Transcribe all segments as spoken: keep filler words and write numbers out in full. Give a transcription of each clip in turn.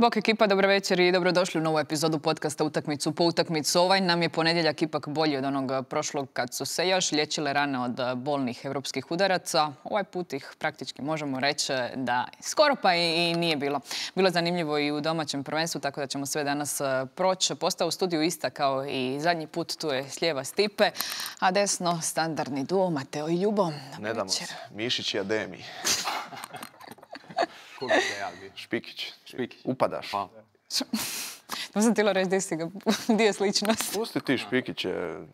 Bok ekipa, dobro večer i dobrodošli u novu epizodu podcasta Utakmicu po utakmicu. Ovaj nam je ponedjeljak ipak bolji od onog prošlog kad su se još liječile rane od bolnih europskih udaraca. Ovaj put ih praktički možemo reći da skoro pa i nije bilo. Bilo je zanimljivo i u domaćem prvenstvu, tako da ćemo sve danas proći. Postao u studiju ista kao i zadnji put, tu je s lijeva Stipe, a desno standardni duo Mateo i Ljubo. Ne damo se. Mišić i Ademi. Špikić. Špikić. Upadaš. Pa. To sam htjela reći gdje si ga, gdje je sličnost. Pusti ti Špikić je...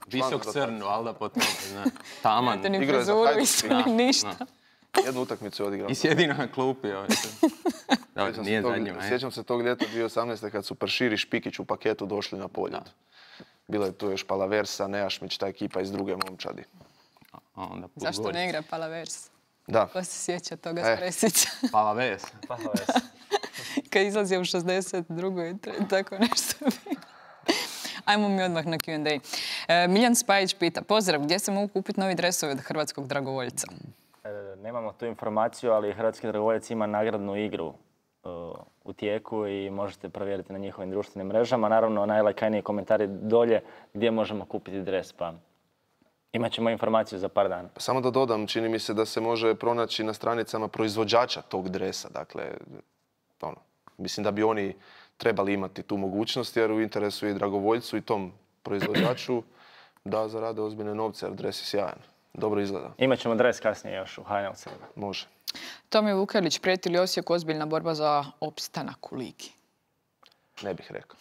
Visok crn, valjda po tome, zna. Taman. Ni Igrao je za frizuru, Hajduk. isto, Da, ni ništa. Jednu utakmicu je odigrao. I sjedi na klupi. Ovaj. Dobro, Sjećam nije se tog- zadnjima. je. Sjećam se tog ljeta dvije tisuće osamnaeste kad su Pršir i Špikić u paketu došli na poljud. Bilo je tu još Palaversa, Nejašmić, ta ekipa iz druge momčadi. A onda put Zašto Gorica. ne igra Palavers? Da. Ko se sjeća toga E. s presića? Palaves. Kad izlazio u šezdeset drugoj tako nešto bi. Ajmo mi odmah na Q and A. E, Miljan Spajić pita, pozdrav, gdje se mogu kupiti novi dresovi od hrvatskog dragovoljca? E, Nemamo tu informaciju, ali Hrvatski dragovoljac ima nagradnu igru e, u tijeku i možete provjeriti na njihovim društvenim mrežama. Naravno, najlajkaniji komentari dolje gdje možemo kupiti dres, pa imat ćemo informaciju za par dana. Pa samo da dodam, čini mi se da se može pronaći na stranicama proizvođača tog dresa. Dakle, ono, mislim da bi oni trebali imati tu mogućnost jer u interesu je i dragovoljcu i tom proizvođaču da zarade ozbiljne novce jer dres je sjajan. Dobro izgleda. Imat ćemo dres kasnije još u H N L C. Može. Tomi Vukelić, prijeti li Osijeku ozbiljna borba za opstanak u ligi? Ne bih rekao.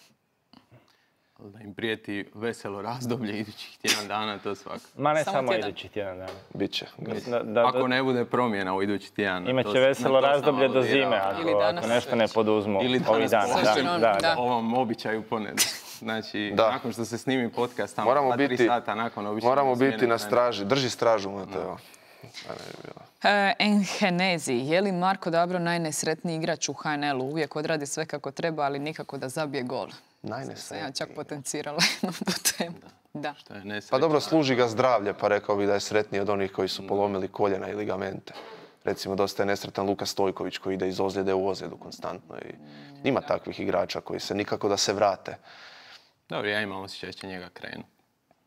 Da im prijeti veselo razdoblje idućih tjedan dana, to svako. Ma ne Samo samo, tjedan. idući tjedan dana. Biće. Da, da, Ako ne bude promjena u idući tjedan. imat to će sam- veselo na to sam razdoblje do aludirao. zime, Ili ako, danas ako nešto već. ne poduzmu Ili ovih danas dana. posebno, Da, da, da. da. Ovom običaju ponedjeljak. Znači, Da. nakon što se snimi podcast, tamo Moramo dva, tri biti, sata nakon običnog moramo smjene biti na trenera. straži. Drži stražu, Mateo. Da ne bi bilo. E, Enhenezi, je li Marko Dabro najnesretniji igrač u H N L-u? Uvijek odradi sve kako treba, ali nikako da zabije gol. Sam ja Najnesretniji. čak potencirala jednom putem. Da. Što je nesreća. Pa dobro, služi ga zdravlje, pa rekao bi da je sretniji od onih koji su polomili koljena i ligamente. Recimo, dosta je nesretan Luka Stojković koji ide iz ozljede u ozljedu konstantno. I ima takvih igrača koji se nikako da se vrate. Dobro, ja imam osjećaj da će njega krenu.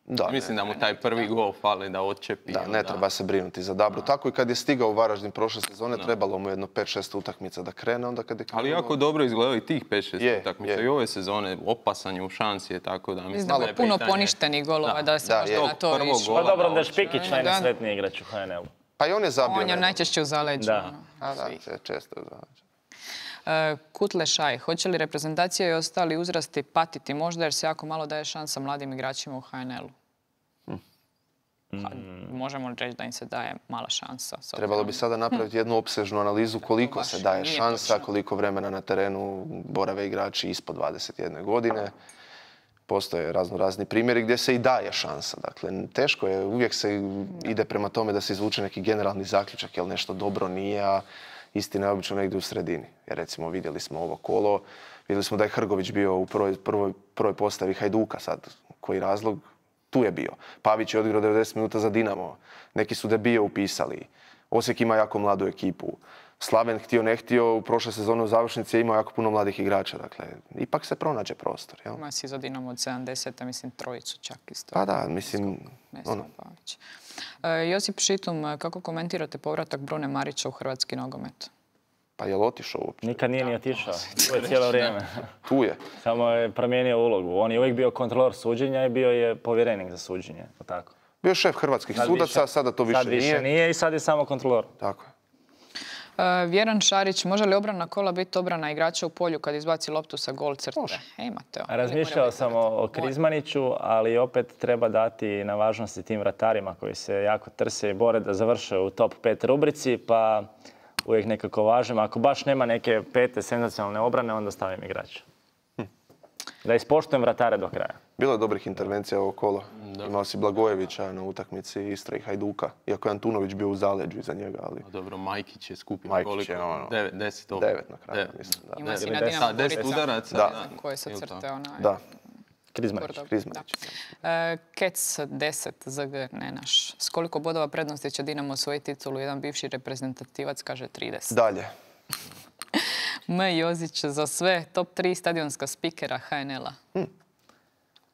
Da, Mislim ne, da mu taj prvi gol fali da odčepi. da, ne onda- treba se brinuti za Dabru. Tako i kad je stigao u Varaždin prošle sezone, trebalo mu jedno pet šest utakmica da krene, onda kad je Ali krenuo- jako dobro izgledao i tih pet šest Je, utakmica. je. I ove sezone opasan je u šansi je tako da mislim Malo da je puno pitanje- poništenih golova da, se Da, možda je. na to Prvog išlo. gola. Pa dobro da je Da, Špikić da. najnesretniji igrač u H N L-u. Pa i on je zabio. On je nedavno. najčešće u zaleđu. Da. ono, A, da, svih. se često zaleđe. E, Kutle Šaj, hoće li reprezentacija i ostali uzrasti patiti možda jer se jako malo daje šansa mladim igračima u H N L-u? Pa, možemo li reći da im se daje mala šansa? s Trebalo bi obzirom- sada napraviti jednu opsežnu analizu koliko baš se daje nije šansa, točno. koliko vremena na terenu borave igrači ispod dvadeset jedne godine. Postoje razno razni primjeri gdje se i daje šansa. Dakle, teško je, uvijek se ide prema tome da se izvuče neki generalni zaključak, jel nešto dobro nije, a istina je obično negdje u sredini. Jer recimo vidjeli smo ovo kolo, vidjeli smo da je Hrgović bio u prvoj, prvoj, prvoj postavi Hajduka sad. Koji razlog? Tu je bio. Pavić je odigrao devedeset minuta za Dinamo. Neki su debije upisali. Osijek ima jako mladu ekipu. Slaven, htio ne htio, u prošle sezone u završnici je imao jako puno mladih igrača. Dakle, ipak se pronađe prostor. Jel? Ima si za Dinamo od sedamdeset, mislim trojicu čak isto. Pa da, mislim, Ne ono, znam, Pavić. E, Josip Šitum, kako komentirate povratak Brune Marića u hrvatski nogomet? pa je li otišao uopće? Nikad nije ni otišao. Tu je cijelo vrijeme. Tu je. Samo je promijenio ulogu. On je uvijek bio kontrolor suđenja i bio je povjerenik za suđenje. je li tako? Bio je šef hrvatskih Sad sudaca, više- sada to više sad više nije. nije i sad je samo kontrolor. Tako je. E, Vjeran Šarić, može li obrana kola biti obrana igrača u polju kad izbaci loptu sa gol crte? Može. E, Mateo. Razmišljao sam o, o Krizmaniću, ali opet treba dati na važnosti tim vratarima koji se jako trse i bore da završe u top pet rubrici, pa uvijek nekako važem. Ako baš nema neke pete senzacionalne obrane, onda stavim igrača. Da ispoštujem vratare do kraja. Bilo je dobrih intervencija ovo kolo. Imao si Blagojevića na utakmici Istra i Hajduka. Iako je Antunović bio u zaleđu iza njega, ali A dobro, Majkić je skupio Majkić koliko? je ono, Devet, deset opet. devet na kraju, Devet. mislim. Da. Ima si Ili na deset- Dinamo Da, deset Gorica, udaraca. Da. koje se Ili to. crte onaj. Da. Krizmanić. Gordo, Krizmanić. da. E, Kec deset Z G, ne naš. S koliko bodova prednosti će Dinamo osvojiti titulu? Jedan bivši reprezentativac kaže trideset. Dalje. M. Jozić za sve top tri stadionska spikera H N L-a. Hm.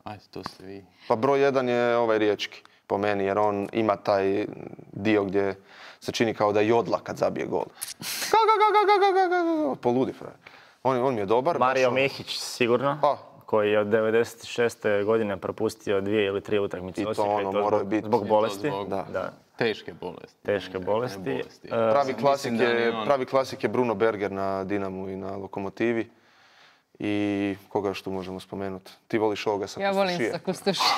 Ajde, to ste vi. Pa broj jedan je ovaj Riječki, po meni, jer on ima taj dio gdje se čini kao da jodla kad zabije gol. Poludi, frajer. On, on mi je dobar. Mario baš on- Mihić sigurno, Pa. koji je od devedeset šeste godine propustio dvije ili tri utakmice I to Osijeka ono i to moraju zbog, biti- zbog I to bolesti. zbog- Da. Da. Teške bolesti. Teške Ne, bolesti. ne bolesti. E, Pravi Mislim klasik, da ni je, on- pravi klasik je Bruno Berger na Dinamu i na Lokomotivi. I koga još tu možemo spomenuti? Ti voliš ovoga sa Ja volim Kustošije. sa Kustošije.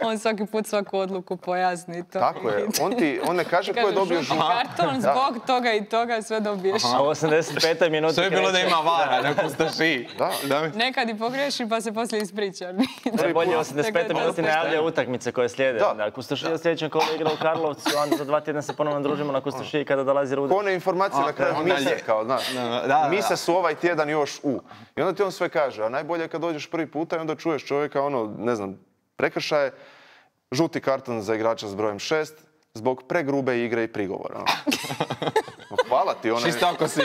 On svaki put svaku odluku pojasni. To Tako je. On, ti, on ne kaže ko je Kaže, dobio žuti žutu. karton zbog toga i toga sve dobiješ. A u osamdeset petoj minuti Sve je bilo da kreće- ima vara na Kustošiji. Da. Da mi- Nekad i pogriješi pa se poslije ispriča. Najbolje u osamdeset petoj Tako je, minuti to je najavljaju utakmice koje slijede. Da. Da. Kustošija u sljedećem kolu igra u Karlovcu, onda za dva tjedna se ponovno družimo na Kustošiji kada dolazi Ruda. One informacije na kraju onda mise, lje- kao, znaš. Da, da, da. Mise su ovaj tjedan još u. I onda ti on sve kaže, a najbolje je kad dođeš prvi puta i onda čuješ čovjeka, ono, ne znam, prekršaje, žuti karton za igrača s brojem šest, zbog pregrube igre i prigovora. ono. Hvala ti, ona Čisto ako si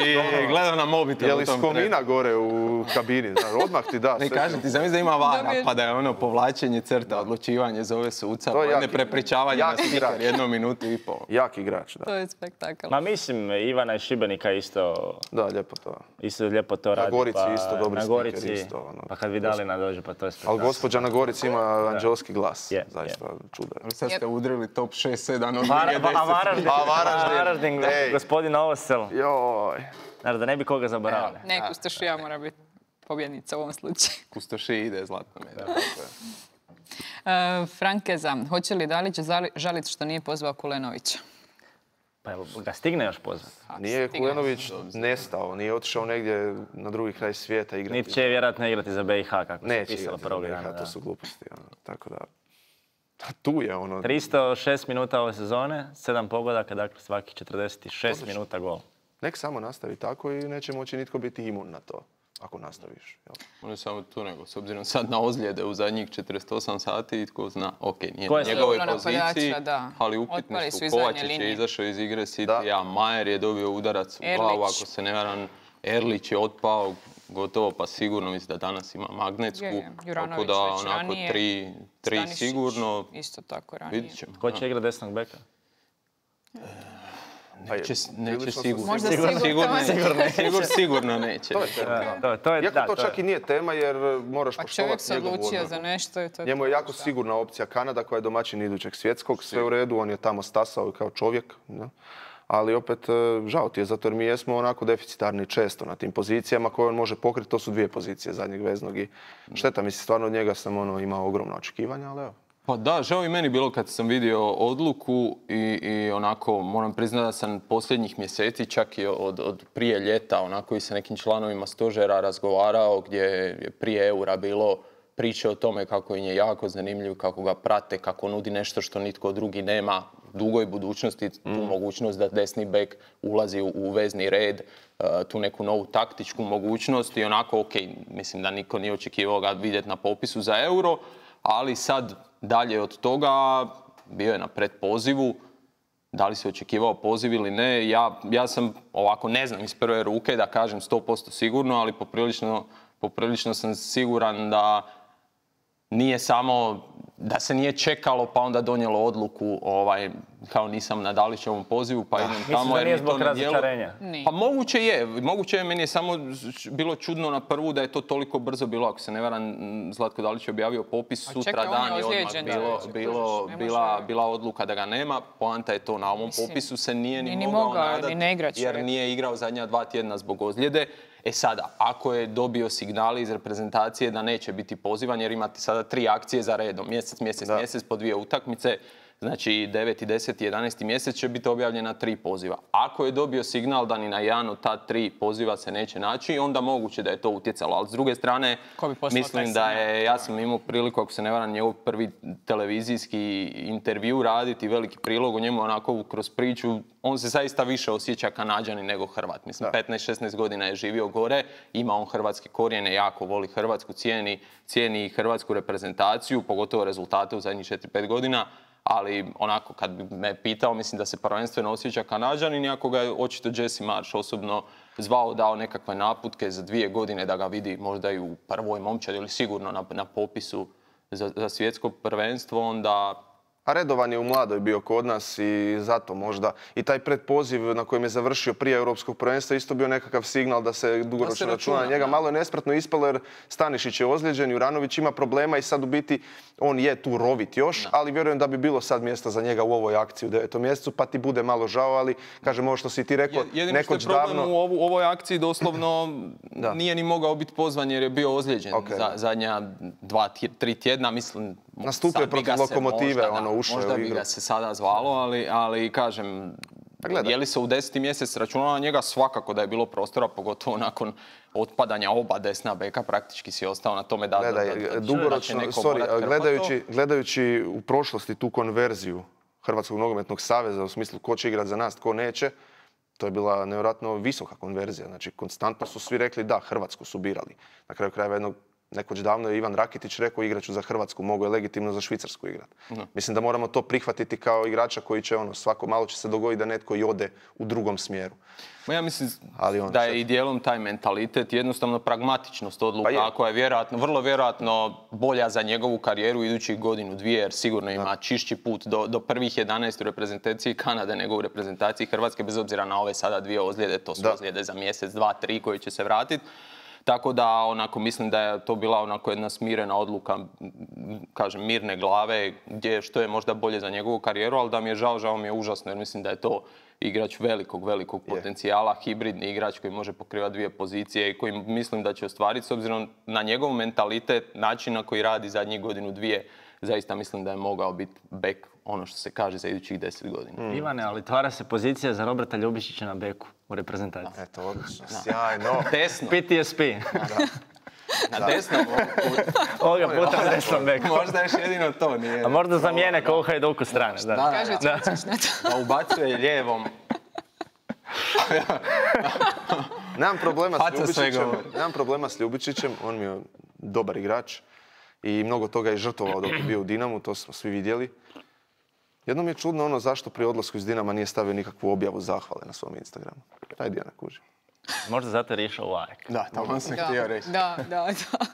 gledao na mobitel je u li tom skomina gore u kabini, znaš, odmah ti da. Ne sve kažem ti- ti, zamisli da ima vara, Dobiješ- pa da je ono povlačenje crta, odlučivanje zove suca, To je pa onda jaki- prepričavanje na jaki stiker igrač. jednu minutu i pol. Jak igrač, da. To je spektakl. Ma mislim, Ivana iz Šibenika isto, Da, lijepo to. isto lijepo to radi. Gorici pa isto dobri na stiker Gorici, isto, ono. pa kad Vidalina dođe, pa to je Ali spektakl. gospođa na Gorici ima anđelski glas. Je, Zaista čudo je. Sad ste Jep. udrili top šest sedam od Var- Lige a Varaždin, A Varaždin, Varaždin, ej. gospodin Ovosel. Joj. Znaš, da ne bi koga zaboravili. Ne, Kustošija mora biti pobjednica u ovom slučaju. Kustoši ide zlatno medalja. E, Frankeza, hoće li Dalić zali- žalit što nije pozvao Kulenovića? Pa evo, ga stigne još pozvat. Nije Stigne. Kulenović nestao, nije otišao negdje na drugi kraj svijeta igrati. Niti će vjerojatno igrati za B i H, kako se Neće pisalo igrati za prvog B i H, dana. to da. su gluposti. Ono. Tako da, a tu je ono. tristo šest minuta ove sezone, sedam pogodaka, dakle svakih četrdeset šest Odlično. minuta gol. Nek samo nastavi tako i neće moći nitko biti imun na to, ako nastaviš. Jel? On je samo tu nego, s obzirom sad na ozljede u zadnjih četrdeset osam sati, tko zna, ok, nije Ko na je sve njegove ono poziciji, napadača, da. ali upitni Otpali su su. iz zadnje Kovačić je linije. izašao iz igre Da. City, a Majer je dobio udarac u Erlić. glavu, ako se ne varam, Erlić je otpao, gotovo pa sigurno, mislim da danas ima magnetsku, Je, je. tako Juranović da već onako ranije, tri, tri Stanišić sigurno, Isto tako ranije. vidit ćemo. Ko će igrati desnog beka? Pa je, Neće, neće prilično sam sigurno. Možda sigurno, sigurno sigurno, neće. sigurno, sigurno neće. To je tema. Da, to, to je, Iako da, to to je- čak i nije tema jer moraš Pa čovjek poštovati se njegovu odlučio odluku. za nešto i to je Njemu to. je jako sigurna opcija Kanada koja je domaćin idućeg svjetskog, sve u redu, on je tamo stasao kao čovjek. Ne? Ali opet, e, žao ti je, zato jer mi jesmo onako deficitarni često na tim pozicijama koje on može pokriti, to su dvije pozicije zadnjeg veznog i šteta, mislim, stvarno od njega sam ono, imao ogromna očekivanja, ali evo. Pa da, žao i meni bilo kad sam vidio odluku i, i onako moram priznati da sam posljednjih mjeseci, čak i od, od prije ljeta, onako i sa nekim članovima stožera razgovarao gdje je prije eura bilo priče o tome kako im je jako zanimljiv, kako ga prate, kako nudi nešto što nitko drugi nema u dugoj budućnosti, tu mogućnost da desni bek ulazi u, u vezni red, uh, tu neku novu taktičku mogućnost i onako, ok, mislim da niko nije očekivao ga vidjeti na popisu za euro, ali sad dalje od toga bio je na predpozivu, da li se očekivao poziv ili ne, ja, ja sam ovako ne znam iz prve ruke da kažem sto posto sigurno, ali poprilično, poprilično sam siguran da nije samo, da se nije čekalo pa onda donijelo odluku ovaj, kao nisam na Dalićevom pozivu pa idem Misliš tamo da jer nije mi to zbog ne djeluje. razočarenja? Nije. Pa moguće je, moguće je, meni je samo bilo čudno na prvu da je to toliko brzo bilo, ako se ne varam, Zlatko Dalić je objavio popis A sutra čekaj, on je dan i odmah ozlijeđen, bilo, da, bilo, kužiš, ne bila, može- bila odluka da ga nema, poanta je to na ovom Mislim, popisu se nije ni, ni- ni mogao, mogao, nadat ni ne igra jer čovjek. nije igrao zadnja dva tjedna zbog ozljede. E sada, ako je dobio signali iz reprezentacije da neće biti pozivan jer imate sada tri akcije za redom, mjesec, mjesec, Da. mjesec po dvije utakmice, znači deveti, deseti, jedanaesti mjesec će biti objavljena tri poziva. Ako je dobio signal da ni na jedan od ta tri poziva se neće naći, onda moguće da je to utjecalo. Ali s druge strane, Ko bi poslao mislim taj da signal? je, ja sam imao priliku, ako se ne varam, njegov prvi televizijski intervju raditi, veliki prilog o njemu onako kroz priču. On se zaista više osjeća Kanađanin nego Hrvat. Mislim, Da. petnaest šesnaest godina je živio gore, ima on hrvatske korijene, jako voli Hrvatsku, cijeni, cijeni hrvatsku reprezentaciju, pogotovo rezultate u zadnjih četiri pet godina. Ali onako, kad bi me pitao, mislim da se prvenstveno osjeća Kanađanin, iako ga je očito Jesse Marsh osobno zvao, dao nekakve naputke za dvije godine da ga vidi možda i u prvoj momčadi ili sigurno na, na popisu za, za svjetsko prvenstvo, onda... A redovan je u mladoj bio kod nas i zato možda i taj predpoziv na kojem je završio prije Europskog prvenstva isto bio nekakav signal da se dugoročno računa na njega. Da. Malo je nespretno ispalo jer Stanišić je ozlijeđen, Juranović ima problema i sad u biti on je tu rovit još, da. Ali vjerujem da bi bilo sad mjesta za njega u ovoj akciji u devetom mjesecu, pa ti bude malo žao, ali kažem ovo što si ti rekao, jedino što je nekoć davno... u, ovu, u ovoj akciji doslovno nije ni mogao biti pozvan jer je bio ozlijeđen okay, za, zadnja dva, tri tjedna, mislim... Nastupio je protiv Lokomotive, možda, ono, ušao je u igru. Možda bi ga se sada zvalo, ali, ali kažem, je li se u deseti mjesec računalo na njega, svakako da je bilo prostora, pogotovo nakon otpadanja oba desna beka, praktički si ostao na tome da... Gledaj, da, da, dugoročno, sorry, gledajući, gledajući u prošlosti tu konverziju Hrvatskog nogometnog saveza, u smislu ko će igrati za nas, ko neće, to je bila nevjerojatno visoka konverzija. Znači, konstantno su svi rekli da, Hrvatsku su birali. Na kraju krajeva jednog Nekoć davno je Ivan Rakitić rekao igraću za Hrvatsku, mogu je legitimno za Švicarsku igrati. No. Mislim da moramo to prihvatiti kao igrača koji će ono, svako malo će se dogoditi da netko i ode u drugom smjeru. Ma ja mislim Ali on, da je šta... i dijelom taj mentalitet, jednostavno pragmatičnost odluka, pa koja je vjerojatno, vrlo vjerojatno bolja za njegovu karijeru idućih godinu, dvije, jer sigurno ima da. čišći put do, do prvih jedanaest u reprezentaciji Kanade nego u reprezentaciji Hrvatske, bez obzira na ove sada dvije ozljede, to su da. ozljede za mjesec, dva, tri koji će se vratiti. Tako da, onako, mislim da je to bila onako jedna smirena odluka, kažem, mirne glave, gdje što je možda bolje za njegovu karijeru, ali da mi je žao, žao mi je užasno, jer mislim da je to igrač velikog, velikog je. potencijala, hibridni igrač koji može pokrivati dvije pozicije i koji mislim da će ostvariti, s obzirom na njegov mentalitet, način na koji radi zadnjih godinu, dvije, zaista mislim da je mogao biti bek, ono što se kaže, za idućih deset godina. Mm. Ivane, ali otvara se pozicija za Roberta Ljubičića na beku u reprezentaciji. Eto, odlično, sjajno. Desno. P T S P. Na desnom ovoga puta na desnom beku. Možda još jedino to nije. A možda zamijene kao u Hajduku strane. Da, da. Kaže Čučić na to. A ubacuje lijevom. Nemam problema s Ljubičićem. Nemam problema s Ljubičićem, on mi je dobar igrač. I mnogo toga je žrtvovao dok je bio u Dinamu, to smo svi vidjeli. Jedno mi je čudno ono zašto pri odlasku iz Dinama nije stavio nikakvu objavu zahvale na svom Instagramu. Ajde ja ne kužim. Možda zato je išao u A E K. Da, to vam sam htio reći. Da, da, da.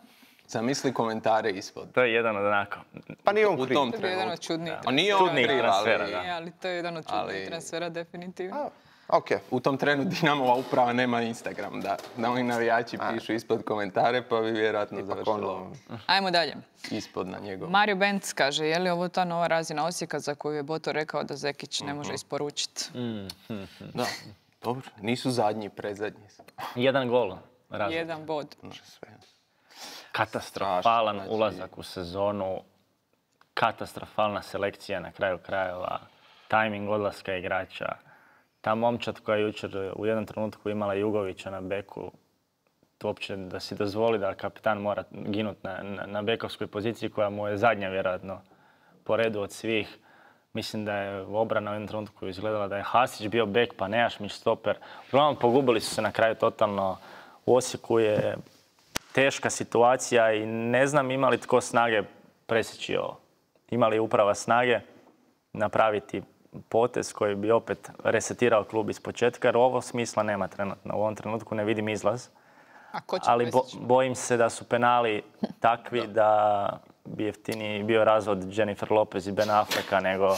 Zamisli komentare ispod. To je jedan od onako. Pa nije on kriv. To je jedan od čudnijih. A nije on kriv, ali, ali to je jedan od čudnijih transfera, definitivno. Okay. U tom trenu Dinamova uprava nema Instagram, da, da oni navijači A. pišu ispod komentare, pa bi vjerojatno završilo Ajmo dalje. Ispod na njegov. Mario Benc kaže, je li ovo ta nova razina Osijeka za koju je Boto rekao da Zekić ne može isporučiti? Mm. Da, dobro, nisu zadnji, predzadnji. Jedan gol. Razlika. Jedan bod. Katastrofalan znači... ulazak u sezonu, katastrofalna selekcija na kraju krajeva, tajming odlaska igrača. Ta momčad koja je jučer u jednom trenutku imala Jugovića na beku, to uopće da si dozvoli da kapitan mora ginuti na, na, na bekovskoj poziciji koja mu je zadnja vjerojatno po redu od svih. Mislim da je obrana u jednom trenutku izgledala da je Hasić bio bek pa Nejašmić stoper. Uglavnom pogubili su se na kraju totalno. U Osijeku je teška situacija i ne znam ima li tko snage presjeći ovo. Ima li uprava snage napraviti potez koji bi opet resetirao klub iz početka, jer ovo smisla nema trenutno. U ovom trenutku ne vidim izlaz. A ko će ali bo, bojim se da su penali takvi da bi jeftiniji bio razvod Jennifer Lopez i Ben Afflecka nego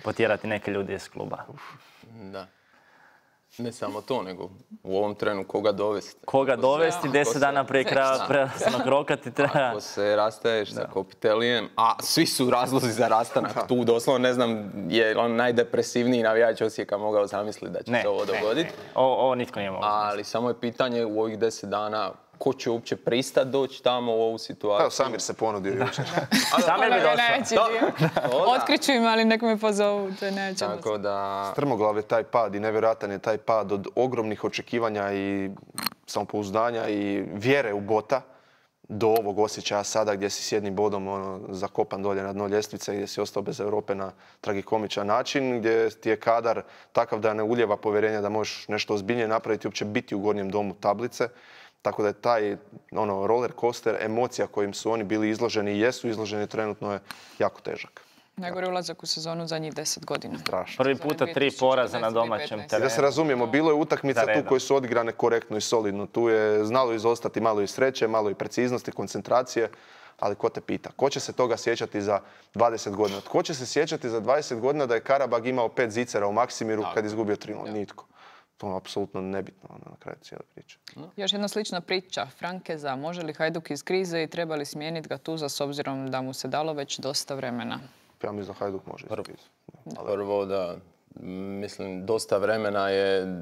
potjerati neke ljudi iz kluba. Da. Ne samo to, nego u ovom trenu koga dovesti. Koga dovesti, deset dana prije kraja prelaznog roka ti treba. Ako se rastaješ sa Kopitelijem, a svi su razlozi za rastanak tu, doslovno ne znam je on najdepresivniji navijač Osijeka mogao zamisliti da će ne, se ovo dogoditi. Ovo, ovo nitko nije mogao. Ali samo je pitanje u ovih deset dana ko će uopće pristati doći tamo u ovu situaciju. Evo, Samir se ponudio jučer. Samir bi došao. Otkriću im, ali nek me pozovu, to je nećemo. Tako da... Strmoglav je taj pad i nevjerojatan je taj pad od ogromnih očekivanja i samopouzdanja i vjere u Bota do ovog osjećaja sada gdje si s jednim bodom ono, zakopan dolje na dno ljestvice, gdje si ostao bez Europe na tragikomičan način, gdje ti je kadar takav da ne ulijeva povjerenja da možeš nešto ozbiljnije napraviti i uopće biti u gornjem domu tablice. Tako da je taj ono, roller coaster emocija kojim su oni bili izloženi i jesu izloženi trenutno je jako težak. Najgori ulazak u sezonu zadnjih deset godina. Strašno. Prvi puta tri poraza na domaćem I terenu. da se razumijemo, bilo je utakmica Za tu redom. koje su odigrane korektno i solidno. Tu je znalo izostati malo i sreće, malo i preciznosti, koncentracije. Ali ko te pita? Ko će se toga sjećati za dvadeset godina? Tko će se sjećati za dvadeset godina da je Karabag imao pet zicera u Maksimiru kad je izgubio tri nula? Nitko. To je apsolutno nebitno ono, na kraju cijele priče. Još jedna slična priča. Frankeza, može li Hajduk iz krize i treba li smijeniti Gattusa s obzirom da mu se dalo već dosta vremena? Ja mislim da Hajduk može iz krize. Prvo da, mislim, dosta vremena je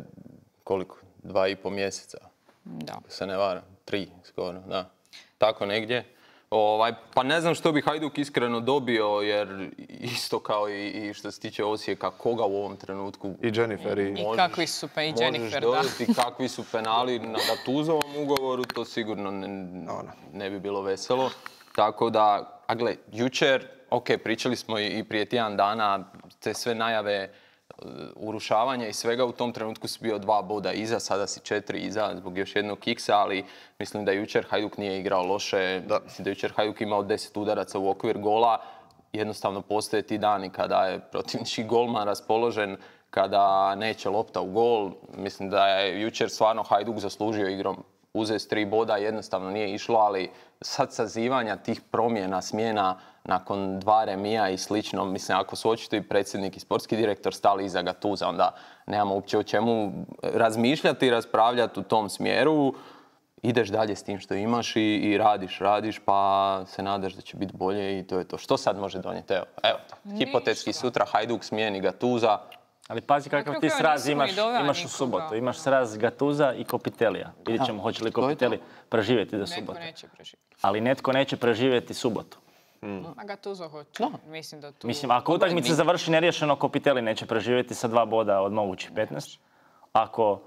koliko? Dva i po mjeseca. Da. Se ne varam. Tri skoro, da. Tako negdje. Ovaj, pa ne znam što bi Hajduk iskreno dobio, jer isto kao i, i što se tiče Osijeka, koga u ovom trenutku... I Jennifer i... I kakvi su pa i Jennifer, da. Možeš dodati kakvi su penali na Gattusovom ugovoru, to sigurno ne, ne bi bilo veselo. Tako da, a gle, jučer, ok, pričali smo i, i prije tjedan dana, te sve najave urušavanja i svega, u tom trenutku si bio dva boda iza, sada si četiri iza zbog još jednog kiksa, ali mislim da jučer Hajduk nije igrao loše, da. Mislim da jučer Hajduk imao deset udaraca u okvir gola, jednostavno postoje ti dani kada je protivnički golman raspoložen, kada neće lopta u gol, mislim da je jučer stvarno Hajduk zaslužio igrom uzeti tri boda, jednostavno nije išlo, ali sad sazivanja tih promjena, smjena nakon dva remija i slično, mislim, ako su očito i predsjednik i sportski direktor stali iza Gattusa, onda nemamo uopće o čemu razmišljati i raspravljati u tom smjeru. Ideš dalje s tim što imaš i, i radiš, radiš, pa se nadaš da će biti bolje i to je to. Što sad može donijeti? Evo, evo hipotetski sutra Hajduk smijeni Gattusa. Ali pazi kakav ti sraz imaš, imaš u subotu. Imaš sraz Gattusa i Kopitelija. Vidjet ćemo hoće li Kopitelji preživjeti do subote. Netko neće preživjeti. Ali netko neće preživjeti subotu. Hmm. A Gattuso hoće. No. Mislim da tu... Mislim, ako utakmica završi neriješeno, Kopitelji neće preživjeti sa dva boda od mogućih petnaest. Ako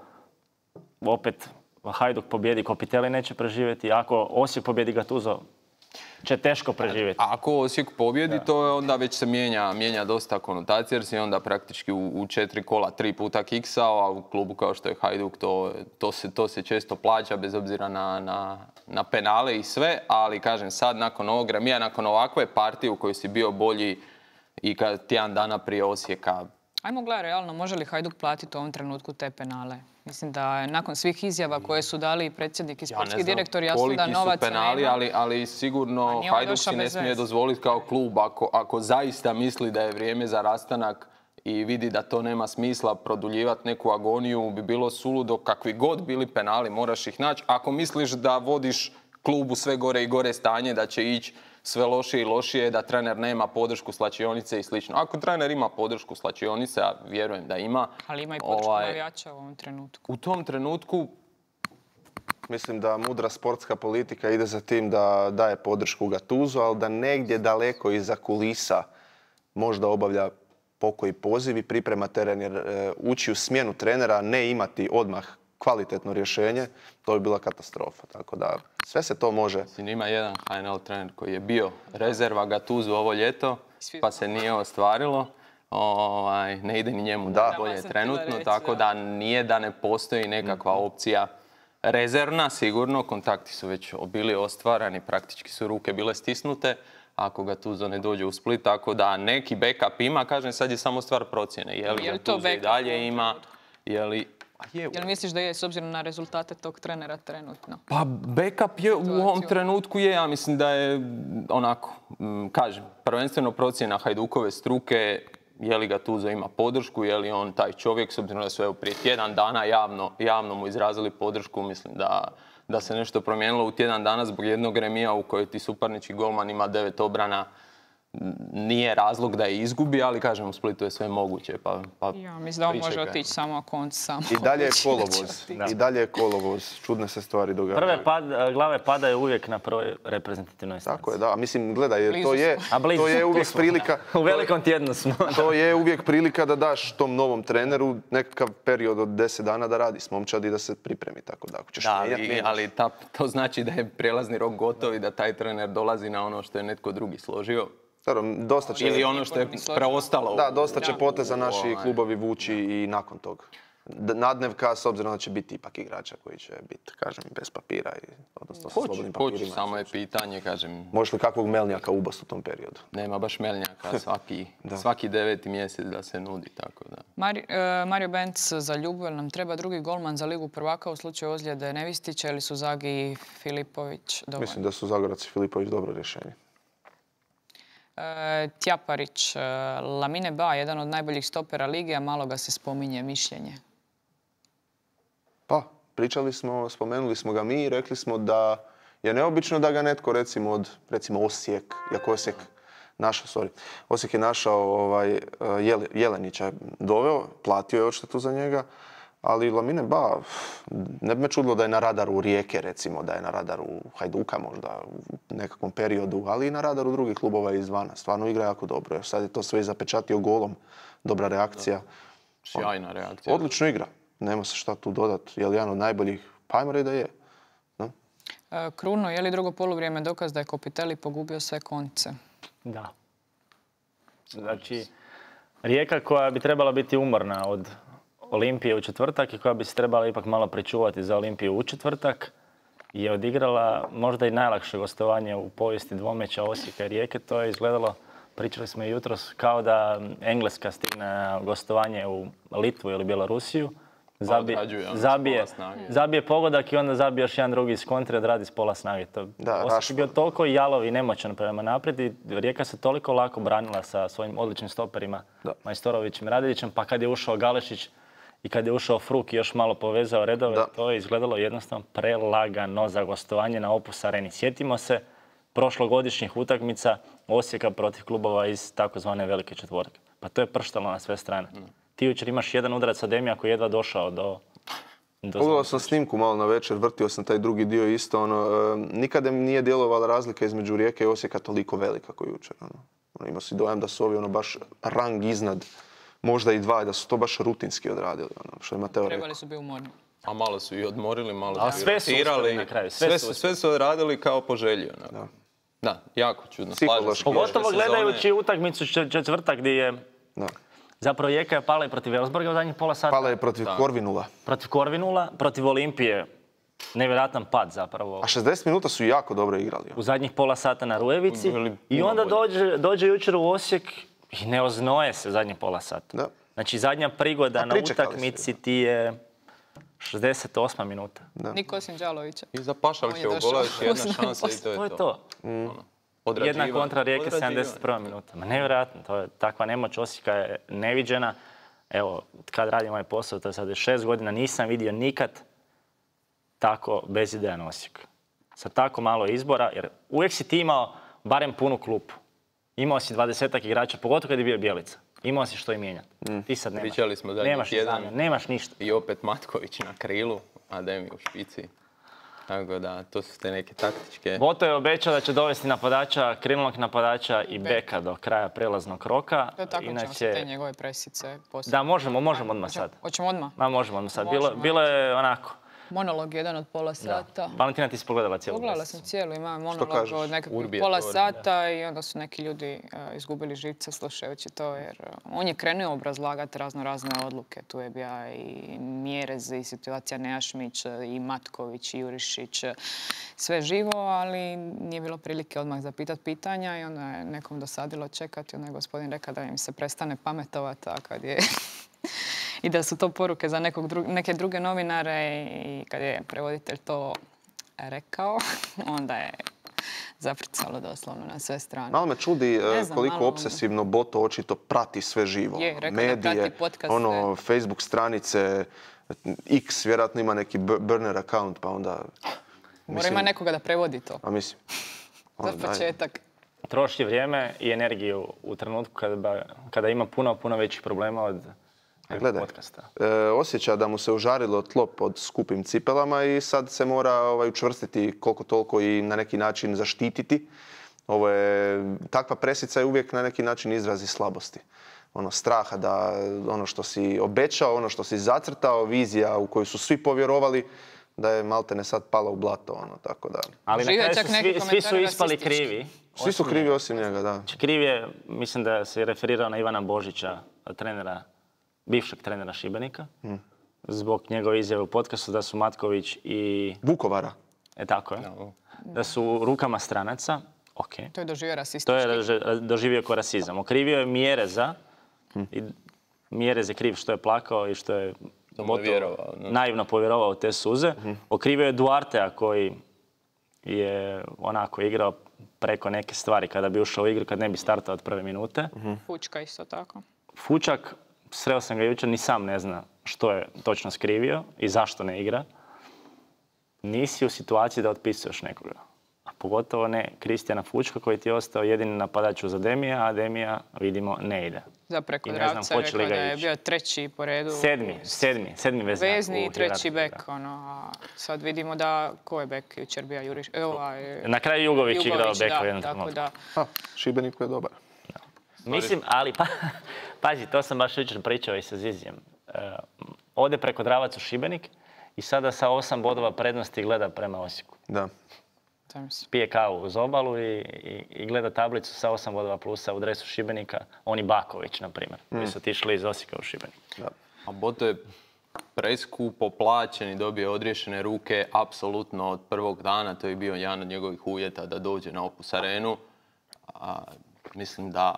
opet Hajduk pobjedi, Kopitelji neće preživjeti. Ako Osijek pobjedi Gattuso, će teško preživjeti. A ako Osijek pobjedi, to je onda već se mijenja, mijenja dosta konotacija, jer si onda praktički u, u četiri kola tri puta kiksao, a u klubu kao što je Hajduk to, to, se, to se često plaća bez obzira na, na, na penale i sve, ali kažem sad nakon ovog remija, nakon ovakve partije u kojoj si bio bolji i kad tjedan dana prije Osijeka. Ajmo gledaj realno, može li Hajduk platiti u ovom trenutku te penale? Mislim da nakon svih izjava koje su dali i predsjednik i sportski direktor, jasno da novaca nema. Ja ne znam koliki su penali, ali, ali sigurno Hajduk si ne smije dozvoliti kao klub. Ako, ako zaista misli da je vrijeme za rastanak i vidi da to nema smisla produljivati neku agoniju, bi bilo suludo. Kakvi god bili penali, moraš ih naći. Ako misliš da vodiš klubu sve gore i gore stanje, da će ići sve lošije i lošije, da trener nema podršku slačionice i slično. Ako trener ima podršku slačionice, a vjerujem da ima... Ali ima i podršku ovaj, navijača u ovom trenutku. U tom trenutku... Mislim da mudra sportska politika ide za tim da daje podršku Gattusu, ali da negdje daleko iza kulisa možda obavlja pokoji poziv i priprema teren, jer e, ući u smjenu trenera, ne imati odmah kvalitetno rješenje, to bi bila katastrofa. Tako da sve se to može. Ima jedan H N L trener koji je bio rezerva Gattusu ovo ljeto, pa se nije ostvarilo. Ovaj, ne ide ni njemu da bolje trenutno, tako da nije da ne postoji nekakva opcija rezervna, sigurno. Kontakti su već bili ostvarani, praktički su ruke bile stisnute ako Gattuso ne dođe u Split, tako da neki backup ima, kažem, sad je samo stvar procjene. Je li Gattuso i dalje ima, je li... Je li misliš da je s obzirom na rezultate tog trenera trenutno? Pa backup je u ovom trenutku je, ja mislim da je onako, kažem, prvenstveno procjena Hajdukove struke, je li Gattuso ima podršku, je li on taj čovjek, s obzirom da su evo prije tjedan dana javno, javno mu izrazili podršku, mislim da, da se nešto promijenilo u tjedan dana zbog jednog remija u kojoj ti suparnički golman ima devet obrana. Nije razlog da je izgubi, ali kažem u Splitu je sve moguće. Pa, pa ja mislim da on može otići samo ako on samo I dalje je kolovoz. I dalje je kolovoz. Čudne se stvari događaju. Prve pad, glave padaju uvijek na prvoj reprezentativnoj stanci. Tako je, da. Mislim, gledaj, to je, to je uvijek prilika... U velikom tjednu smo. To je uvijek prilika da daš tom novom treneru nekakav period od deset dana da radi s momčadi i da se pripremi. Tako da, ako ćeš da, mijenjati, ali, ali ta, to znači da je prijelazni rok gotov i da taj trener dolazi na ono što je netko drugi složio. Dosta će, ili ono što je preostalo. Da, dosta će poteza naši klubovi vući i nakon toga. nadnevka, s obzirom da će biti ipak igrača koji će biti, kažem, bez papira i odnosno sa slobodnim papirima. Hoću, samo je pitanje, kažem... Možeš li kakvog Melnjaka ubost u tom periodu? Nema baš Melnjaka, svaki, svaki deveti mjesec da se nudi, tako da... Mari, uh, Mario Benc za Ljubu, jel nam treba drugi golman za Ligu prvaka u slučaju ozljede Nevistića ili su Zagi i Filipović dovoljni? Mislim da su Zagorac i Filipović dobro rješenje. E, Tjaparić, e, Lamine Ba, jedan od najboljih stopera lige, a malo ga se spominje mišljenje. Pa, pričali smo, spomenuli smo ga mi i rekli smo da je neobično da ga netko, recimo od, recimo Osijek, jako Osijek našao, sorry, Osijek je našao ovaj, Jelenića, doveo, platio je odštetu za njega, ali Lamine Ba, ne bi me čudilo da je na radaru Rijeke, recimo, da je na radaru Hajduka možda u nekakvom periodu, ali i na radaru drugih klubova izvana. Stvarno igra jako dobro, jer sad je to sve zapečatio golom. Dobra reakcija. Sjajna reakcija. Odlično igra. Nema se šta tu dodati. Je li jedan od najboljih? Pa ajmo reći da je. No? E, Kruno, je li drugo poluvrijeme dokaz da je Kopitelli pogubio sve konce? Da. Znači, Rijeka koja bi trebala biti umorna od Olimpije u četvrtak i koja bi se trebala ipak malo pričuvati za Olimpiju u četvrtak je odigrala možda i najlakše gostovanje u povijesti dvomeća Osijeka i Rijeke. To je izgledalo, pričali smo i jutros, kao da Engleska stigne na gostovanje u Litvu ili Bjelorusiju. Zabije, zabije, zabije pogodak i onda zabije još jedan drugi iz kontre, odradi s pola snage. To, da, Osijek je bio toliko jalov i nemoćan prema naprijed i Rijeka se toliko lako branila sa svojim odličnim stoperima, da. Majstorovićem i Radeljićem, pa kad je ušao Galešić i kad je ušao Fruk i još malo povezao redove, da. To je izgledalo jednostavno prelagano za gostovanje na Opus Areni. Sjetimo se prošlogodišnjih utakmica Osijeka protiv klubova iz takozvane velike četvorke. Pa to je prštalo na sve strane. Mm. Ti jučer imaš jedan udarac Ademija koji je jedva došao do... do Pogledao sam snimku malo na večer, vrtio sam taj drugi dio isto. Ono, e, nikada mi nije djelovala razlika između Rijeke i Osijeka toliko velika kao jučer. Ono. Ono, imao si dojam da su ovi ono, baš rang iznad, možda i dva, da su to baš rutinski odradili. Ono, što je Mateo Trebali rekao. su biti umorni. A malo su i odmorili, malo A su sve i rotirali. na kraju. Sve, sve, su, sve su odradili kao po želji. Da. da, jako čudno. Pogotovo gledajući utakmicu četvrtak gdje je... Da. Zapravo Rijeka je pala i protiv Elfsborga u zadnjih pola sata. Pala je protiv da. Korvinula. Protiv Korvinula, protiv Olimpije. Nevjerojatan pad zapravo. A šezdeset minuta su jako dobro igrali. U zadnjih pola sata na Rujevici. I onda dođe, dođe jučer u Osijek i ne oznoje se zadnjih pola sata. Da. Znači zadnja prigoda na utakmici ti je šezdeset osma minuta. Da. Niko osim Đalovića. I za Pašalića u gola još jedna šansa i to je to. To je to. Mm. Jedna kontra Rijeke, sedamdeset prva minuta. Ma nevjerojatno, to je takva nemoć Osijeka je neviđena. Evo, kad radim ovaj posao, to je sad šest godina, nisam vidio nikad tako bezidejan Osijek. Sa tako malo izbora, jer uvijek si ti imao barem punu klupu. Imao si dvadesetak igrača, pogotovo kad je bio Bjelica. Imao si što i mijenjati. Mm. Ti sad nemaš. Pričali smo nemaš jedan, nemaš ništa. I opet Matković na krilu, Ademi u špici. Tako da, to su te neke taktičke... Boto je obećao da će dovesti napadača, krilnog napadača i beka do kraja prelaznog roka. To je tako Inače... ćemo se te njegove presice poslije. Da, možemo, možemo odmah sad. Hoćemo odmah? Ma, možemo odmah sad. Bilo, bilo je onako... Monolog jedan od pola sata. Da. Valentina, ti si pogledala cijelu Pogledala sam cijelu, ima monolog od nekakvog pola sata i onda su neki ljudi uh, izgubili živce slušajući to jer uh, on je krenuo obrazlagati razno razne odluke. Tu je bio i Mjerez, i situacija Nejašmić, i Matković, i Jurišić, sve živo, ali nije bilo prilike odmah zapitati pitanja i onda je nekom dosadilo čekati. Onda je gospodin rekao da im se prestane pametovati, a kad je... I da su to poruke za nekog dru- neke druge novinare i kad je prevoditelj to rekao, onda je zapricalo doslovno na sve strane. Malo me čudi znam, koliko malo... obsesivno Boto očito prati sve živo. Je, rekao medije, da prati podcaste. Ono, Facebook stranice, X, vjerojatno ima neki burner account, pa onda... Mora mislim, ima nekoga da prevodi to. A mislim. Za početak. Troši vrijeme i energiju u trenutku kada, kada ima puno, puno većih problema od... Gledaj, e, osjeća da mu se užarilo tlo pod skupim cipelama i sad se mora ovaj, učvrstiti koliko toliko i na neki način zaštititi. Ovo je, takva presica je uvijek na neki način izrazi slabosti. Ono, straha da ono što si obećao, ono što si zacrtao, vizija u koju su svi povjerovali, da je maltene sad pala u blato. Ono, tako da. Ali na kraju su svi, svi su ispali krivi. Svi su krivi osim njega, da. Kriv je, mislim da se referirao na Ivana Božića, trenera bivšeg trenera Šibenika, hmm. zbog njegove izjave u podcastu da su Matković i... Vukovara. E tako je. Da su u rukama stranaca. Ok. To je doživio rasistički. To je doži- doživio kao rasizam. Okrivio je Mjereza. I Mjerez je kriv što je plakao i što je To mu je gotovo vjerovao, ne? naivno povjerovao u te suze. Okrivio je Duartea koji je onako igrao preko neke stvari kada bi ušao u igru, kad ne bi startao od prve minute. Fučka isto tako. Fučak, sreo sam ga jučer, ni sam ne zna što je točno skrivio i zašto ne igra. Nisi u situaciji da otpisuješ nekoga. A pogotovo ne Kristijana Fučka koji ti je ostao jedini napadač uz Ademija, a Ademija, vidimo, ne ide. Za preko I ne znam Dravca hoće li rekao ga da je ići. bio treći po redu. Sedmi, sedmi, sedmi veznak. Vezni i u treći hijerarhiji, bek. Ono, a sad vidimo da ko je bek jučer bio Juriš. E, ovaj, da. Na kraju Jugović, igrao beka u da, jednom tako trenutku. da. Ha, Šibeniku je dobar. Mislim, ali pa, pazi, to sam baš jučer pričao i sa Zizijem. Uh, ode preko Dravac u Šibenik i sada sa osam bodova prednosti gleda prema Osijeku. Da. Zamisli. Pije kavu uz obalu i, i, i gleda tablicu sa osam bodova plusa u dresu Šibenika. On i Baković, na primjer, koji su otišli iz Osijeka u Šibenik. Da. A Boto je preskupo plaćen i dobio odriješene ruke apsolutno od prvog dana. To je bio jedan od njegovih uvjeta da dođe na Opus Arenu. A, mislim da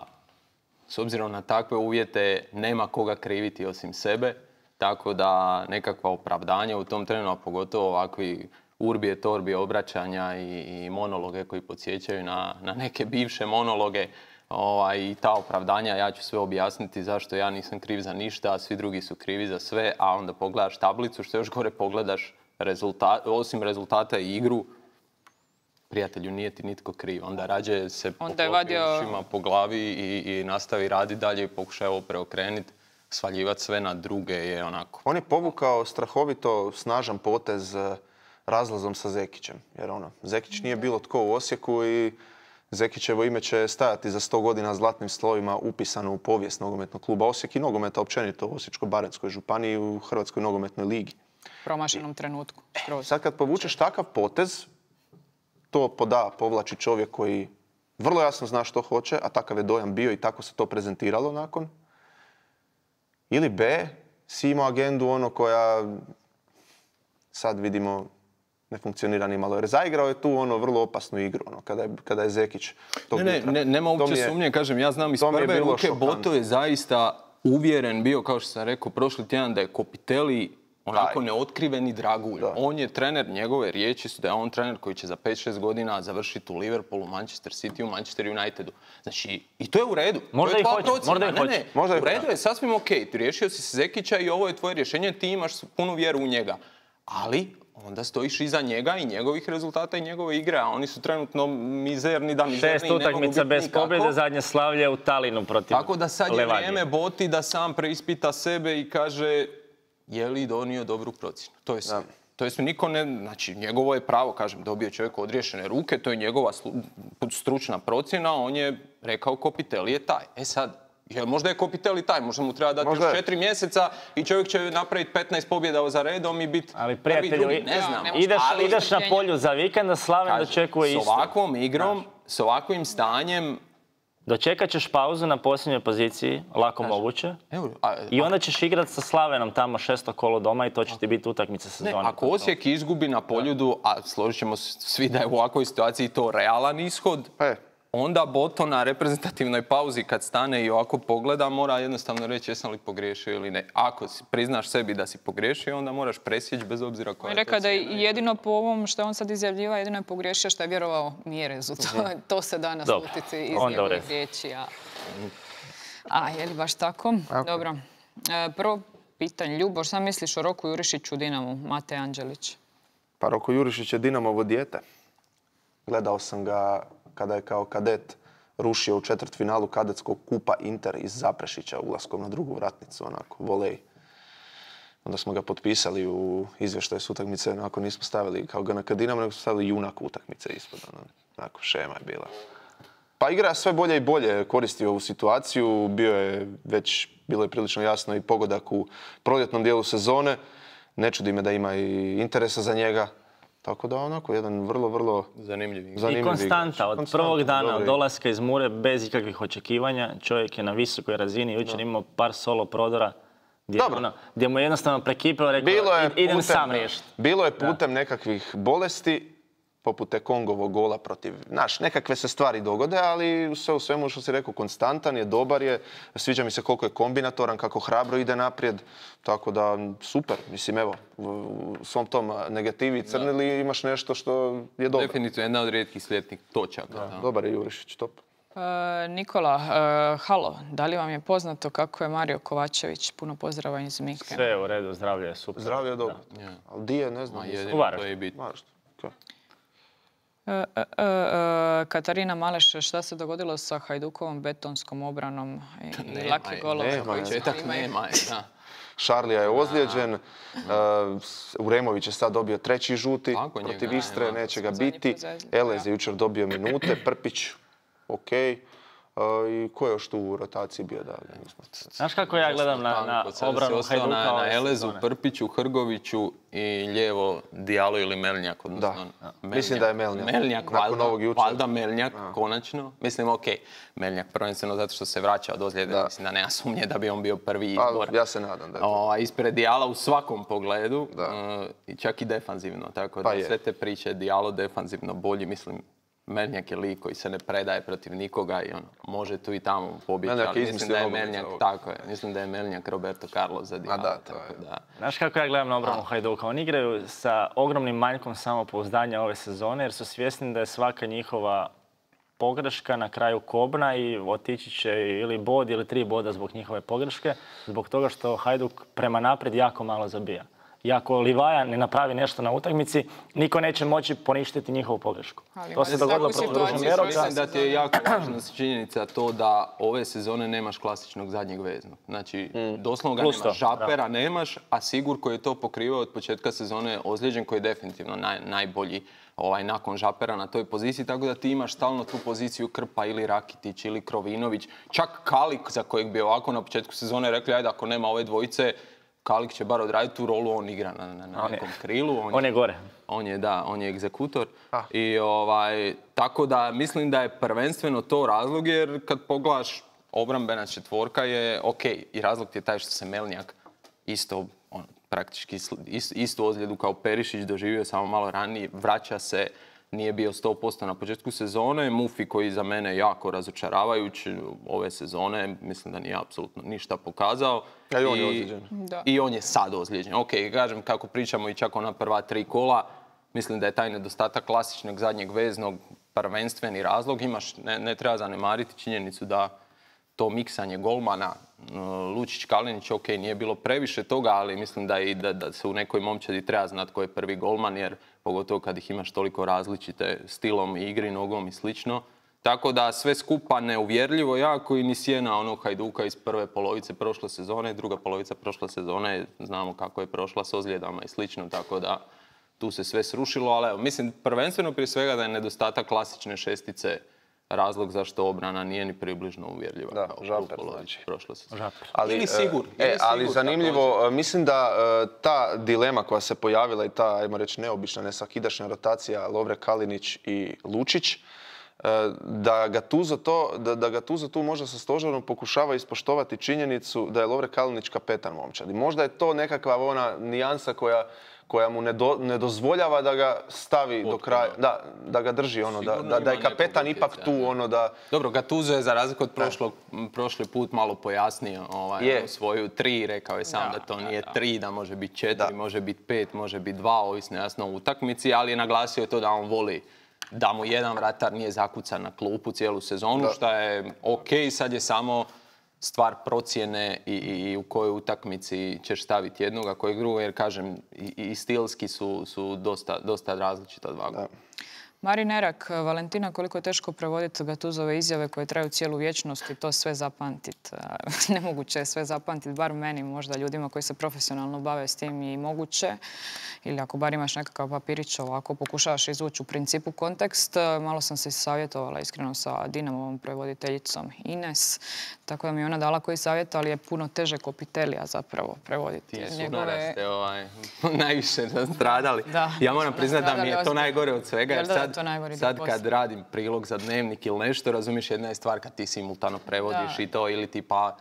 s obzirom na takve uvjete nema koga kriviti osim sebe. Tako da nekakva opravdanja u tom trenu, a pogotovo ovakvi urbije, torbije obraćanja i, i monologe koji podsjećaju na, na neke bivše monologe. Ovaj, I ta opravdanja, ja ću sve objasniti zašto ja nisam kriv za ništa, a svi drugi su krivi za sve, a onda pogledaš tablicu, što još gore pogledaš rezultat, osim rezultata i igru, prijatelju, nije ti nitko kriv. Onda rađe se Onda je poklopi vadio- ušima po glavi i, i nastavi raditi dalje i pokušaj ovo preokrenuti. Svaljivati sve na druge je onako. On je povukao strahovito snažan potez eh, razlazom sa Zekićem. Jer ono, Zekić nije bilo tko u Osijeku i Zekićevo ime će stajati za sto godina zlatnim slovima upisano u povijest nogometnog kluba Osijek i nogometa općenito u Osječko-baranjskoj županiji i u Hrvatskoj nogometnoj ligi. Promašenom trenutku. Skroz. Sad kad povučeš takav potez, to poda, povlači čovjek koji vrlo jasno zna što hoće, a takav je dojam bio i tako se to prezentiralo nakon. Ili B, si imao agendu ono koja sad vidimo ne funkcionira ni malo. Jer zaigrao je tu ono vrlo opasnu igru, ono, kada je, kada je Zekić tog Ne, ne, jutra. ne, nema To mi uopće je- sumnje, kažem, ja znam iz to mi je prve bilo ruke, šokantno. Boto je zaista uvjeren bio, kao što sam rekao prošli tjedan, da je Kopiteli onako Taj. neotkriveni dragulj. Da. On je trener, njegove riječi su da je on trener koji će za pet šest godina završiti u Liverpoolu, Manchester City, u Manchester Unitedu. Znači, i to je u redu. Možda to je i tvoja hoće, procjena. možda i Ne, hoće. ne, Možda i u redu hoće. je sasvim ok. Riješio si se Zekića i ovo je tvoje rješenje, ti imaš punu vjeru u njega. Ali onda stojiš iza njega i njegovih rezultata i njegove igre, a oni su trenutno mizerni da mizerni Šest i ne mogu utakmica biti bez nikako. pobjede, zadnje slavlje u Talinu protiv Tako da sad je Levadije. vrijeme Boti da sam preispita sebe i kaže je li donio dobru procjenu. To je sve. Da. To jest niko ne, znači njegovo je pravo, kažem, dobio je čovjek odriješene ruke, to je njegova slu- stručna procjena, on je rekao Kopiteli je taj. E sad, jel možda je Kopiteli taj, možda mu treba dati Možda još je. četiri mjeseca i čovjek će napraviti petnaest pobjeda za redom i biti Ali prvi, prijatelju, drugi, i- ne Ja, znam. ne može- ideš, Ali- ideš na polju za vikend, a Slaven Kažem, dočekuje s isto. ovakvom igrom, s ovakvim stanjem, Dočekat ćeš pauzu na posljednjoj poziciji, lako moguće. evo, a- I onda ćeš igrat sa Slavenom tamo šesto kolo doma i to će ti biti utakmica Ne, sezone. ako Osijek izgubi na Poljudu, a složit ćemo se svi da je u ovakvoj situaciji to realan ishod, E, onda Boto na reprezentativnoj pauzi kad stane i ovako pogleda mora jednostavno reći jesam li pogriješio ili ne. Ako si, priznaš sebi da si pogriješio, onda moraš presjeći bez obzira koja On je je rekao da je to cijena. jedino po ovom što je on sad izjavljivao, jedino je pogriješio što je vjerovao Mjerezu. To, to se da naslutiti iz onda u njegovih redu. riječi. A, a je li baš tako? Dobro. E, prvo pitanje, Ljuboš, šta misliš o Roku Jurišiću u Dinamu, Mate Anđelić? pa Roko Jurišić je Dinamovo dijete. Gledao sam ga kada je kao kadet rušio u četvrtfinalu kadetskog kupa Inter iz Zaprešića ulaskom na drugu vratnicu, onako, volej. Onda smo ga potpisali u izvještaju s utakmice, onako nismo stavili kao ga na Dinamo, nego smo stavili junak utakmice ispod, ono, onako, šema je bila. Pa igra je sve bolje i bolje, koristio ovu situaciju, bio je već, bilo je prilično jasno i pogodak u proljetnom dijelu sezone. Ne čudi me da ima i interesa za njega. Tako da onako, jedan vrlo, vrlo Zanimljiv igrač. I zanimljiv konstanta, igrač. od Konstanta, prvog dana, dobro od igra. dolaska iz Mure, bez ikakvih očekivanja. Čovjek je na visokoj razini, jučer imao par solo prodora Gdje, Dobro. ono, gdje mu je jednostavno prekipilo, rekao, Bilo je idem putem- sam riješiti. Bilo je putem nekakvih bolesti, poput te Kongovog gola protiv... Znaš, nekakve se stvari dogode, ali sve u svemu što si rekao, konstantan je, dobar je. Sviđa mi se koliko je kombinatoran, kako hrabro ide naprijed. Tako da, super. Mislim, evo, u u svom tom negativi crnili imaš nešto što je dobro. Definitivno jedna od rijetkih slijetnih točaka. Da. Dobar je Jurišić, top. E, Nikola, e, halo, da li vam je poznato kako je Mario Kovačević? Puno pozdrava iz Minhena. Sve je u redu, zdravlje je super. Zdravlje je dobro. Ja. Ali di je, ne znam. Ma, nisam- jedino Varaždin. to je bitno. Varaždin, okej. E, e, e, e, Katarina Maleš, šta se dogodilo sa Hajdukovom betonskom obranom i, i laki golova? nema, koji Početak imaju? nema je, da. Šarlija je ozlijeđen, uh, Uremović je sad dobio treći žuti Tako, njega protiv nema. Istre, neće ga Zadnji biti. put za- Elez je jučer dobio minute, Prpić, ok. Uh, I ko je još tu u rotaciji bio da ga nismo... Znaš kako ja gledam na, na Tanko, sad si obranu ostao Hajduka na, ove na Elezu, sezone? Prpiću, Hrgoviću i lijevo Dijalo ili Melnjak. Odnosno, Da. Melnjak. Mislim da je Melnjak. Melnjak, Nakon valjda, ovog jučer. valjda Melnjak, konačno. Mislim, ok, Melnjak prvenstveno zato što se vraća od ozljede. Da. Mislim da nema sumnje da bi on bio prvi A, izbor. ja se nadam da je to. O, ispred Dijala u svakom pogledu, Da. e, i čak i defanzivno. Tako Pa da je. sve te priče Dijalo defanzivno bolji, mislim, Melnjak je lik koji se ne predaje protiv nikoga i on može tu i tamo pobjeći, Melnjak je ali mislim izmislio da je nogomet za Melnjak, ovog. tako je, mislim da je Melnjak Roberto Carlos za Dijala. da, to tako je. da. Znaš kako ja gledam na obranu Hajduka? Oni igraju sa ogromnim manjkom samopouzdanja ove sezone jer su svjesni da je svaka njihova pogreška na kraju kobna i otići će ili bod ili tri boda zbog njihove pogreške, zbog toga što Hajduk prema naprijed jako malo zabija. I ako Livaja ne napravi nešto na utakmici, niko neće moći poništiti njihovu pogrešku. Ali To se imate dogodilo takvu protiv situaciju Ružomberoka. Mislim da ti je jako važna činjenica to da ove sezone nemaš klasičnog zadnjeg veznog. Znači, doslovno ga Plus nemaš, to, Žapera nemaš, a Sigur koji je to pokrivao od početka sezone je ozlijeđen, koji je definitivno naj, najbolji ovaj, nakon Žapera na toj poziciji, tako da ti imaš stalno tu poziciju Krpa ili Rakitić ili Krovinović, čak Kalik za kojeg bi ovako na početku sezone rekli, ajde ako nema ove dvojice, Kalik će bar odraditi tu rolu, on igra na, na, na On je- nekom krilu. On je gore. On je, da, on je egzekutor. Ah. I ovaj, tako da mislim da je prvenstveno to razlog jer kad pogledaš obrambena četvorka je ok i razlog ti je taj što se Melnjak isto on, praktički sl- ist- istu ozljedu kao Perišić doživio samo malo ranije, vraća se, nije bio sto posto na početku sezone. Mufi koji za mene jako razočaravajuć ove sezone, mislim da nije apsolutno ništa pokazao. A i on je ozlijeđen. Da. I on je sad ozlijeđen. Ok, kažem kako pričamo i čak ona prva tri kola, mislim da je taj nedostatak klasičnog zadnjeg veznog prvenstveni razlog. Imaš, ne, ne treba zanemariti činjenicu da to miksanje golmana, Lučić, Kalinić, ok, nije bilo previše toga, ali mislim da, i da, da se u nekoj momčadi treba znati ko je prvi golman, jer pogotovo kad ih imaš toliko različite stilom i igri, nogom i slično. Tako da sve skupa neuvjerljivo jako i ni sjena onog Hajduka iz prve polovice prošle sezone, druga polovica prošle sezone, znamo kako je prošla s ozljedama i slično, tako da tu se sve srušilo, ali evo, mislim prvenstveno prije svega da je nedostatak klasične šestice razlog zašto obrana nije ni približno uvjerljiva Da, kao u Žaper, polovici znači. prošle sezone. Žaper. Ali, Ili e, Sigur, E, ili ali Sigur zanimljivo, e, mislim da e, ta dilema koja se pojavila i ta, ajmo reći, neobična, nesakidašnja rotacija Lovre Kalinić i Lučić, e, da Gattuso to, da, da Gattuso tu možda sa stožerom pokušava ispoštovati činjenicu da je Lovre Kalinić kapetan momčadi. Možda je to nekakva ona nijansa koja koja mu ne, do, ne dozvoljava da ga stavi do kraja, da, da ga drži, ono, da, Sigurno da, da je ima nekog kapetan ipak utjecaja, tu, da. ono, da... Dobro, Gattuso je za razliku od prošlog, m, prošli put malo pojasnio ovaj, Je. svoju tri, rekao je sam Da, da, to da, nije da. tri, da može biti četiri, Da. može biti pet, može biti dva, ovisno jasno o utakmici, ali je naglasio to da on voli da mu jedan vratar nije zakucan na klupu cijelu sezonu, Da. što je ok, sad je samo stvar procjene i, i, i u kojoj utakmici ćeš staviti jednog, a kojeg drugog, jer kažem, i, i stilski su, su dosta, dosta različita dva. Da. Marin Erak, Valentina, koliko je teško prevoditi Gatuzove izjave koje traju cijelu vječnost i to sve zapamtiti. Nemoguće je sve zapamtiti, bar meni, možda ljudima koji se profesionalno bave s tim i moguće. Ili ako bar imaš nekakav papirić ovako, pokušavaš izvući u principu kontekst. Malo sam se savjetovala iskreno sa Dinamovom prevoditeljicom Ines. Tako da mi je ona dala koji savjet, ali je puno teže Kopitelija zapravo prevoditi. Ti Njegove- sunara ste ovaj, najviše nastradali. Da, Ja moram priznati da mi je nastradali to ozbiljno. najgore od svega. Jel Jer da, da je sad, to najgori dio sad posla? kad radim prilog za dnevnik ili nešto, razumiješ, jedna je stvar kad ti simultano prevodiš Da. i to, ili tipa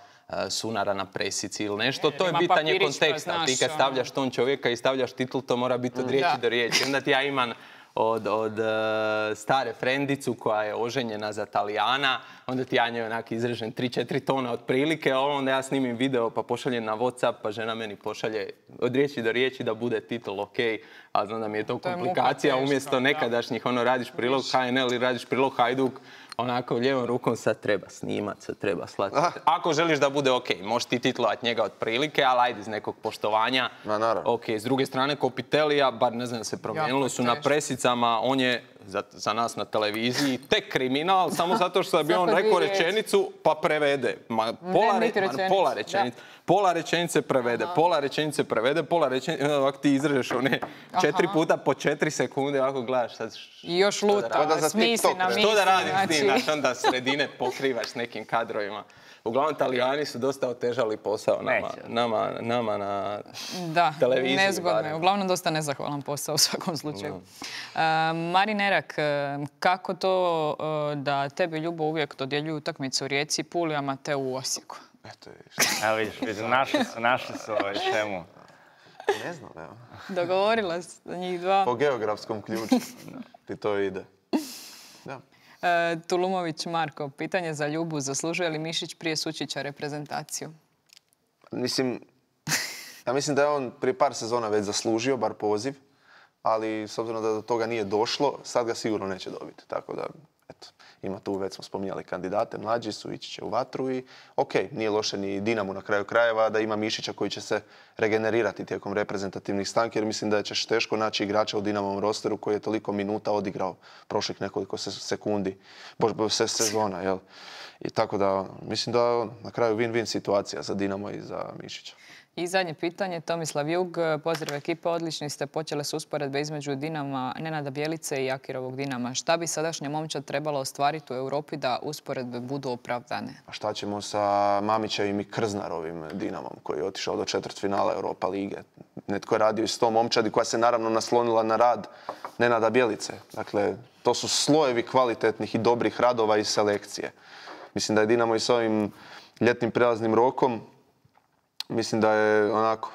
sunara na presici ili nešto. To je ima pitanje papirić, pa konteksta. znaš, Ti kad ono. stavljaš ton čovjeka i stavljaš titul, to mora biti od riječi Da. do riječi. Onda ti ja imam od, od uh, stare frendicu koja je oženjena za Talijana, onda ti ja njoj onak izrežem tri četiri tona otprilike, a onda ja snimim video pa pošaljem na WhatsApp, pa žena meni pošalje od riječi do riječi da bude titul ok, a znam da mi je to To je muka komplikacija, teška, umjesto da. nekadašnjih, ono radiš prilog H N L ili radiš prilog Hajduk, onako lijevom rukom sad treba snimat, sad treba slati. Ako želiš da bude ok, možeš ti titlovat njega otprilike, ali ajde iz nekog poštovanja. Ma, naravno. Ok, s druge strane Kopitelija, bar ne znam se promijenilo, Jako su na teško. presicama, on je za, za nas na televiziji tek kriminal, samo zato što bi on Svako rekao dvije riječi. rečenicu pa prevede. Ma, pola, niti re- ma, rečenicu, pola da. rečenice. Pola rečenice prevede, pola rečenice prevede, pola rečenice, ovako ti izrežeš one četiri puta po četiri sekunde, ovako gledaš sad. š- I još što da luta, radim? Ko da za smisli TikTok, na ne? misli. Što da radim s tim, znači. znaš, onda sredine pokrivaš s nekim kadrovima. Uglavnom, Talijani su dosta otežali posao nama, Neće. nama, nama na Da, televiziji. nezgodno je. barem. Uglavnom dosta nezahvalan posao u svakom slučaju. E, Marin Erak, e, kako to e, da tebi Ljubo uvijek dodjeljuju utakmice u Rijeci, Puli, a Mateu u Osijeku? Eto, vidiš. Evo vidiš, vidiš, našli su, našli su ovaj šemu. Ne znam, evo. Dogovorila se za njih dva. Po geografskom ključu ti to ide. Da. E, Tulumović Marko, pitanje za Ljubu, zaslužuje li Mišić prije Sučića reprezentaciju? Mislim, ja mislim da je on prije par sezona već zaslužio, bar poziv, ali s obzirom da do toga nije došlo, sad ga sigurno neće dobiti. Tako da, eto, ima tu, već smo spominjali kandidate, mlađi su, ići će u vatru i ok, nije loše ni Dinamo na kraju krajeva da ima Mišića koji će se regenerirati tijekom reprezentativnih stanki, jer mislim da ćeš teško naći igrača u Dinamovom rosteru koji je toliko minuta odigrao prošlih nekoliko se- sekundi, bož, bož, se, sezona, jel? I tako da, mislim da je na kraju win-win situacija za Dinamo i za Mišića. I zadnje pitanje, Tomislav Jug, pozdrav ekipa, odlični ste, počele su usporedbe između Dinama, Nenada Bjelice i Jakirovog Dinama. Šta bi sadašnja momčad trebalo ostvariti u Europi da usporedbe budu opravdane? A šta ćemo sa Mamićevim i Krznarovim Dinamom koji je otišao do četvrtfinala Europa lige? Netko je radio i s tom momčadi koja se naravno naslonila na rad Nenada Bjelice. Dakle, to su slojevi kvalitetnih i dobrih radova i selekcije. Mislim da je Dinamo i s ovim ljetnim prelaznim rokom, mislim da je onako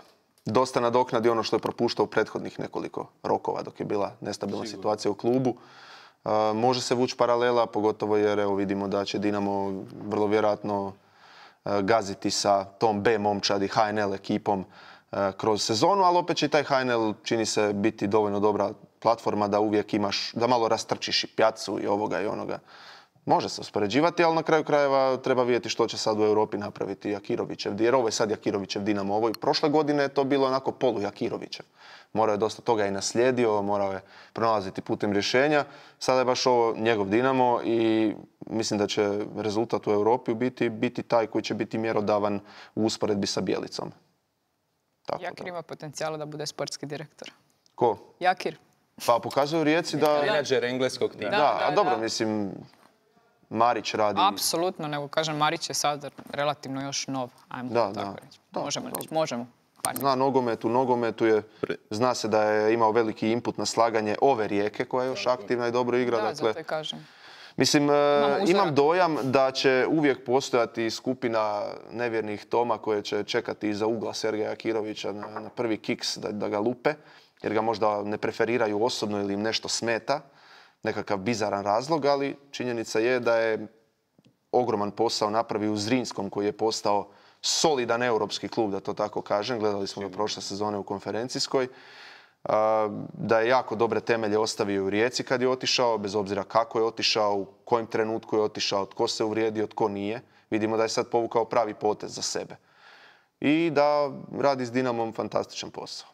dosta nadoknadi ono što je propuštao u prethodnih nekoliko rokova dok je bila nestabilna situacija u klubu. Uh, može se vući paralela, pogotovo jer evo vidimo da će Dinamo vrlo vjerojatno uh, gaziti sa tom B momčadi H N L ekipom uh, kroz sezonu, ali opet će i taj H N L čini se biti dovoljno dobra platforma da uvijek imaš, da malo rastrčiš i pjacu i ovoga i onoga. Može se uspoređivati, ali na kraju krajeva treba vidjeti što će sad u Europi napraviti Jakirovićev. Jer ovo je sad Jakirovićev Dinamo. Ovo i prošle godine je to bilo onako polu Jakirovićev. Morao je dosta toga i naslijedio, morao je pronalaziti putem rješenja. Sada je baš ovo njegov Dinamo i mislim da će rezultat u Europi biti, biti taj koji će biti mjerodavan u usporedbi sa Bjelicom. Tako Jakir da. ima potencijala da bude sportski direktor. Ko? Jakir. Pa pokazuju Rijeci da... Menadžer engleskog tima. Da, Da, a da, dobro, da. mislim, Marić radi... Apsolutno, nego kažem, Marić je sad relativno još nov. Ajmo Da, tako da. reći. Da, Možemo da. reći, možemo. Pardon. Zna nogomet, u nogometu je, zna se da je imao veliki input na slaganje ove Rijeke koja je još aktivna i dobro igra. Da, dakle, zato i kažem. mislim, e, uzorak. imam dojam da će uvijek postojati skupina nevjernih Toma koje će čekati iza ugla Sergeja Jakirovića na, na prvi kiks da, da ga lupe, jer ga možda ne preferiraju osobno ili im nešto smeta, nekakav bizaran razlog, ali činjenica je da je ogroman posao napravio u Zrinskom koji je postao solidan europski klub, da to tako kažem. Gledali smo ga prošle sezone u konferencijskoj. A, da je jako dobre temelje ostavio u Rijeci kad je otišao, bez obzira kako je otišao, u kojem trenutku je otišao, tko se uvrijedio, tko nije. Vidimo da je sad povukao pravi potez za sebe. I da radi s Dinamom fantastičan posao.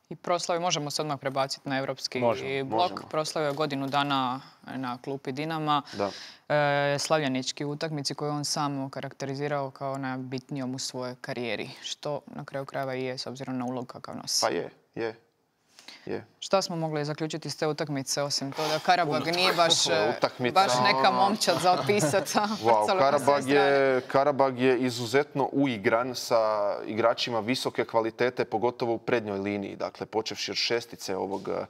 I proslavi možemo se odmah prebaciti na evropski Možemo, blok. možemo. Proslavio je godinu dana na klupi Dinama. Da. E, slavljenički utakmici koju on sam karakterizirao kao najbitnijom u svojoj karijeri. Što na kraju krajeva i je s obzirom na ulog kakav nosi. Pa je, je. Je. Šta smo mogli zaključiti iz te utakmice, osim to da Karabag nije baš, Utakmica, baš neka ono- momčad za opisat. Wow, Karabag je, Karabag je izuzetno uigran sa igračima visoke kvalitete, pogotovo u prednjoj liniji. Dakle, počevši od šestice ovog eh,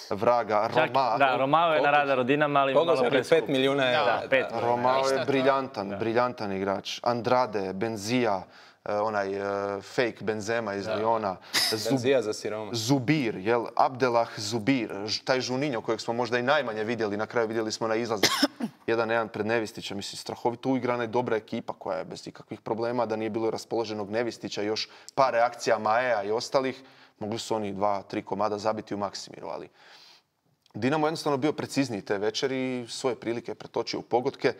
vraga Čak, Roma. da, Romao je na radaru Dinama, ali malo Pogođen je preskup. pet milijuna eura. Da, pet. da. Romao Ništa je to. briljantan, briljantan igrač. Andrade, Benzija, eh, onaj eh, fake Benzema iz Liona. Zub- Benzija za siroma. Zubir, jel? Abdelah Zubir, ž- taj Žuninjo kojeg smo možda i najmanje vidjeli, na kraju vidjeli smo na izlazu jedan jedan pred Nevistića. Mislim, strahovito uigrana i dobra ekipa koja je bez ikakvih problema, da nije bilo raspoloženog Nevistića, još par reakcija Maea i ostalih, mogli su oni dva, tri komada zabiti u Maksimiru, ali Dinamo je jednostavno bio precizniji te večeri i svoje prilike pretočio u pogodke.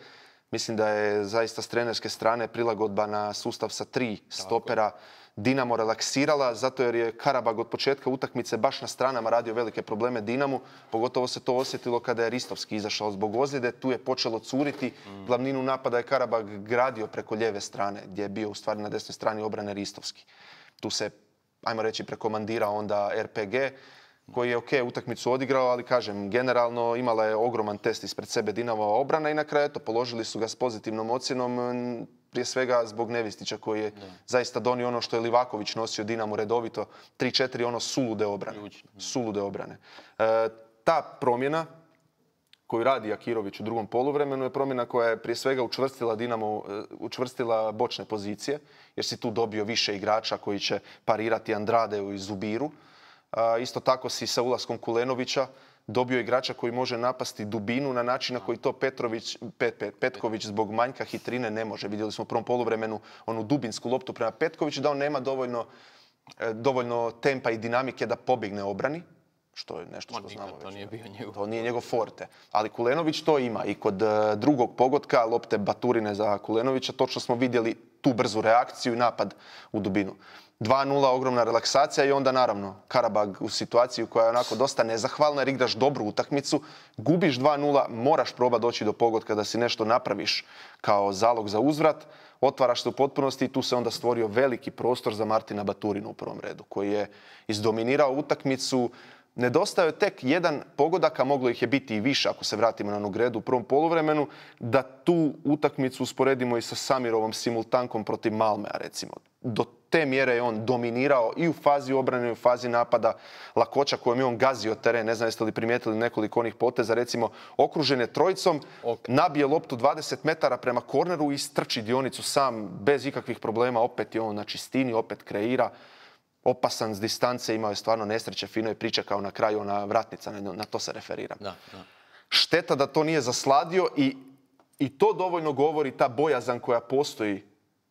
Mislim da je zaista s trenerske strane prilagodba na sustav sa tri stopera Dinamo relaksirala, zato jer je Karabag od početka utakmice baš na stranama radio velike probleme Dinamu. Pogotovo se to osjetilo kada je Ristovski izašao zbog ozljede. Tu je počelo curiti. Glavninu napada je Karabag gradio preko lijeve strane, gdje je bio u stvari na desnoj strani obrane Ristovski. Tu se, ajmo reći, prekomandirao onda R P G, koji je ok utakmicu odigrao, ali kažem, generalno imala je ogroman test ispred sebe Dinamova obrana i na kraju eto, položili su ga s pozitivnom ocjenom, m, prije svega zbog Nevistića koji je zaista donio ono što je Livaković nosio Dinamo redovito, tri četiri ono sulude obrane. Sulude obrane. E, ta promjena koju radi Akirović u drugom poluvremenu je promjena koja je prije svega učvrstila Dinamo, e, učvrstila bočne pozicije, jer si tu dobio više igrača koji će parirati Andradeu i Zubiru. A, isto tako si sa ulaskom Kulenovića dobio igrača koji može napasti dubinu na način na koji to Petrović, Pet, Pet, Petković zbog manjka hitrine ne može. Vidjeli smo u prvom poluvremenu onu dubinsku loptu prema Petkoviću da on nema dovoljno, e, dovoljno tempa i dinamike da pobjegne obrani, što je nešto što On znamo nikad to već. nije bio njegov. To nije njegov forte. Ali Kulenović to ima i kod e, drugog pogotka, lopte Baturine za Kulenovića, točno smo vidjeli tu brzu reakciju i napad u dubinu. dva nula, ogromna relaksacija i onda naravno Karabag u situaciju koja je onako dosta nezahvalna jer igraš dobru utakmicu, gubiš dva nula, moraš probati doći do pogotka da si nešto napraviš kao zalog za uzvrat, otvaraš se u potpunosti i tu se onda stvorio veliki prostor za Martina Baturinu u prvom redu koji je izdominirao utakmicu. Nedostao je tek jedan pogodak, a moglo ih je biti i više ako se vratimo na onu gredu u prvom poluvremenu, da tu utakmicu usporedimo i sa Samirovom simultankom protiv Malmea recimo. Do te mjere je on dominirao i u fazi obrane i u fazi napada. Lakoća kojom je on gazio teren, ne znam jeste li primijetili nekoliko onih poteza, recimo okružen je trojicom, nabije loptu dvadeset metara prema korneru i strči dionicu sam bez ikakvih problema, opet je on na čistini, opet kreira. Opasan s distance, imao je stvarno nesreće, fino je pričekao na kraju ona vratnica, na, na to se referiram. Da, da. Šteta da to nije zasladio i, i to dovoljno govori ta bojazan koja postoji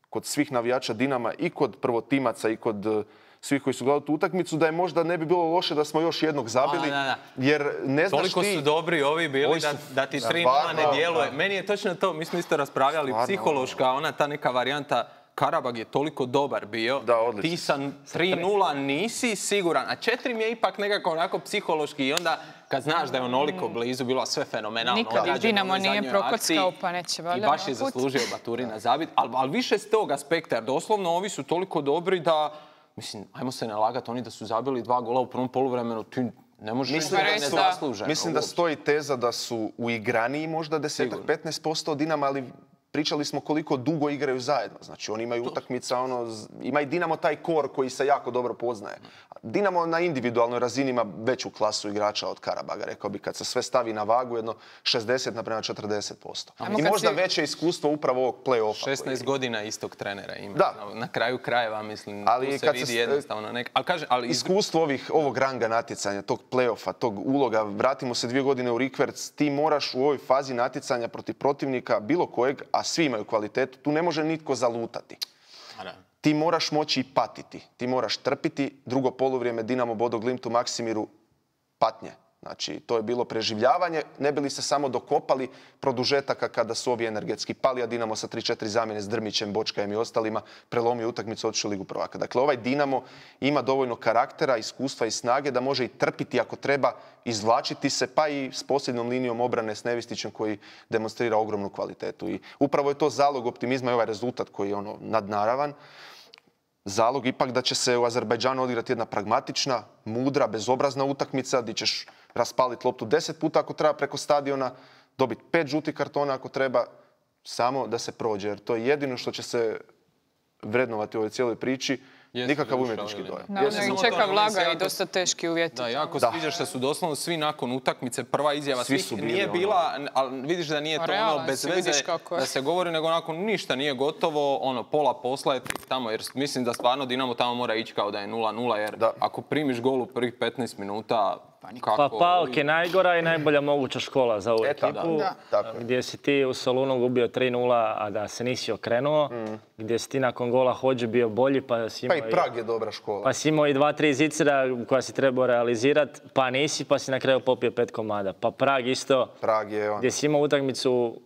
kod svih navijača Dinama i kod prvotimaca i kod uh, svih koji su gledali tu utakmicu, da je možda ne bi bilo loše da smo još jednog zabili, A, da, da. jer ne znaš Toliko ti... su dobri ovi bili Ovi da, su- da ti da, tri nula ne stvarno, djeluje. da. Meni je točno to, mi smo isto raspravljali, Stvarno, psihološka, ona ta neka varijanta, Karabag je toliko dobar bio, Da, odlično. ti sa tri nula nisi siguran, a četiri mi je ipak nekako onako psihološki i onda kad znaš da je onoliko blizu, bilo sve fenomenalno. Nikad ih odrađeno Dinamo u ovoj nije zadnjoj prokockao, akciji pa neće I valjda baš je ovaj put. zaslužio Baturina zabit, ali al više s tog aspekta, jer doslovno ovi su toliko dobri da, mislim, ajmo se ne lagati, oni da su zabili dva gola u prvom poluvremenu, ti ne možeš Mislim reći da da ne su- zasluže. Mislim da stoji teza da su uigraniji možda deset do petnaest posto od Dinama, ali pričali smo koliko dugo igraju zajedno. Znači oni imaju utakmica, ono, z- ima i Dinamo taj kor koji se jako dobro poznaje. Dinamo na individualnoj razini ima veću klasu igrača od Karabaga, rekao bi kad se sve stavi na vagu jedno šezdeset naprema četrdeset posto. Ajmo I kad možda si- veće iskustvo upravo ovog play-offa. šesnaest koji- godina istog trenera ima. Da. Na, na kraju krajeva, mislim, Ali tu se kad se vidi s- jednostavno nek... Ali kaže, ali iz... Iskustvo ovih, ovog ranga natjecanja, tog play-offa, tog uloga, vratimo se dvije godine u rikverc, ti moraš u ovoj fazi natjecanja protiv protivnika bilo kojeg, a svi imaju kvalitetu, tu ne može nitko zalutati. A da. Ti moraš moći i patiti, ti moraš trpiti. Drugo poluvrijeme Dinamo Bodo Glimt u Maksimiru patnje. Znači, to je bilo preživljavanje, ne bi li se samo dokopali produžetaka kada su ovi energetski pali, a Dinamo sa tri četiri zamjene s Drmićem, Bočkajem i ostalima prelomio utakmicu, otišao u Ligu prvaka. Dakle, ovaj Dinamo ima dovoljno karaktera, iskustva i snage da može i trpiti ako treba, izvlačiti se, pa i s posljednom linijom obrane s Nevistićem koji demonstrira ogromnu kvalitetu. I upravo je to zalog optimizma i ovaj rezultat koji je ono nadnaravan. zalog ipak da će se u Azerbajdžanu odigrati jedna pragmatična, mudra, bezobrazna utakmica gdje ćeš raspaliti loptu deset puta ako treba preko stadiona, dobiti pet žutih kartona ako treba, samo da se prođe. Jer to je jedino što će se vrednovati u ovoj cijeloj priči. Jeste nikakav duša, umjetnički ili ne? dojam. Naravno, Samo i to, čeka meni se vlaga i jako- dosta teški uvjeti. Da, jako Da. sviđa što su doslovno svi nakon utakmice, prva izjava Svi svih su bili nije ono- bila, ali vidiš da nije Pa to ono realan bez si, veze vidiš kako je. da se govori, nego onako ništa nije gotovo, ono pola posla je tek tamo, jer mislim da stvarno Dinamo tamo mora ići kao da je nula nula, jer Da. ako primiš gol u prvih petnaest minuta, kako... Pa Paok je najgora i najbolja moguća škola za ovu E, tako, ekipu. da. Tako je. Gdje si ti u Solunu gubio tri nula, a da se nisi okrenuo. Gdje si ti nakon gola Hodže bio bolji, pa si Pa imao i Prag je dobra škola. Pa si imao i dva, tri zicera koja si trebao realizirati, pa nisi, pa si na kraju popio pet komada. Pa Prag isto, Prag je on. gdje si imao utakmicu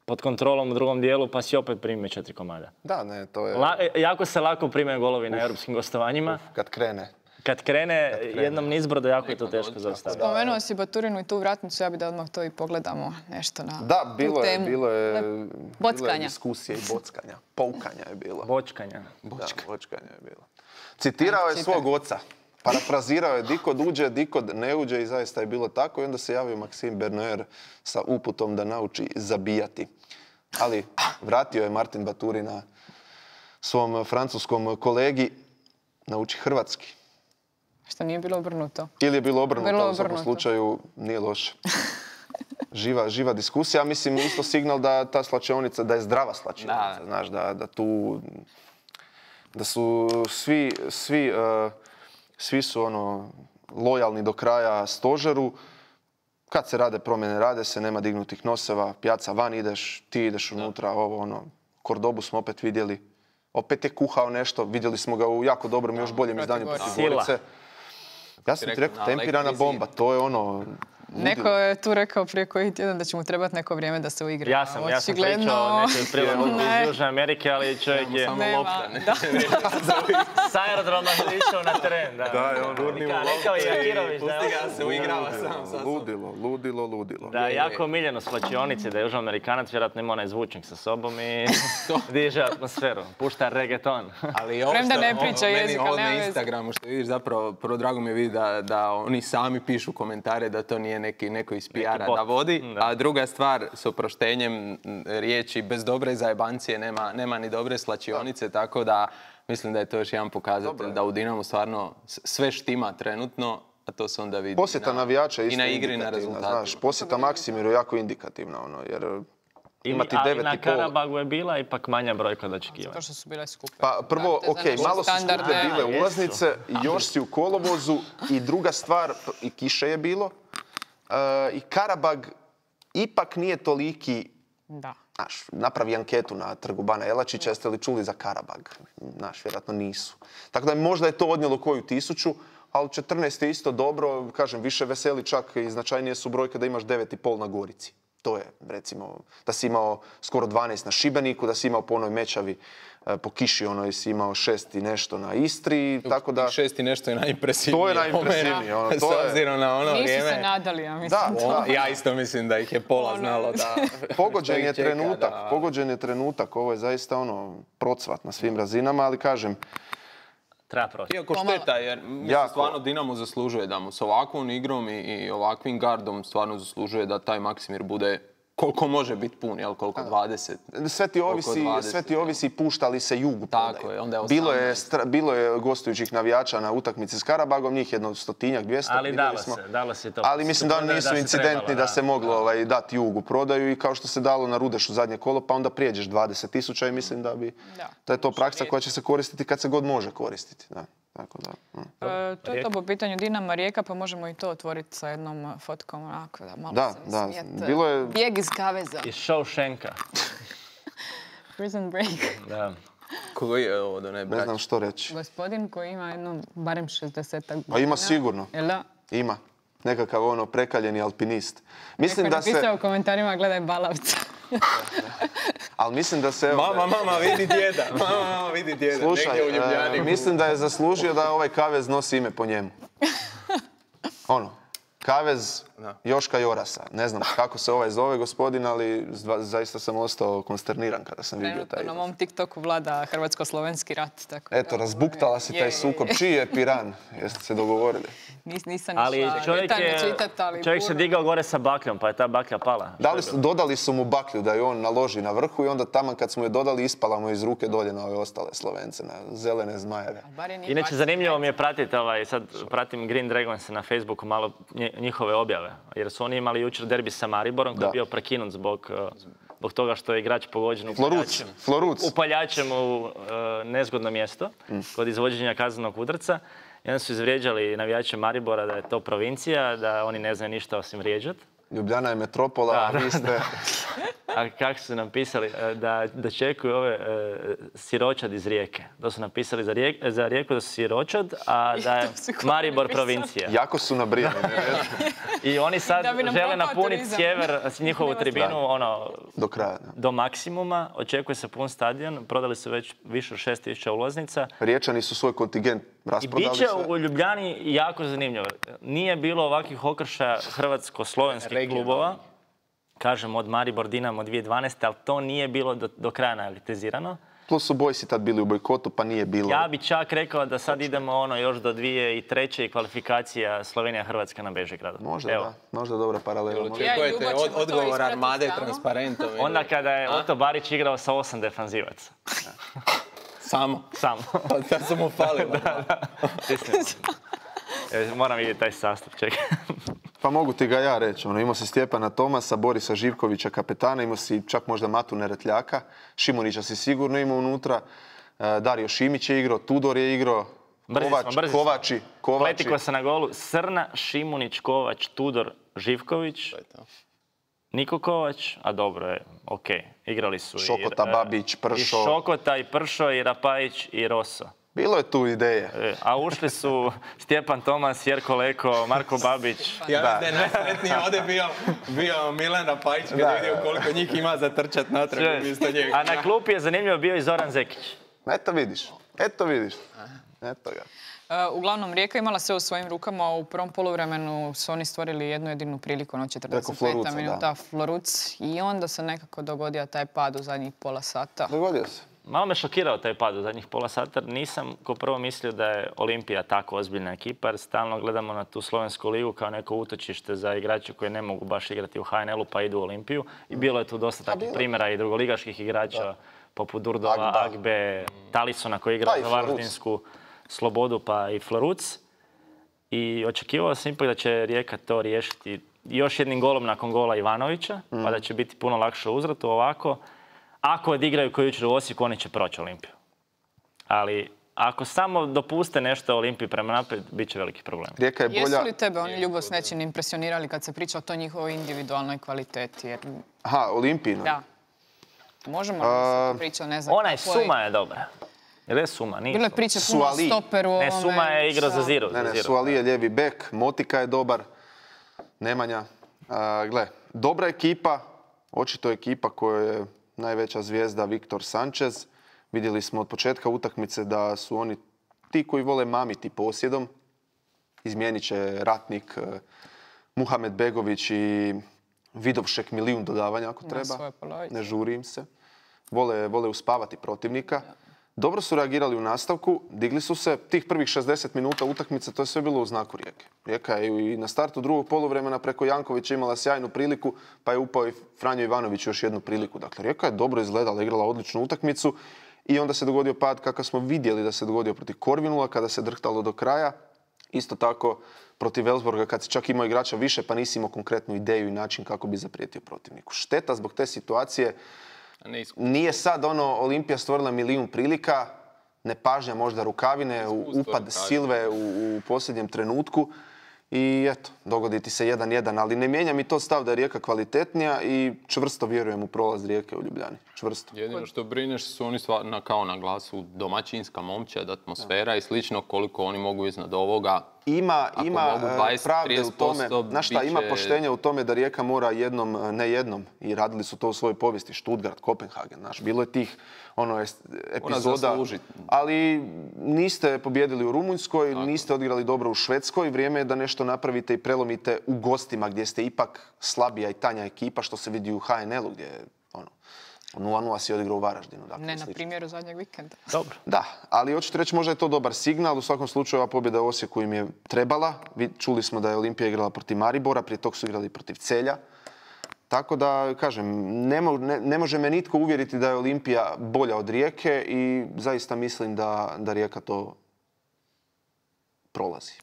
pod kontrolom u drugom dijelu, pa si opet primio četiri komada. Da, ne, to je La- jako se lako prime golovi na europskim gostovanjima. kad krene. Kad krene jednom nizbrdo, jako je to Nekad teško dođe, zaustaviti. Spomenuo si Baturinu i tu vratnicu, ja bi da odmah to i pogledamo nešto na Da, bilo tu je, temu. bilo je, bilo je Bockanja. diskusije i bockanja. Poukanja je bilo. Bočkanja. Da, bočkanja je bilo. Citirao je svog oca. Parafrazirao je di kod uđe, di kod ne uđe i zaista je bilo tako. I onda se javio Maxime Bernier sa uputom da nauči zabijati. Ali vratio je Martin Baturina svom francuskom kolegi nauči hrvatski. Što nije bilo obrnuto. Ili je bilo obrnuto, Bilo u svakom obrnuto. slučaju nije loše. Živa, živa diskusija, mislim isto signal da ta slačionica, da je zdrava slačionica, Da. znaš, da, da tu, da su svi, svi, eh, svi su ono lojalni do kraja stožeru. Kad se rade promjene, rade se, nema dignutih noseva, pjaca van ideš, ti ideš unutra, ovo ono, Kordobu smo opet vidjeli, opet je kuhao nešto, vidjeli smo ga u jako dobrom, još boljem protiv izdanju Gorice. protiv Gorice. Ja sam ti Rekao, rekao, na tempirana elektrizi. bomba, to je ono... Neko je tu rekao prije koji tjedan da će mu trebati neko vrijeme da se uigra. Ja sam, ja sam Očigledno- pričao o nekoj prilagodbi Ne. iz Južne Amerike, ali čovjek je Samo Nema, lopta, ne? da. s aerodroma išao na teren. Da, je ono, Nika, rekao je Jakirović da Pusti je ga, se uigrava sam sa sobom. Ludilo, ludilo, ludilo. Da, je jako omiljeno s klačionice, da je Južnoamerikanac, vjerojatno ima onaj zvučnik sa sobom i diže atmosferu. Pušta reggaeton. Ali ovo Premda što- ne ovo- priča meni jezik, ovo ali nema na veze. Instagramu što vidiš zapravo, prvo drago mi je vidjeti da, da oni sami pišu komentare, da to nije neki, neko iz P R-a bot. da vodi. Da. A druga stvar, s oproštenjem m, riječi, bez dobre zajebancije nema, nema ni dobre slačionice, tako da mislim da je to još jedan pokazatelj da u Dinamu stvarno s- sve štima trenutno, a to se onda vidi Posjeta na- navijača je i isto na igri i na indikativna, rezultatima. znaš. Posjeta Maksimiru je jako indikativna, ono, jer imati ali devet na i pol... Karabagu je bila ipak manja brojka od očekivanja. To što su bile skupe. Pa prvo, Da, te ok, znaš, malo su standarde. skupe bile Jesu. ulaznice, još si u kolovozu i druga stvar, i kiše je bilo, e, i Karabag ipak nije toliki, Da. znaš, napravi anketu na trgu Bana Jelačića, jeste li čuli za Karabag? Znaš, vjerojatno nisu. Tako da možda je to odnijelo koju tisuću, ali četrnaest je isto dobro, kažem, više veseli čak i značajnije su brojke da imaš devet i pol na Gorici. To je, recimo, da si imao skoro dvanaest na Šibeniku, da si imao po onoj Mečavi, e, po kiši onoj si imao šest i nešto na Istri, tako da... Tih šest i nešto je najimpresivnije. To je po meni. najimpresivnije, ono, to S je- obzirom na ono Nisu vrijeme. se nadali, ja mislim. Da, da. Ja isto mislim da ih je pola Ono, znalo da... Pogođen što je ih čeka, trenutak, da- pogođen je trenutak, ovo je zaista ono procvat na svim razinama, ali kažem, Treba proći. Iako šteta, jer mislim, Jako. stvarno Dinamo zaslužuje da mu s ovakvom igrom i, i ovakvim gardom stvarno zaslužuje da taj Maksimir bude koliko može biti pun, jel, koliko dvadeset. sve ti ovisi, dvadeset, sve ti ovisi pušta li se jugu Tako prodaju. je, onda je bilo, je osamnaest. stra- bilo je gostujućih navijača na utakmici s Karabagom, njih jedno stotinjak, dvjesto. Ali vidjeli dalo smo. se, dalo se to. Ali mislim da oni Da nisu se incidentni trebalo, da se moglo ovaj, dati jugu prodaju i kao što se dalo na Rudešu zadnje kolo, pa onda prijeđeš dvadeset tisuća i mislim da bi Da. da je to praksa koja će se koristiti kad se god može koristiti. Da. Tako da, mm. E, to je to po pitanju Dinama Rijeka, pa možemo i to otvoriti sa jednom uh, fotkom, onako da malo Da, se da, smijete. bilo je- Bijeg iz kaveza. Iz Shawshanka. Prison break. Da. Koji je ovo da ne Ne znam što reći. Gospodin koji ima jedno barem šezdesetak godina. Pa ima sigurno. Jel da? Ima. Nekakav ono prekaljeni alpinist. Mislim Neko je da napisao se, u komentarima gledaj balavca. ali mislim da se... evo, Mama, mama, vidi djeda. Mama, mama, vidi djeda. Slušaj, Negdje u Ljubljani. e, mislim da je zaslužio da ovaj Kavez nosi ime po njemu. Ono, Kavez Da. Joška Jorasa. Ne znam kako se ovaj zove gospodin, ali zva- zaista sam ostao konsterniran kada sam vidio taj Trenutno na iznos. mom TikToku vlada hrvatsko-slovenski rat. Tako Eto, da, razbuktala si je, taj je, sukob. je. Čiji je Piran? Jeste se dogovorili? Nis, nisam Ali išla čovjek, detaljno je, čitat, ali čovjek se puno. digao gore sa bakljom, pa je ta baklja pala. Da li su, dodali su mu baklju da je on naloži na vrhu i onda taman kad smo je dodali ispala mu iz ruke dolje na ove ostale Slovence, na zelene zmajeve. Bar je nije Inače, bacio zanimljivo jajce. mi je pratiti, ovaj, sad pratim Green Dragons na Facebooku malo nje- njihove objave. Jer su oni imali jučer derbi sa Mariborom koji Da. je bio prekinut zbog, uh, zbog toga što je igrač pogođen Floruc, upaljačem, Floruc. upaljačem u uh, nezgodno mjesto kod izvođenja kaznenog udarca. I onda su izvrijeđali navijače Maribora da je to provincija, da oni ne znaju ništa osim vrijeđat. Ljubljana je metropola, Da, a vi da, ste... A kako su napisali? E, Da, da čekuju ove e, siročad iz Rijeke. To su napisali za, rijek, za Rijeku da su siročad, a da je to su kome Maribor napisali? provincija. Jako su nabrijani. ne? I oni sad Da bi nam žele propao napuniti turizam. sjever, njihovu Nema tribinu, smisla. ono, Do kraja. Da. do maksimuma. Očekuje se pun stadion. Prodali su već više od šest tisuća ulaznica. Riječani su svoj kontingent I rasprodali bit će sve. u Ljubljani jako zanimljivo. Nije bilo ovakvih okršaja hrvatsko-slovenskih Regionalnih. klubova. Kažem, od Maribor Dinamo dvije tisuće dvanaeste. ali to nije bilo do, do kraja analizirano. Plus su Bojsi tad bili u bojkotu, pa nije bilo. Ja bi čak rekao da sad idemo ono još do dvije tisuće treće i kvalifikacija Slovenija-Hrvatska na Bežigradu. Možda Evo. da, možda dobra paralela. Ja i Očekujete Ljubo ćemo od, to odgovor ispratiti Armade tamo. transparentom? ili- Onda kada je Oto Barić igrao sa osam defanzivaca. Samo. Samo. Da su mu falili. Istina. E, Moram vidjeti taj sastav, čekaj. Pa mogu ti ga ja reći. Ono, imao si Stjepana Tomasa, Borisa Živkovića kapetana, imao si čak možda Matu Neretljaka, Šimunića si sigurno imao unutra, e, Dario Šimić je igrao, Tudor je igrao, Brzi Kovač, smo, brzi smo. Kovači, Kovači. Pletiko se na golu. Srna, Šimunić, Kovač, Tudor, Živković, Niko Kovač, a dobro je, okej. Igrali su Šokota, i, e, Babić, Pršo. I Šokota, i Pršo, i Rapajić, i Roso. Bilo je tu ideje. E, A ušli su Stjepan Tomas, Jerko Leko, Marko Babić. Ja Da. mislim da je najsretniji ovdje bio, bio Milan Rapajić kad Da, je vidio da. koliko njih ima za trčat natrag umjesto njega. A na klupi je zanimljivo bio i Zoran Zekić. Eto vidiš, eto vidiš. Eto ga. E, Uglavnom, Rijeka imala sve u svojim rukama. U prvom poluvremenu su oni stvorili jednu jedinu priliku na četrdeset Floruca, peta da. minuta. Floruc. I onda se nekako dogodio taj pad u zadnjih pola sata. Dogodio se. Malo me šokirao taj pad u zadnjih pola sata. Nisam ko prvo mislio da je Olimpija tako ozbiljna ekipa, jer stalno gledamo na tu slovensku ligu kao neko utočište za igrače koji ne mogu baš igrati u H N L-u pa idu u Olimpiju. I bilo je tu dosta takvih primjera i drugoligaških igrača poput Durdova, Agba. Agbe, Talisona koji igra Pa i za Floruc. Varaždinsku Slobodu pa i Floruc. I očekivao sam ipak da će Rijeka to riješiti još jednim golom nakon gola Ivanovića, pa da će biti puno lakše u uzvratu. Ovako, ako odigraju koji jučer u Osijeku, oni će proći Olimpiju. Ali ako samo dopuste nešto Olimpiji prema naprijed, bit će veliki problem. Rijeka je bolja. Jesu li tebe oni Ljubo s nečim impresionirali kad se priča o toj njihovoj individualnoj kvaliteti? Jer, Aha, Olimpijina. da. Možemo A, li priča, ne znam. Onaj kako je- Suma je dobra. Jer je Suma, nije Bilo je Suma. priče puno o Suali. stoperu. Ne, ovome, Suma je igrao za sa- Ziru. Ne, za ne, Ziru. Suali je lijevi bek, Motika je dobar, Nemanja. A, gle, dobra ekipa, očito ekipa koja je najveća zvijezda Viktor Sanchez. Vidjeli smo od početka utakmice da su oni ti koji vole mamiti posjedom. Izmijenit će ratnik eh, Muhamed Begović i Vidovšek milijun dodavanja ako treba. svoje polovice. Ne žuri im se. Vole, vole uspavati protivnika. Dobro su reagirali u nastavku, digli su se. Tih prvih šezdeset minuta utakmice, to je sve bilo u znaku Rijeke. Rijeka je i na startu drugog poluvremena preko Jankovića imala sjajnu priliku, pa je upao i Franjo Ivanović još jednu priliku. Dakle, Rijeka je dobro izgledala, igrala odličnu utakmicu i onda se dogodio pad kakav smo vidjeli da se dogodio protiv Korvinula kada se drhtalo do kraja. Isto tako protiv Elfsborga kad si čak imao igrača više pa nisi imao konkretnu ideju i način kako bi zaprijetio protivniku. Šteta zbog te situacije. Nije sad ono Olimpija stvorila milijun prilika, nepažnja možda Rukavine, u- upad Silve u, u posljednjem trenutku i eto, dogodi ti se jedan jedan, ali ne mijenja mi to stav da je Rijeka kvalitetnija i čvrsto vjerujem u prolaz Rijeke u Ljubljani. Čvrsto. Jedino što brineš su oni stvar, na, kao na glasu domaćinska momčad, atmosfera i slično, koliko oni mogu iznad ovoga. Ima, Ako ima mogu e, dvadeset, pravde u tome, trideset posto znaš šta, bit ima će- poštenja u tome da Rijeka mora jednom, e, ne jednom, i radili su to u svojoj povijesti, Stuttgart, Kopenhagen, znaš, bilo je tih ono, es- epizoda, zaslužit. ali niste pobjedili u Rumunjskoj, niste odigrali dobro u Švedskoj. Vrijeme je da nešto napravite i prelomite u gostima gdje ste ipak slabija i tanja ekipa, što se vidi u H N L-u gdje je ono, nula nula si odigrao u Varaždinu. Dakle, ne na primjeru zadnjeg vikenda. Dobro. Da, ali hoćete reći možda je to dobar signal. U svakom slučaju ova pobjeda u Osijeku im je trebala. Čuli smo da je Olimpija igrala protiv Maribora, prije tog su igrali protiv Celja. Tako da, kažem, ne, mo, ne, ne može me nitko uvjeriti da je Olimpija bolja od Rijeke i zaista mislim da, da Rijeka to prolazi.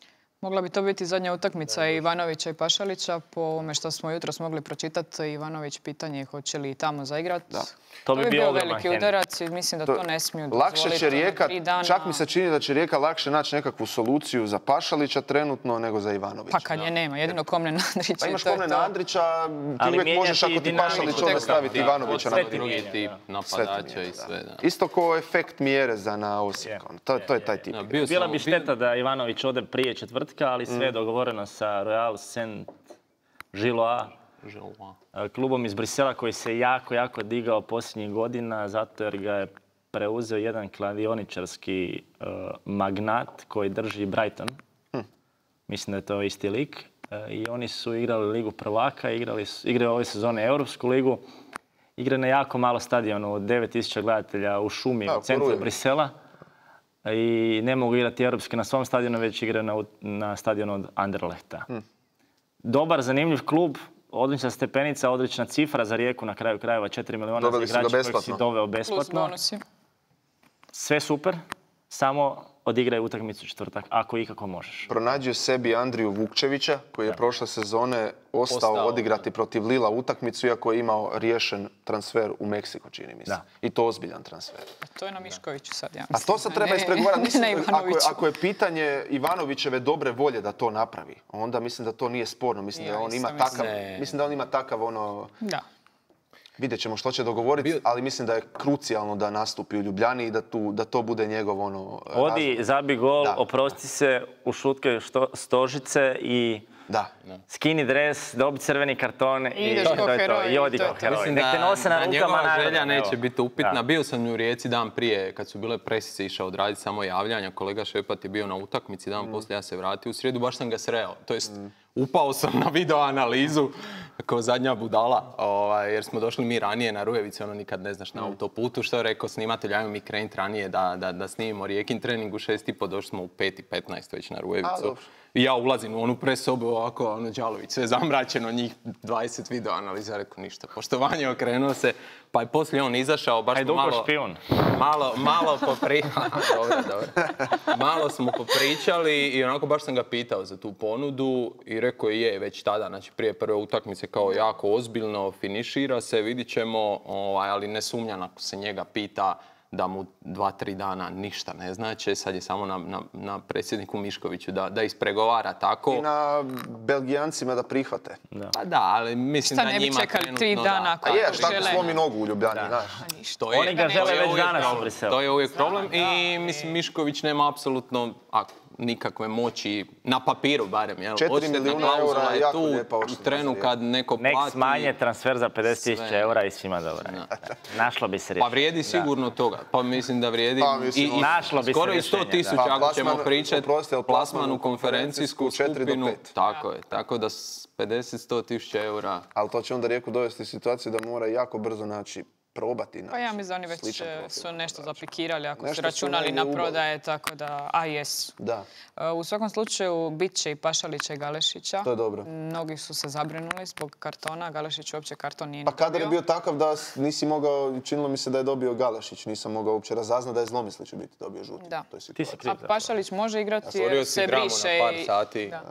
Mogla bi to biti zadnja utakmica Ivanovića i Pašalića. Po ovome što smo jutros mogli pročitati, Ivanović pitanje hoće li i tamo zaigrati. To bi bio veliki udarac i mislim da to ne smiju dozvoliti. Lakše će Rijeka, čak mi se čini da će Rijeka lakše naći nekakvu soluciju za Pašalića trenutno nego za Ivanovića. Pa kad je nema, jedino Komnena Andrića. Pa imaš Komnena Andrića, ti uvijek možeš ako ti Pašalić onda staviti Ivanovića na drugi tip napadača i sve. Isto kao efekt Mjereza na Osijek. To je taj tip. Bila bi šteta da Ivanović ode prije četvrtka, ali sve je dogovoreno sa Royal Saint-Gilloise, klubom iz Brisela koji se jako, jako digao posljednjih godina zato jer ga je preuzeo jedan kladioničarski uh, magnat koji drži Brighton. Hm. Mislim da je to isti lik. Uh, I oni su igrali Ligu prvaka, igrali su, igraju ove sezone Europsku ligu. Igraju na jako malo stadionu, od devet tisuća gledatelja u šumi da, u centru porujem. Brisela. I ne mogu igrati europski na svom stadionu, već igraju na, na stadionu od Anderlehta. Hm. Dobar, zanimljiv klub, odlična stepenica, odlična cifra za Rijeku na kraju krajeva, četiri milijuna za igrača kojeg si doveo besplatno. Sve super, samo odigraj utakmicu četvrtak, ako ikako možeš. Pronađio sebi Andriju Vukčevića, koji je da. prošle sezone ostao, ostao odigrati protiv Lila utakmicu, iako je imao riješen transfer u Meksiko, čini mi se. Da. I to ozbiljan transfer. A to je na Miškoviću sad, ja mislim. A to sad treba ispregovarati. Mislim, ako, je, ako je pitanje Ivanovićeve dobre volje da to napravi, onda mislim da to nije sporno. Mislim, ja, da, on ima takav, mislim da on ima takav ono... Da. Vidjet ćemo što će dogovoriti, ali mislim da je krucijalno da nastupi u Ljubljani i da, tu, da to bude njegov ono... Odi, razlog. Zabi gol, da. Oprosti se, ušutke što, stožice i da. skini dres, dobi crveni karton i, I to, to je to. I odi kao heroj. Mislim da, nose na da njegova želja neće biti upitna. Da. Bio sam u Rijeci dan prije, kad su bile presice, išao odraditi samo javljanja. Kolega Šepat je bio na utakmici, dan mm. poslije ja se vratio u srijedu, baš sam ga sreo. To jest, mm. upao sam na video analizu kao zadnja budala, ovaj, jer smo došli mi ranije na Rujevice, ono nikad ne znaš na autoputu. Što je rekao snimatelj, ajmo mi krenut ranije da, da, da snimimo Rijekin trening u šest i po, došli smo u pet i petnaest već na Rujevicu. I ja ulazim u onu presobu ovako, ono Đalović, sve zamračeno, njih dvadeset video analiza, rekao ništa. Poštovanje, okrenuo se, pa je poslije on izašao, baš smo malo... špijun. Malo, malo popričali, dobro, dobro. Malo smo popričali i onako baš sam ga pitao za tu ponudu i rekao je već tada, znači prije prve utakmice kao jako ozbiljno, finišira se, vidit ćemo, ovaj, ali ne sumnjam ako se njega pita da mu dva, tri dana ništa ne znači. Sad je samo na, na, na predsjedniku Miškoviću da, da ispregovara tako. I na Belgijancima da prihvate. Da. Pa da, ali mislim šta da njima trenutno da. Šta ne bi čekali tri dana kako žele? A je, šta ako slomi nogu u Ljubljani, znaš? Oni ga žele već danas u Briselu. To je uvijek problem i mislim Mišković nema apsolutno nikakve moći, na papiru barem, jel? četiri milijuna eura je jako lijepa u trenu kad neko plati... Nek smanje transfer za pedeset tisuća eura i svima dobro. Našlo bi se rješenje. Pa vrijedi sigurno toga. Pa mislim da vrijedi pa, mislim, i, i našlo bi skoro se i sto tisuća pa, ako ćemo pričati plasmanu konferencijsku skupinu. Tako je, tako da pedeset do sto tisuća eura. Ali to će onda Rijeku dovesti u situaciju da mora jako brzo naći probati. Pa ja mislim da oni već su nešto zaplikirali ako nešto su računali na prodaje, tako da, a jesu. Da. U svakom slučaju bit će i Pašalića i Galešića. To je dobro. Mnogi su se zabrinuli zbog kartona, Galešić uopće karton nije Pa kadar je bio takav da nisi mogao, činilo mi se da je dobio Galešić, nisam mogao uopće razaznat da je Zlomyslić u biti dobio žuti. Da. Ti si a Pašalić može igrati ja, jer se briše par sati. Da.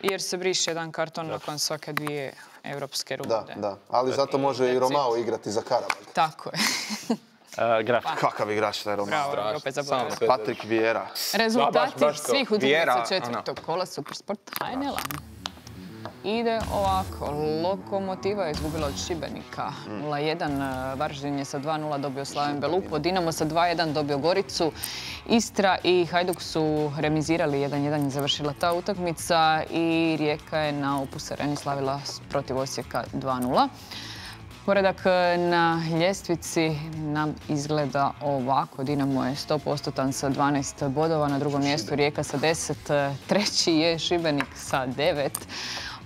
Jer se briše jedan karton da. nakon svake dvije europske runde. Da, da. Ali zato može i Romao igrati za Karabag. Tako je. uh, graf. Kakav igrač taj Romao. Bravo, opet zaboravio. Patrik Vieira. Rezultati da, baš, baš svih utakmica četvrtog kola Supersport H N L-a. Ide ovako, Lokomotiva je izgubila od Šibenika nula jedan, Varaždin je sa dva nula dobio Slaven Belupo, Dinamo sa dva jedan dobio Goricu, Istra i Hajduk su remizirali jedan jedan i završila ta utakmica i Rijeka je na Opus Areni slavila protiv Osijeka dva nula. Poredak na ljestvici nam izgleda ovako. Dinamo je sto posto sa dvanaest bodova, na drugom mjestu Rijeka sa deset, treći je Šibenik sa devet,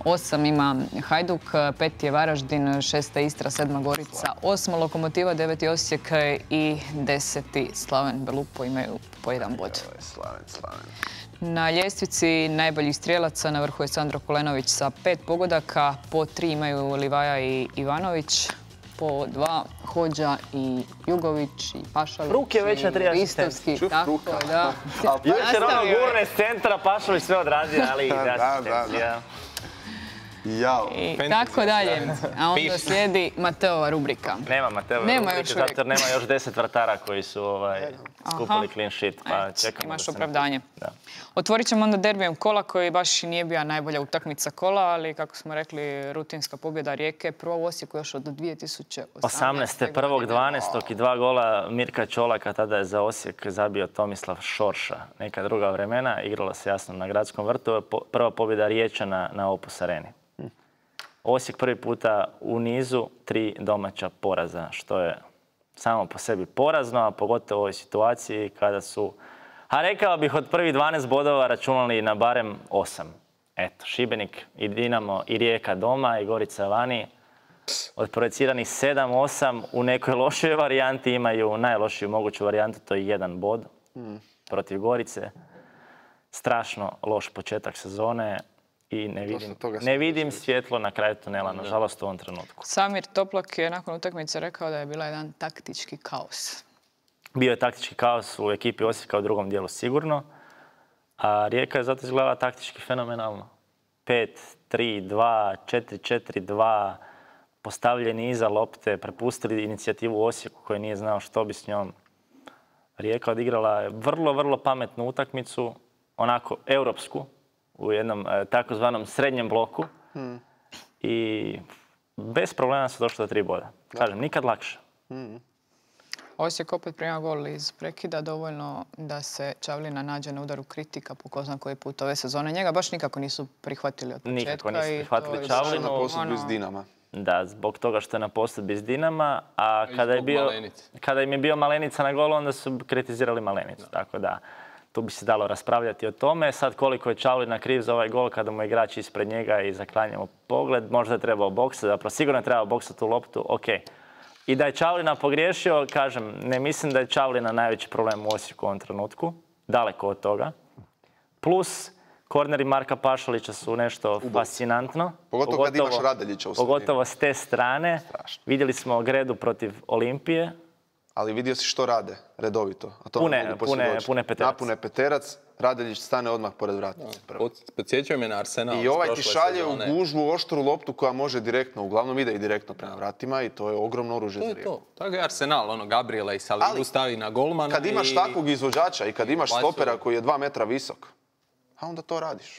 osam ima Hajduk, pet je Varaždin, šesta Istra, sedma Gorica, osma Lokomotiva, deveti Osijek i deseti Slaven Belupo imaju po jedan bod. Slaven, Slaven. Na ljestvici najboljih strijelaca na vrhu je Sandro Kolenović sa pet pogodaka, po tri imaju Livaja i Ivanović, po dva Hođa i Jugović i Pašalić. Ruk je već na tri Ristovski, tako je, da. Jučer ono gurne s centra, Pašalić sve odradio, ali ide asistencija. Jao. I tako dalje. A onda slijedi Mateova rubrika. Nema Mateova rubrike, zato jer nema još deset vratara koji su skupili clean sheet, pa čekamo. Imaš opravdanje. Otvorit ćemo onda derbijem kola koji baš nije bila najbolja utakmica kola, ali kako smo rekli, rutinska pobjeda Rijeke. Prvo u Osijeku još od dvije tisuće osamnaeste. prvog dvanaestog i dva gola Mirka Čolaka, tada je za Osijek zabio Tomislav Šorša. Neka druga vremena, igralo se jasno na Gradskom vrtu, prva pobjeda Riječana na Opus Areni. Osijek prvi puta u nizu, tri domaća poraza, što je samo po sebi porazno, a pogotovo u ovoj situaciji kada su, a rekao bih, od prvih dvanaest bodova računali na barem osam. Eto, Šibenik i Dinamo i Rijeka doma i Gorica vani. Od projeciranih sedam osam u nekoj lošoj varijanti imaju najlošiju moguću varijantu, to je jedan bod protiv Gorice. Strašno loš početak sezone. I ne vidim, ne vidim svjetlo na kraju tunela, nažalost, u ovom trenutku. Samir Toplak je nakon utakmice rekao da je bila jedan taktički kaos. Bio je taktički kaos u ekipi Osijeka u drugom dijelu sigurno, a Rijeka je zato izgledala taktički fenomenalno. pet tri dva, četiri četiri dva, postavljeni iza lopte, prepustili inicijativu Osijeku koji nije znao što bi s njom. Rijeka odigrala je vrlo, vrlo pametnu utakmicu, onako europsku, u jednom e, takozvanom srednjem bloku hmm. i bez problema se došlo do tri boda. Kažem, nikad lakše. Hmm. Osijek opet prima gol iz prekida, dovoljno da se Čavlina nađe na udaru kritika po ko zna koji put ove sezone. Njega baš nikako nisu prihvatili od početka. Nikako nisu prihvatili Čavlinu. Na posudbi s Dinama. Da, zbog toga što je na posudbi s Dinama, a kada je, bio, kada im je bio Malenica na golu, onda su kritizirali Malenicu. Da. Tako da, tu bi se dalo raspravljati o tome. Sad koliko je Čavlina kriv za ovaj gol kada mu je igrač ispred njega i zaklanjamo pogled, možda je trebao boksati, zapravo sigurno je trebao boksati tu loptu, ok. I da je Čavlina pogriješio, kažem, ne mislim da je Čavlina najveći problem u Osijeku u ovom trenutku, daleko od toga. Plus, korneri Marka Pašalića su nešto Ubo. fascinantno. Pogotovo, pogotovo kad imaš Radeljića u sredini. Pogotovo s te strane. Strašno. Vidjeli smo Gredu protiv Olimpije. Ali vidio si što rade redovito. A to pune, pune, pune peterac. Napune peterac, Radeljić stane odmah pored vratnice. Podsjećaju me na Arsenal. I ovaj ti šalje u gužvu oštru loptu koja može direktno, uglavnom ide i direktno prema vratima i to je ogromno oružje za Rijeku. To je to. Tako je Arsenal, ono, Gabriela i Salibu stavi na golmana. Kad imaš i... takvog izvođača i kad imaš stopera koji je dva metra visok, a onda to radiš.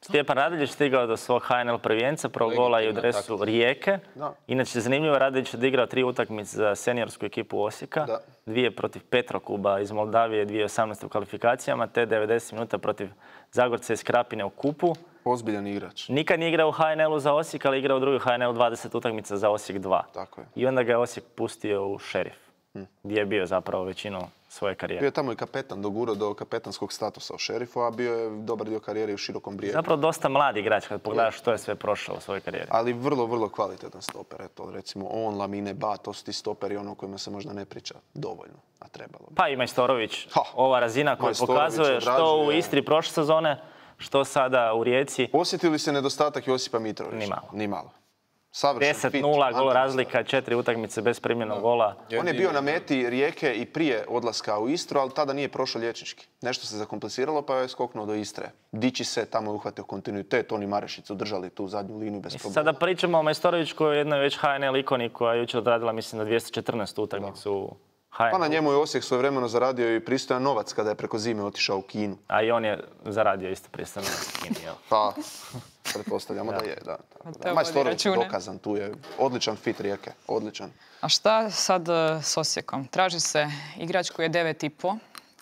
Stjepan Radeljić stigao do svog H N L prvijenca, prvog gola i u dresu Rijeke. Da. Inače, zanimljivo, Radeljić je odigrao tri utakmice za seniorsku ekipu Osijeka. Da. Dvije protiv Petrokuba iz Moldavije, dvije tisuće osamnaeste u kvalifikacijama, te devedeset minuta protiv Zagorca iz Krapine u kupu. Ozbiljan igrač. Nikad nije igrao u H N L-u za Osijek, ali igrao u drugoj H N L dvadeset utakmica za Osijek dva. Tako je. I onda ga je Osijek pustio u Šerif, hmm. gdje je bio zapravo većinu svoje karijere. Bio je tamo i kapetan, dogurao do kapetanskog statusa u Šerifu, a bio je dobar dio karijere u Širokom Brijegu. Zapravo dosta mladi igrač kad pogledaš što je sve prošao u svojoj karijeri. Ali vrlo, vrlo kvalitetan stoper. Eto, recimo on, Lamine, Ba, to su ti stoperi ono kojima se možda ne priča dovoljno, a trebalo bi. Pa i Majstorović, ha. ova razina koja pokazuje što u Istri prošle sezone, što sada u Rijeci. Osjetili se nedostatak Josipa Mitrovića? Ni malo. Ni malo. deset nula, gol razlika, četiri utakmice bez primljenog gola. On je bio na meti Rijeke i prije odlaska u Istru, ali tada nije prošao liječnički. Nešto se zakompliciralo pa je skoknuo do Istre. Dići se, tamo je uhvatio kontinuitet, oni Marešić su držali tu zadnju liniju bez problema. Sada pričamo o Majstorović koji je jednoj već H N L ikoni koja je jučer odradila, mislim, na dvjesto četrnaestu utakmicu. Pa na njemu je Osijek svojevremeno zaradio i pristojan novac kada je preko zime otišao u Kinu. A i on je zaradio isto pristojan novac u Kini, jel? Pa, pretpostavljamo da je, da. da. Majstorović je dokazan, tu je odličan fit Rijeke, odličan. A šta sad s Osijekom? Traži se igrač koji je devet i po,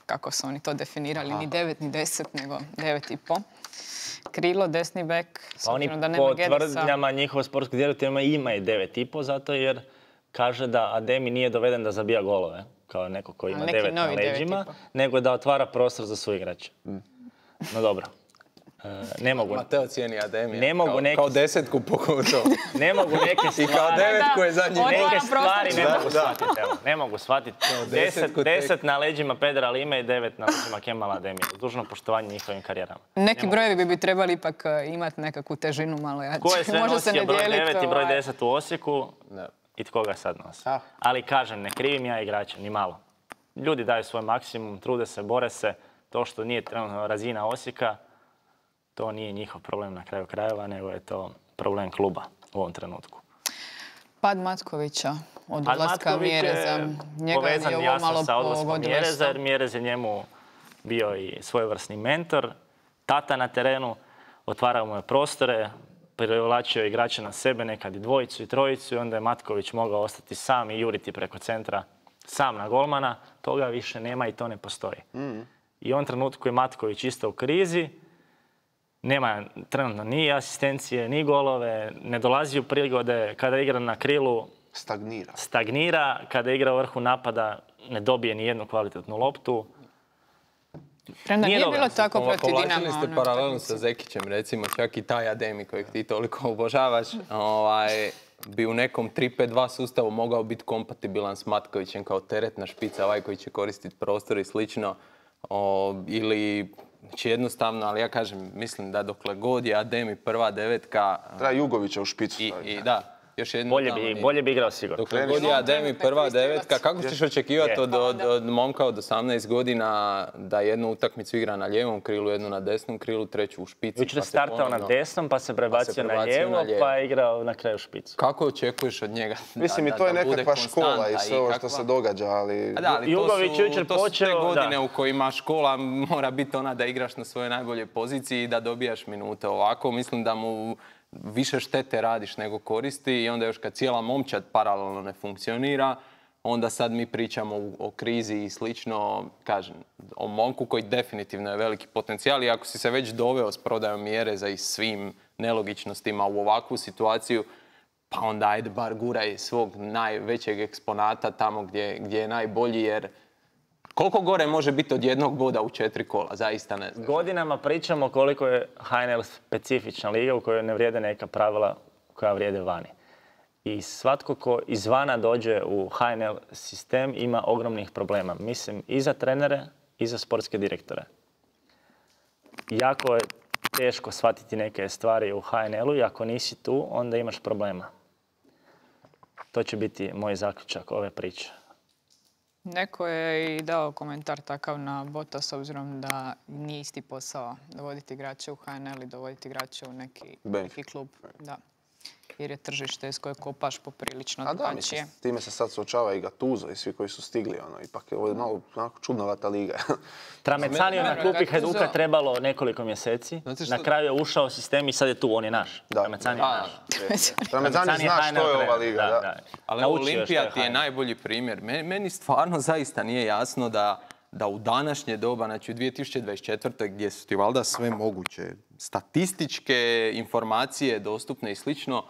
kako su oni to definirali, ni devet ni deset, nego devet i po. Krilo, desni bek, pa oni po tvrdnjama njihovog sportskog direktora ima i devet i po, zato jer kaže da Ademi nije doveden da zabija golove, kao neko koji ima neki devet na novi devet leđima, ipak. nego da otvara prostor za suigrače. No dobro. E, ne mogu, Mateo cijeni Ademija. Ne mogu kao, neki- kao desetku pogotovo. ne mogu neke I kao stvari... devetku je zadnji Otvara gol. Neke prostor. stvari ne Da, mogu da. shvatiti, evo, ne mogu shvatiti. Deset, desetku tek. deset na leđima Pedra Lime i devet na leđima Kemala Ademija. Uz dužno poštovanje njihovim karijerama. Neki brojevi bi, bi trebali ipak e, imati nekakvu težinu malo jače. Ko je sve Može se nosio ne broj dijelit, devet i broj ovaj. deset u Osijeku Da. i tko ga sad nosi? Ah. Ali kažem, ne krivim ja igrače, ni malo. Ljudi daju svoj maksimum, trude se, bore se. To što nije trenutno razina Osijeka, to nije njihov problem na kraju krajeva, nego je to problem kluba u ovom trenutku. Pad Matkovića od Pad odlaska Matković je Mjereza. Njega povezan je ovo jasno malo sa odlaskom pogodilo Mjereza, isto. jer Mjerez je njemu bio i svojevrsni mentor, tata na terenu, otvarao mu je prostore, privlačio igrače na sebe, nekad i dvojicu i trojicu, i onda je Matković mogao ostati sam i juriti preko centra sam na golmana. Toga više nema i to ne postoji. I u ovom trenutku je Matković isto u krizi, nema trenutno ni asistencije, ni golove, ne dolazi u prigode, kada igra na krilu Stagnira. stagnira, kada igra u vrhu napada ne dobije ni jednu kvalitetnu loptu. Premda Nije nije dobro. bilo tako Pova- protiv Dinama. Povlačili ste ono, paralelu utakmici. sa Zekićem, recimo, čak i taj Ademi kojeg ti toliko obožavaš, ovaj, bi u nekom tri pet dva sustavu mogao biti kompatibilan s Matkovićem kao teretna špica, ovaj koji će koristiti prostor i slično. O, ili, znači jednostavno, ali ja kažem, mislim da dokle god je Ademi prva devetka Treba Jugovića u špicu i, staviti. i da, još jedno Bolje tamo bi, nije. bolje bi igrao sigurno. Dokle Kreniš god je novom Ademi trenutku prva je kristivac. devetka, kako ćeš očekivati Je. od, od, od momka od osamnaest godina da jednu utakmicu igra na lijevom krilu, jednu na desnom krilu, treću u špici? Jučer je pa se startao na ponovno- desnom, pa se prebacio na prebacio lijevo, na lijevo. pa je igrao na kraju špicu. Kako očekuješ od njega da, Mislim, i da- to je da bude nekakva škola i konstanta sve ovo što kakva- se događa, ali... A da, ali to Jugović su, jučer to su te počeo, godine da. u kojima škola mora biti ona da igraš na svojoj najboljoj poziciji i da dobijaš minute. Ovako mislim da mu više štete radiš nego koristi i onda još kad cijela momčad paralelno ne funkcionira, onda sad mi pričamo o, o krizi i slično, kažem, o momku koji definitivno je veliki potencijal i ako si se već doveo s prodajom Mjereza i svim nelogičnostima u ovakvu situaciju, pa onda ajde bar guraj svog najvećeg eksponata tamo gdje, gdje je najbolji, jer koliko gore može biti od jednog boda u četiri kola, zaista ne znam. Godinama pričamo koliko je H N L specifična liga u kojoj ne vrijede neka pravila koja vrijede vani. I svatko ko izvana dođe u H N L sistem ima ogromnih problema. Mislim i za trenere i za sportske direktore. Jako je teško shvatiti neke stvari u H N L-u i ako nisi tu, onda imaš problema. To će biti moj zaključak ove priče. Neko je i dao komentar takav na bota s obzirom da nije isti posao dovoditi igrače u H N L i dovoditi igrače u neki, Bench. neki klub. Da. Jer je tržište s koje kopaš poprilično A da, drugačije. mislim, s time se sad suočava i Gattuso i svi koji su stigli, ono, ipak je ovo je malo onako čudnovata liga. Tramecaniju na klupi Gattuso- Hajduka trebalo nekoliko mjeseci. Znate što- Na kraju je ušao sistem i sad je tu, on je naš. Da. Tramecan je A, naš. Ramezani zna H N L što je ova trener, liga, da. Ali Naučio je Olimpija što ti je H N L. najbolji primjer. Meni, meni stvarno zaista nije jasno da, da u današnje doba, znači u dvije tisuće dvadeset četvrtoj gdje su ti valjda sve moguće statističke informacije dostupne i slično,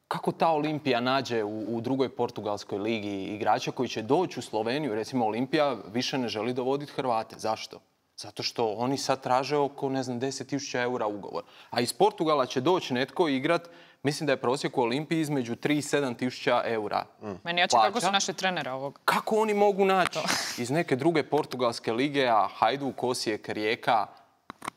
kako ta Olimpija nađe u, u drugoj portugalskoj ligi igrača koji će doći u Sloveniju? Recimo Olimpija više ne želi dovoditi Hrvate. Zašto? Zato što oni sad traže oko, ne znam, deset tisuća eura ugovor. A iz Portugala će doći netko igrat, mislim da je prosjek u Olimpiji između tri i sedam tisuća eura. Meni jače kako plaća. su naše trenere ovog. Kako oni mogu naći iz neke druge portugalske lige, a Hajduk, Osijek, Rijeka,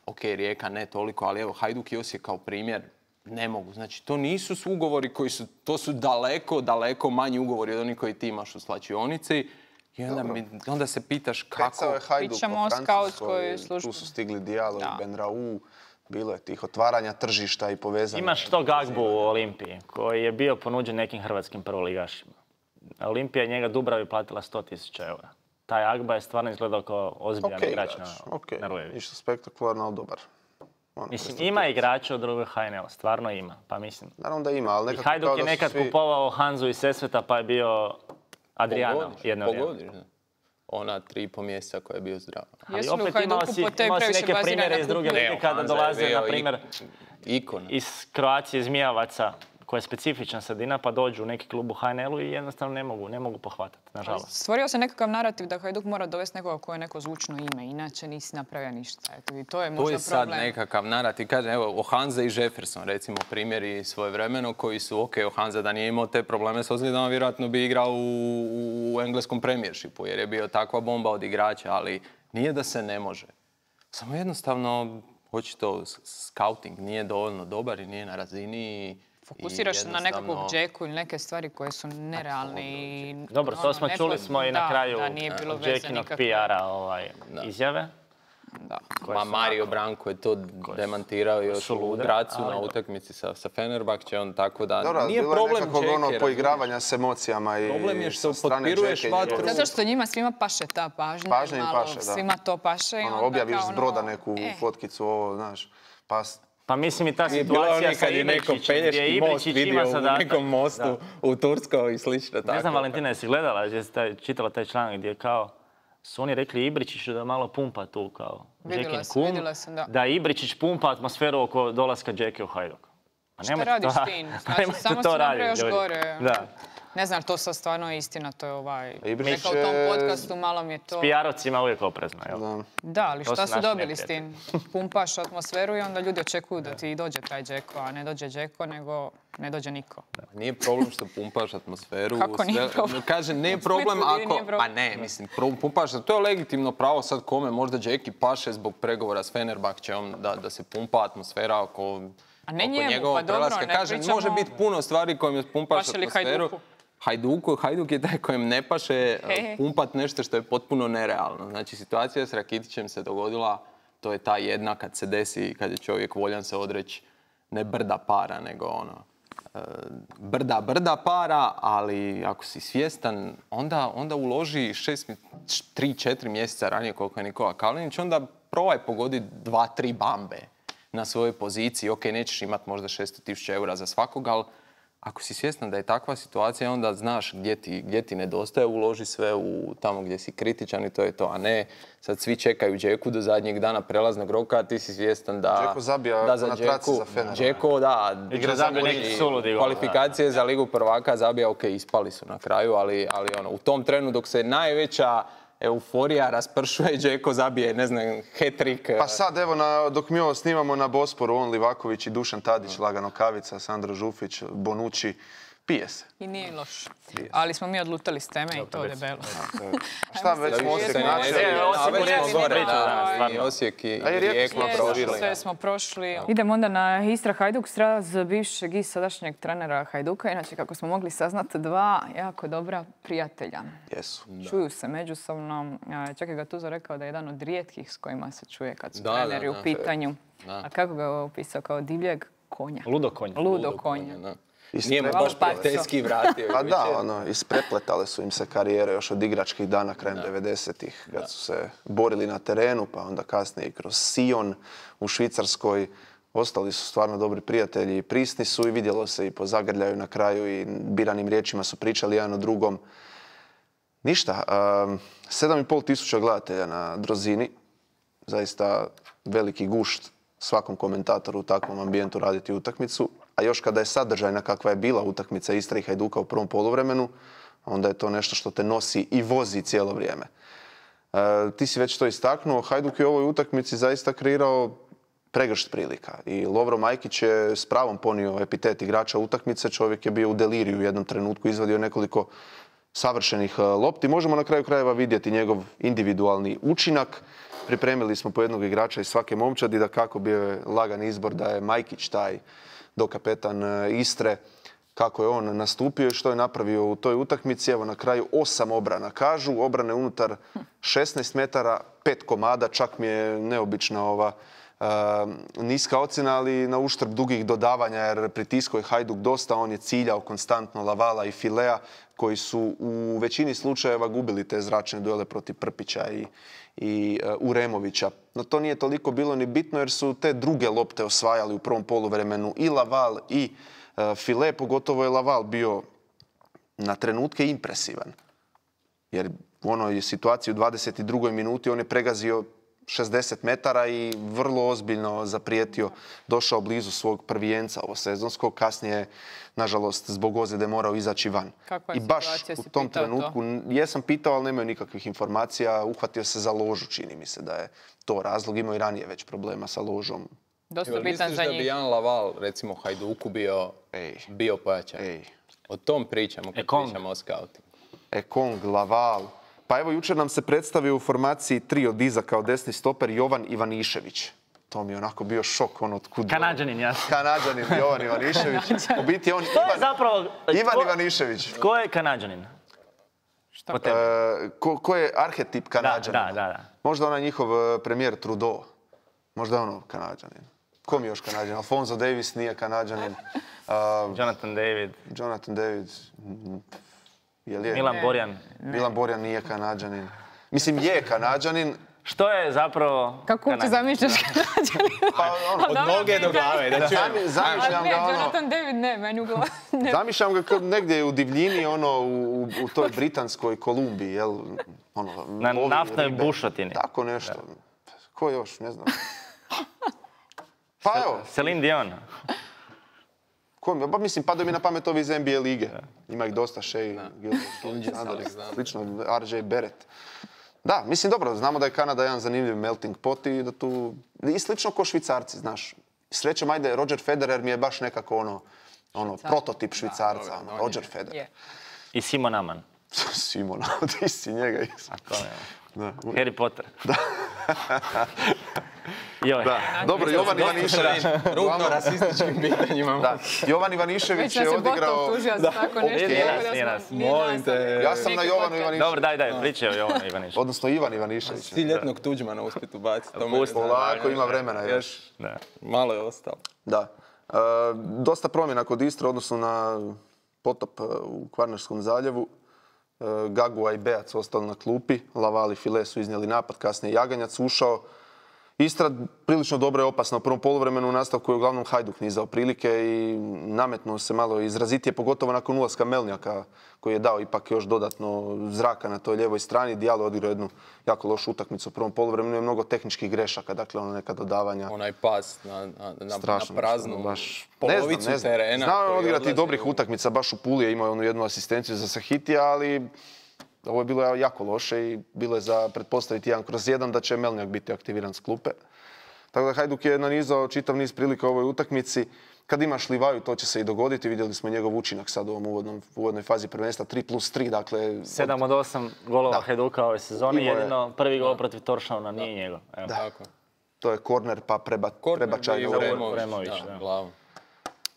ok, Rijeka ne toliko, ali evo Hajduk i Osijek kao primjer, ne mogu. Znači, to nisu su ugovori koji su, to su daleko, daleko manji ugovori od onih koji ti imaš u slačionici. I onda, mi, onda se pitaš kako... Pecao je Hajduk Pričamo po o Francuskoj, skautskoj službi. tu su stigli Diallo Da. i Benraou, bilo je tih otvaranja tržišta i povezanja. Imaš to Gagbu u Olimpiji, koji je bio ponuđen nekim hrvatskim prvoligašima. Olimpija je njega Dubravi platila sto tisuća eura. Taj Agba je stvarno izgledao kao ozbiljan Ok, igrač na, igrač, ok, na Rujeviću. ništa spektakularno, ali dobar. Ono, Mislim, prestati- ima igrača od drugog H N L, stvarno ima, pa mislim. Naravno da ima, ali I nekako Hajduk kao je da su nekad svi... kupovao Hanzu iz Sesveta, pa je bio Adriano Pogodiš, jedno vrijeme. pogodiš, da. Ona tri i po mjeseca koja je bio zdrav. Ali Jesu li u opet imao Hajduku si, po tebi imao si previše neke bazirani primjere na iz druge kupovinu? lige kada Hanza je dolaze, bio na primjer, ik- ikona. iz Kroacije Zmijavaca, koja je specifična sredina, pa dođu u neki klub u H N L-u i jednostavno ne mogu, ne mogu pohvatati, nažalost. Stvorio se nekakav narativ da Hajduk mora dovesti nekoga koje je neko zvučno ime, inače nisi napravio ništa. Eto, i to je možda To je sad problem. nekakav narativ. Kažem, evo, Ohanza i Jefferson, recimo, primjeri svojevremeno koji su, ok, Ohanza da nije imao te probleme s ozljedama, vjerojatno bi igrao u, u engleskom premijershipu, jer je bio takva bomba od igrača, ali nije da se ne može. Samo jednostavno, očito, scouting nije dovoljno dobar i nije na razini. Fokusiraš se na nekakvog džeku ili neke stvari koje su nerealne i... Dobro, to smo čuli smo i na kraju Jackinog P R-a ovaj, izjave. Da. Ma Mario Branko je to demantirao još u Gracu na utakmici sa, sa Fenerbahče, on tako da Dobro, nije bilo je problem nekakvog Džeke, ono razumiješ? poigravanja s emocijama i Problem je što sa strane potpiruješ Džeke i vatru. njegove- Zato što njima svima paše ta pažnja. Pažnja im malo paše, da. Svima to paše. i Ono, onda objaviš kao s ono, broda neku e, fotkicu, ovo, znaš, pas... Pa mislim i ta Nije bilo situacija oni sa kad je neko Ibričićem, gdje Pelješki most Ibričić vidio ima u zadatak. nekom mostu Da. u Turskoj i slično. Ne znam, tako. Valentina, jesi gledala, jesi taj, čitala taj članak gdje kao su oni rekli Ibričiću da malo pumpa tu kao Vidjela Džekin sam, kum, vidjela sam, da. da Ibričić pumpa atmosferu oko dolaska Džeke u Hajduk. Pa Šta nemojte radiš to- ti? pa Znači, nemojte samo to se napravi raditi, još ljudi. gore. Da. Ne znam, to sad stvarno je istina, to je ovaj... Ibričić Rekao u tom je- podcastu, malo mi je to... S P R-ovcima uvijek oprezno, jel? Da. Da, ali To šta su su naši dobili s tim? Pumpaš atmosferu i onda ljudi očekuju da ti dođe taj Džeko, a ne dođe Džeko, nego ne dođe niko. Nije problem što pumpaš atmosferu. Kako nije problem? Kaže, nije U problem Splitu ako... nije problem. Pa ne, mislim, pro- pumpaš, to je legitimno pravo sad kome, možda Džeki paše zbog pregovora s Fenerbahčeom da, da se pumpa atmosfera oko, A ne oko njemu, njegovog pa dobro, prelaska. ne Kaže, pričamo- može biti puno stvari kojim pumpaš Paše li atmosferu. Hajduku? Hajduku, Hajduk je taj kojem ne paše He, he. pumpat nešto što je potpuno nerealno. Znači, situacija s Rakitićem se dogodila, to je ta jedna kad se desi, kad je čovjek voljan se odreći ne brda para, nego ono, e, brda, brda para, ali ako si svjestan, onda, onda uloži šest, mj- tri, četiri mjeseca ranije koliko je Nikola Kalinić, onda probaj pogodi dva, tri bambe na svojoj poziciji. Ok, nećeš imati možda šesto tisuća eura za svakog, ali ako si svjestan da je takva situacija, onda znaš gdje ti, gdje ti nedostaje, uloži sve u tamo gdje si kritičan i to je to, a ne sad svi čekaju Džeku do zadnjeg dana prelaznog roka, a ti si svjestan da... Džeko zabija da za na traci Džeku- za Fener. Džeko, da, Igra zabije neki suludi gol, kvalifikacije za Ligu prvaka zabija, ok, ispali su na kraju, ali, ali ono, u tom trenu dok se najveća euforija raspršuje, Džeko zabije, ne znam, hat-trick. Pa sad, evo, na, dok mi ovo snimamo na Bosporu, on Livaković i Dušan Tadić, Lagano Kavica, Sandro Žufić, Bonucci, pije se. I nije loš. Ali smo mi odlutali s teme i to debelo. A šta već smo Osijek se- načeli? E, A Osijek već je smo gore, priča da, danas, i stvarno. Osijek i A i Rijeku Rijeku smo Sve, prošli. sve smo prošli. Idemo onda na Istra Hajduk, sraz bivšeg i sadašnjeg trenera Hajduka. Inače, kako smo mogli saznati, dva jako dobra prijatelja. Jesu. Čuju se međusobno. A, Čak je Gattuso rekao da je jedan od rijetkih s kojima se čuje kad su Da, da, treneri u da. pitanju. Da. A kako ga je opisao? Kao divljeg konja. Ludo konj. Ludo konja. Da. Istre- Nije me Hvala, baš Pajco. prijateljski vratio. Pa da, jučer. ono, isprepletale su im se karijere još od igračkih dana krajem devedesetih, kad su se borili na terenu, pa onda kasnije i kroz Sion u Švicarskoj. Ostali su stvarno dobri prijatelji i prisni su i vidjelo se i po zagrljaju na kraju i biranim riječima su pričali jedan o drugom. Ništa, um, sedam i pol tisuća gledatelja na Drozini, zaista veliki gušt svakom komentatoru u takvom ambijentu raditi utakmicu, a još kada je sadržajna kakva je bila utakmica Istra i Hajduka u prvom poluvremenu, onda je to nešto što te nosi i vozi cijelo vrijeme. E, ti si već to istaknuo, Hajduk je u ovoj utakmici zaista kreirao pregršt prilika i Lovro Majkić je s pravom ponio epitet igrača utakmice, čovjek je bio u deliriju u jednom trenutku, izvadio nekoliko savršenih e, lopti. Možemo na kraju krajeva vidjeti njegov individualni učinak. Pripremili smo po jednog igrača iz svake momčadi, da kako bio je lagan izbor da je Majkić taj dokapetan e, Istre, kako je on nastupio i što je napravio u toj utakmici. Evo na kraju osam obrana. Kažu obrane unutar šesnaest metara, pet komada, čak mi je neobična ova e, niska ocjena, ali na uštrb dugih dodavanja, jer pritiskao je Hajduk dosta, on je ciljao konstantno Lavala i Filea, koji su u većini slučajeva gubili te zračne duele protiv Prpića i, i uh, Uremovića. No to nije toliko bilo ni bitno jer su te druge lopte osvajali u prvom poluvremenu i Laval i uh, File, pogotovo je Laval bio na trenutke impresivan. Jer u onoj situaciji u dvadeset drugoj minuti on je pregazio šezdeset metara i vrlo ozbiljno zaprijetio, došao blizu svog prvijenca ovo sezonskog, kasnije nažalost zbog ozljede morao izaći van. Kakva je I baš situacija, u si tom pitao trenutku, to? jesam pitao, ali nemaju nikakvih informacija, uhvatio se za ložu, čini mi se da je to razlog, imao i ranije već problema sa ložom. Dosta Jel bitan misliš za da bi njih. Jan Laval, recimo Hajduku, bio, Ej. bio pojačan? Ej. O tom pričamo kad Ekong. pričamo o scoutingu. Ekong, Laval. Pa evo, jučer nam se predstavio u formaciji tri od iza kao desni stoper Jovan Ivanišević. To mi je onako bio šok, on otkud... Kanadžanin, jasno. Kanadžanin, Jovan Ivanišević. U biti on To je Ivan, zapravo... Ivan tko- Ivanišević. Tko je Kanadžanin? Šta? Po tebi. E, ko, ko je arhetip Da, Kanadžanina? da, da, da. Možda onaj njihov e, premijer Trudeau. Možda je ono Kanadžanin. Ko mi je još Kanadžanin? Alfonso Davis nije Kanadžanin. A, Jonathan David, Jonathan David... mm, Jel je? Milan Ne. Borjan. Milan Borjan nije Kanadžanin. Mislim, je Kanadžanin. Što je zapravo... Kako uopće Kanadžanin? zamišljaš Kanadžanina? Pa, ono, Od noge do glave, da čujem. zami- zamišljam A ne, ga ono... Jonathan David ne, meni u glavu. Ne. Zamišljam ga kad negdje u divljini, ono, u, u toj britanskoj Kolumbiji, jel? Ono, Na lovi naftnoj ribe. bušotini. Tako nešto. Ko još, ne znam. Pa evo, Celine Dion. ko mi, pa mislim, padaju mi na pamet ovi iz N B A lige. Ima ih dosta, Shea, Gilgeous, Alexander. slično, R J Barrett. Da, mislim, dobro, znamo da je Kanada jedan zanimljiv melting pot i da tu... I slično ko Švicarci, znaš. Srećom, ajde, Roger Federer mi je baš nekako ono, ono prototip Švicarca, ono, Roger Federer. Je. I Simon Aman. Simona, ti si njega isto. To je. Da. Harry Potter. Joj. Da. Dobro, Jovan Ivanišević. Rubno rasističkim pitanjima. Da. Jovan Ivanišević Već je nas je odigrao... Botov tužio za tako nešto. Nije tako nas, da nije smo- nas. nije Molim nas, te. ali Ja sam na neki Jovanu podcast. Ivaniševiću. Dobro, daj, daj, pričaj o Jovanu Ivaniševiću. Odnosno Ivan Ivanišević. Ti ljetnog Tuđmana uspjet ubaciti. to me- Pusti. Polako, ima vremena još. Da. Malo je ostalo. Da. E, dosta promjena kod Istre, odnosno na potop e, u Kvarnerskom zaljevu. E, Gagua i Beac ostali na klupi. Laval i File su iznijeli napad, kasnije Jaganjac ušao. Istra prilično dobro i opasna u prvom poluvremenu, u nastavku je uglavnom Hajduk nizao prilike i nametnuo se malo izrazitije, pogotovo nakon ulaska Melnjaka koji je dao ipak još dodatno zraka na toj lijevoj strani. Dijalo je odigrao jednu jako lošu utakmicu u prvom poluvremenu, je mnogo tehničkih grešaka, dakle ono neka dodavanja. Onaj pas na, na, na, Strašno, na praznu ono, baš, polovicu ne znam, ne znam. terena. Znao je koji odigrati odlazi dobrih u- utakmica, baš u Puli je imao onu jednu asistenciju za Sahitija, ali ovo je bilo jako loše i bilo je za pretpostaviti jedan kroz jedan da će Melnjak biti aktiviran s klupe. Tako da Hajduk je nanizao čitav niz prilika u ovoj utakmici. Kad imaš Livaju, to će se i dogoditi. Vidjeli smo njegov učinak sad u ovom uvodnom, uvodnoj fazi prvenstva. tri plus tri, dakle... Sedam od osam golova Hajduka ove sezone, Imao je- jedino prvi gol protiv Toršavna nije njegov. Evo. Tako. To je korner pa preba, Korner prebačaj bio na Uremović, uremović. Uremović, da, da. glavom.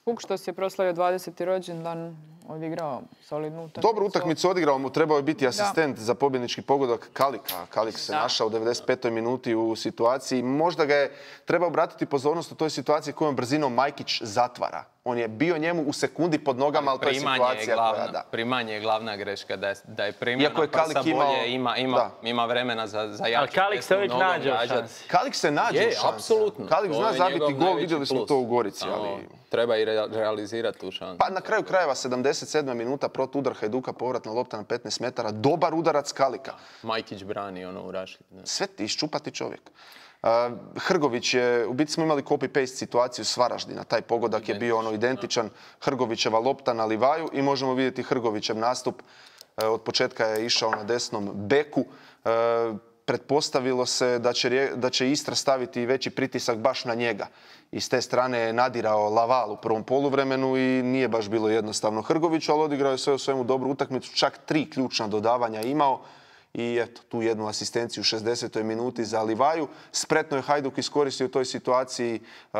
Kuk što si je proslavio dvadeseti rođendan, odigrao solidnu utakmicu. Dobru utakmicu odigrao mu, trebao je biti asistent za pobjednički pogodak Kalika. Kalik se Da. našao u devedeset petoj minuti u situaciji. Možda ga je trebao obratiti pozornost u toj situaciji kojom brzinom Majkić zatvara. On je bio njemu u sekundi pod nogama, ali to je Primanje je situacija glavna, koja da. primanje je glavna greška, da je, da je primljena Iako je prsa Kalik bolje, imao- ima, ima, da. ima vremena za, za jaču Ali Kalik se desnu uvijek nogom nađe u gađat. šansi. Kalik se nađe Je, u šansi. apsolutno. Kalik To zna je zabiti njegov gol, najveći vidjeli smo plus. to u Gorici. Samo Ali... treba i re- realizirati tu šansu. Pa na kraju krajeva sedamdeset sedma minuta protudar Hajduka, povratna lopta na petnaest metara, dobar udarac Kalika. Majkić brani ono u rašlji. ne. Sve ti iščupati čovjek. Uh, Hrgović je, u biti smo imali copy-paste situaciju s Varaždina. Taj pogodak je bio ono identičan. Hrgovićeva lopta na Livaju i možemo vidjeti Hrgovićev nastup. Uh, od početka je išao na desnom beku. Uh, pretpostavilo se da će, Rije- da će Istra staviti veći pritisak baš na njega. I s te strane je nadirao Laval u prvom poluvremenu i nije baš bilo jednostavno Hrgoviću, ali odigrao je sve u svemu dobru utakmicu. Čak tri ključna dodavanja imao. I eto, tu jednu asistenciju u šezdesetoj minuti za Livaju. Spretno je Hajduk iskoristio u toj situaciji uh,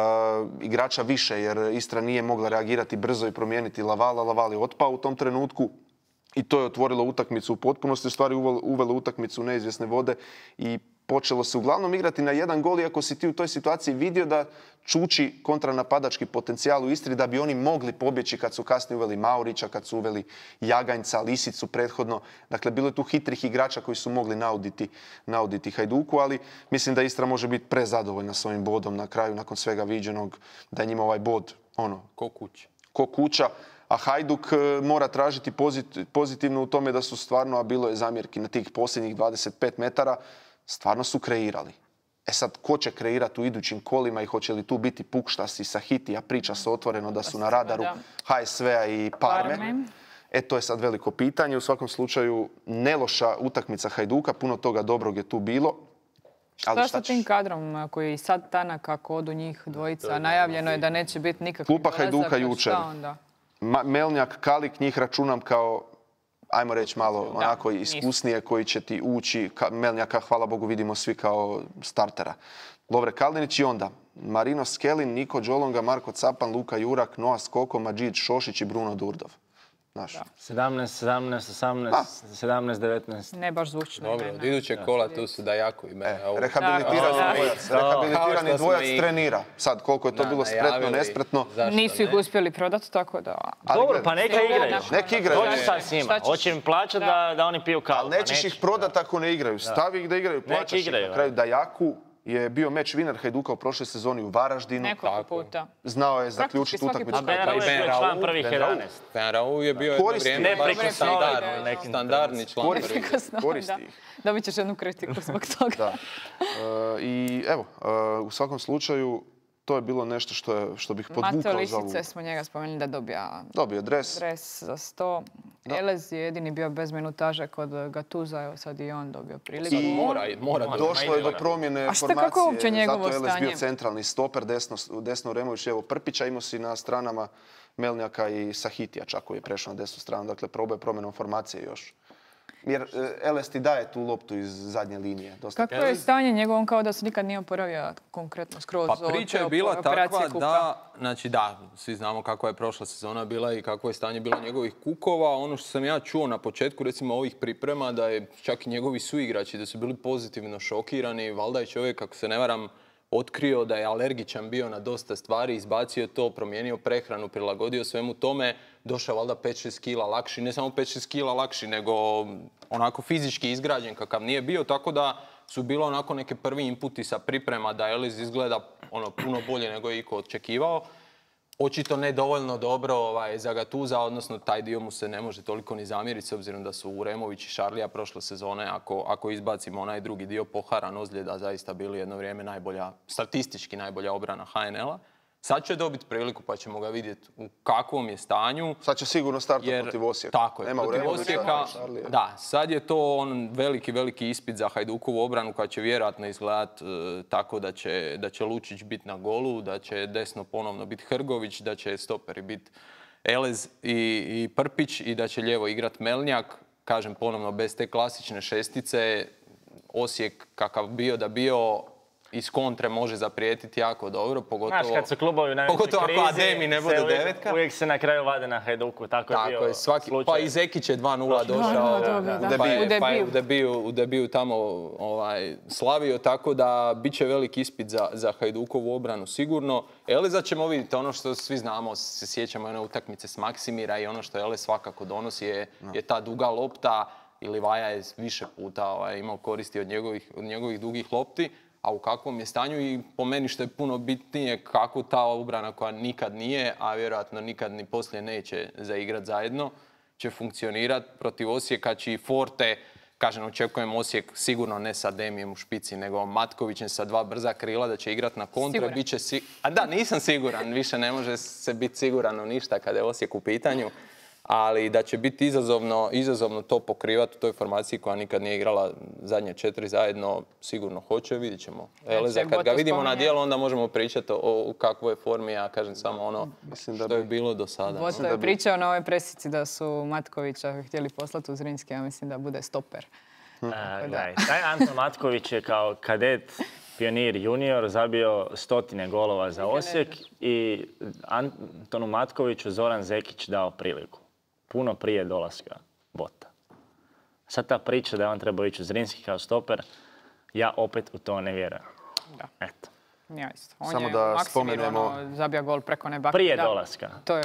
igrača više, jer Istra nije mogla reagirati brzo i promijeniti Lavala. Laval je otpao u tom trenutku. I to je otvorilo utakmicu u potpunosti, u stvari uvelo, uvelo utakmicu u neizvjesne vode i počelo se uglavnom igrati na jedan gol, iako si ti u toj situaciji vidio da čuči kontranapadački potencijal u Istri, da bi oni mogli pobjeći kad su kasnije uveli Maurića, kad su uveli Jaganjca, Lisicu prethodno. Dakle, bilo je tu hitrih igrača koji su mogli nauditi, nauditi Hajduku, ali mislim da Istra može biti prezadovoljna s ovim bodom na kraju, nakon svega viđenog, da je njima ovaj bod ono, Ko kuća. ko kuća, a Hajduk e, mora tražiti pozit- pozitivno u tome da su stvarno, a bilo je zamjerki na tih posljednjih dvadeset pet metara, stvarno su kreirali. E sad, ko će kreirati u idućim kolima i hoće li tu biti Pukštas i Sahiti, a priča se otvoreno da su na radaru H S V-a i Parme. E, to je sad veliko pitanje. U svakom slučaju, neloša utakmica Hajduka, puno toga dobrog je tu bilo. Šta sa tim kadrom koji je sad Tanak, kako odu njih dvojica, najavljeno je da neće biti nikakvih Klupa dolazaka, Hajduka jučer. Melnjak, Kalik, njih računam kao, ajmo reći malo onako iskusnije koji će ti ući. Melnjaka, hvala Bogu, vidimo svi kao startera. Lovre Kaldinić i onda Marino Skelin, Niko Đolonga, Marko Capan, Luka Jurak, Noa Skoko, Madžid Šošić i Bruno Durdov. sedamnaest, sedamnaest, osamnaest, sedamnaest, devetnaest. Ne baš zvučno. Dobro, od idućeg kola tu su Dajako i mene. Rehabilitirani dvojac trenira. Sad, koliko je to bilo spretno, nespretno. Nisu ih uspjeli prodati, tako da... Dobro, pa neka igraju. Neki igraju. Dođi sad s njima. Hoće im plaćati da oni piju kavu. Ali nećeš ih prodati ako ne igraju. Stavi ih da igraju, plaćaš ih. Na kraju Dajaku je bio meč winner Hajduka u prošloj sezoni u Varaždinu. Nekoliko puta. Znao je zaključiti utakmicu. A Ben Raul je bio član prvih jedanaest. Ben Raul je bio jedno vrijeme baš standardni član. Koristi ih. Dobit ćeš jednu kritiku zbog toga. I evo, u svakom slučaju, to je bilo nešto što bih podvukao za ovu. Mateo Lišice smo njega spomenuli da dobija dobio dres. dres za sto. Elez je jedini bio bez minutaže kod Gatuza, evo sad i on dobio priliku. I mora, mora došlo je do promjene formacije. A šta, kako je uopće njegovo stanje? Zato je Elez bio centralni stoper, desno, desno Remović, evo Prpića, imao si na stranama Melnjaka i Sahitija čak koji je prešao na desnu stranu, dakle probao je promjenom formacije još. Jer Elez ti daje tu loptu iz zadnje linije. Kako je stanje njegovom, kao da se nikad nije oporavio konkretno skroz? Pa priča je bila takva da, znači da, svi znamo kakva je prošla sezona bila i kakvo je stanje bilo njegovih kukova. Ono što sam ja čuo na početku, recimo ovih priprema, da je čak i njegovi suigrači, da su bili pozitivno šokirani. Valjda je čovjek, ako se ne varam, otkrio da je alergičan bio na dosta stvari, izbacio to, promijenio prehranu, prilagodio svemu tome, došao valjda pet šest kila lakši, ne samo pet šest kila lakši, nego onako fizički izgrađen kakav nije bio, tako da su bilo onako neke prvi inputi sa priprema da Elez izgleda ono puno bolje nego je iko očekivao. Očito ne dovoljno dobro ovaj, za Gatuza, odnosno taj dio mu se ne može toliko ni zamjeriti s obzirom da su Uremović i Šarlija prošle sezone, ako, ako izbacimo onaj drugi dio poharan ozljeda, zaista bili jedno vrijeme najbolja, statistički najbolja obrana H N L-a. Sad će dobiti priliku pa ćemo ga vidjeti u kakvom je stanju. Sad će sigurno startati protiv Osijeka. Tako je, protiv Osijeka. Da, sad je to on veliki, veliki ispit za Hajdukovu obranu koja će vjerojatno izgledati e, tako da će, da će Lučić biti na golu, da će desno ponovno biti Hrgović, da će stoperi biti Elez i, i Prpić i da će lijevo igrati Melnjak. Kažem ponovno, bez te klasične šestice, Osijek kakav bio da bio, iz kontre može zaprijetiti jako dobro, pogotovo... Znaš, kad su klubovi u najvećoj krizi, pogotovo ako Ademi ne bude uvijek, devetka. Uvijek se na kraju vade na Hajduku, tako, tako je bio je, svaki, slučaj. Pa i Zekić je dva nula došao, da, da, da, pa je, u pa je u debiju, u debiju tamo ovaj, slavio, tako da bit će veliki ispit za, za Hajdukovu obranu sigurno. Eleza ćemo vidjeti, ono što svi znamo, se sjećamo one utakmice s Maksimira i ono što Elez svakako donosi je, no. je ta duga lopta i Livaja je više puta ovaj, imao koristi od njegovih, od njegovih dugih lopti. A u kakvom je stanju i po meni što je puno bitnije kako ta obrana koja nikad nije, a vjerojatno nikad ni poslije neće zaigrat zajedno, će funkcionirati protiv Osijeka, čiji Forte, kažem, očekujem Osijek sigurno ne sa Demijem u špici, nego Matkovićem sa dva brza krila da će igrat na kontre. Biće si... A da, nisam siguran, više ne može se biti siguran u ništa kada je Osijek u pitanju. Ali da će biti izazovno, izazovno to pokrivati u toj formaciji koja nikad nije igrala zadnje četiri zajedno, sigurno hoće, vidit ćemo. Eleza, kad ga vidimo na dijelu, onda možemo pričati o, o kakvoj je formi, ja kažem samo ono Mislim da što je bilo do sada. Boto je pričao na ovoj presici da su Matkovića htjeli poslati u Zrinski, ja mislim da bude stoper. Hm. A, gledaj, taj Anton Matković je kao kadet Pionir junior zabio stotine golova za Osijek i Antonu Matkoviću Zoran Zekić dao priliku. Puno prije dolaska Bota. Sad ta priča da je on trebao ići u Zrinski kao stoper, ja opet u to ne vjerujem. Da. Eto. Ja isto. On Samo je da Maksimir, spomenemo... ono, zabija gol preko neba. Prije da. dolaska. To je...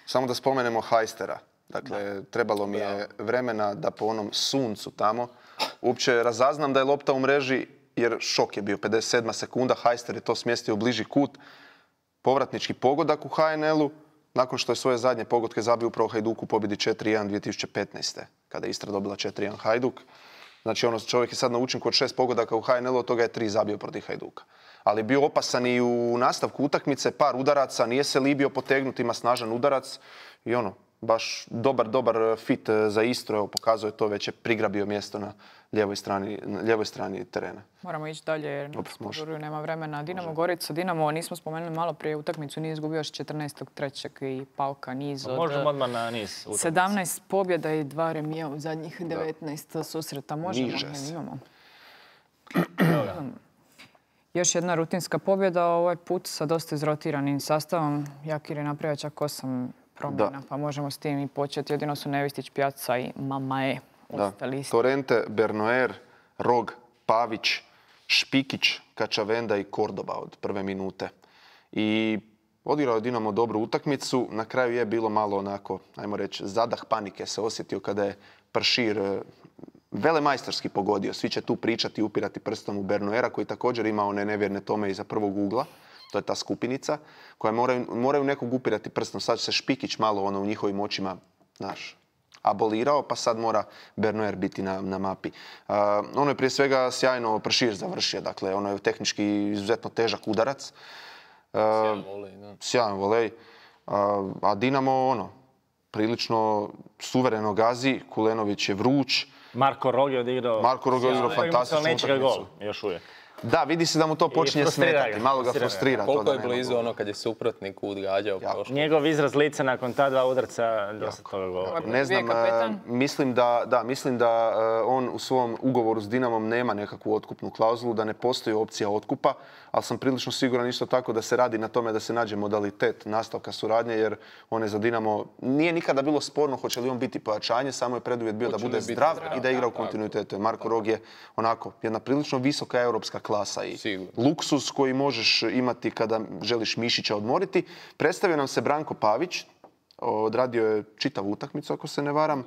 Samo da spomenemo Hajstera. Dakle, da. trebalo mi je vremena da po onom suncu tamo uopće razaznam da je lopta u mreži, jer šok je bio. pedeset sedma sekunda, Hajster je to smjestio u bliži kut. Povratnički pogodak u H N L-u. Nakon što je svoje zadnje pogodke zabio upravo Hajduku u pobjedi četiri jedan dvije tisuće petnaeste. Kada je Istra dobila četiri jedan Hajduk. Znači, ono, čovjek je sad na učinku od šest pogodaka u H N L-u, od toga je tri zabio protiv Hajduka. Ali bio opasan i u nastavku utakmice, par udaraca, nije se libio potegnuti, ima snažan udarac i ono, baš dobar, dobar fit za Istru, evo, pokazuje to, već je prigrabio mjesto na lijevoj strani, na lijevoj strani terena. Moramo ići dalje jer na nema vremena. Dinamo Gorica, Dinamo, nismo spomenuli malo prije utakmicu, nije izgubio još četrnaestog trećeg i Pauka niz od... Možemo odmah na niz utakmice. sedamnaest pobjeda i dva remija u zadnjih devetnaest susreta. Možemo, Niže se. imamo. Još jedna rutinska pobjeda, ovaj put sa dosta izrotiranim sastavom. Jakir je napravio čak osam promjena, pa možemo s tim i početi. Jedino su Nevistić, Pjaca i Mamae. Da. Torrente, Bernoer, Rog, Pavić, Špikić, Kačavenda i Kordoba od prve minute. I odigrao je Dinamo dobru utakmicu. Na kraju je bilo malo onako, ajmo reći, zadah panike se osjetio kada je Pršir velemajstorski pogodio. Svi će tu pričati i upirati prstom u Bernoera koji također ima one nevjerne tome iza prvog ugla. To je ta skupinica koja moraju, moraju nekog upirati prstom. Sad će se Špikić malo ono u njihovim očima, znaš, abolirao, pa sad mora Bernoer biti na, na mapi. Uh, ono je prije svega sjajno Pršir završio, dakle ono je tehnički izuzetno težak udarac. Uh, Sjajan volej, da. Sjajan volej. Uh, a Dinamo, ono, prilično suvereno gazi. Kulenović je vruć. Marko Rog je odigrao... Marko Rog je odigrao fantastičnu utakmicu. Gol, utakmicu. još uvijek. Da, vidi se da mu to počinje smetati. ga, Malo ga frustrira ga. frustrira. Koliko to je da nema blizu gola. ono kad je suprotnik odgađao prošlo. Njegov izraz lica nakon ta dva udarca dosta toga govori. Ne znam, Bio je kapetan. mislim da, da, mislim da uh, on u svom ugovoru s Dinamom nema nekakvu otkupnu klauzulu, da ne postoji opcija otkupa, ali sam prilično siguran isto tako da se radi na tome da se nađe modalitet nastavka suradnje, jer on je za Dinamo, nije nikada bilo sporno hoće li on biti pojačanje, samo je preduvjet bio Hoće da bude li biti zdrav, zdrav, i da igra u tako. kontinuitetu. Marko Rog je onako jedna prilično visoka europska klasa i Sigurno. luksus koji možeš imati kada želiš mišića odmoriti. Predstavio nam se Branko Pavić, odradio je čitavu utakmicu ako se ne varam.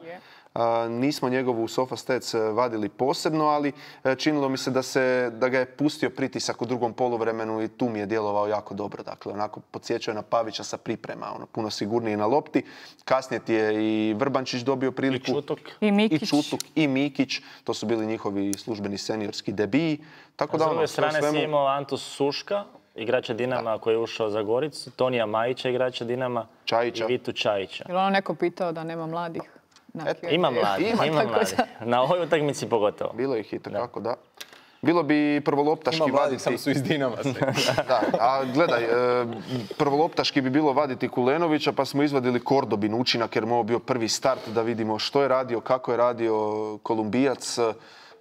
A, nismo njegovu Sofastats vadili posebno, ali e, činilo mi se da, se da ga je pustio pritisak u drugom poluvremenu i tu mi je djelovao jako dobro. Dakle, onako podsjećao je na Pavića sa priprema, ono, puno sigurniji na lopti. Kasnije ti je i Vrbančić dobio priliku. I Čutuk. I Mikić. I Čutuk i Mikić. To su bili njihovi službeni seniorski debiji. Tako S da, ono, druge sve u strane si svemu- imao Antus Suška, igrača Dinama koji je ušao za Goricu, Tonija Majića, igrača Dinama, Čajića. i Vitu Čajića. Je li ono neko pitao da nema mladih? Na Eto. Q- Ima mladi, Ima, ima tako mladi. da. Na ovoj utakmici pogotovo. Bilo ih i takako, da. Bilo bi prvoloptaški Ima mladih, vaditi... samo su iz Dinama sve. Da, a gledaj, e, prvoloptaški bi bilo vaditi Kulenovića, pa smo izvadili Kordobin učinak jer mu je ovo bio prvi start da vidimo što je radio, kako je radio Kolumbijac.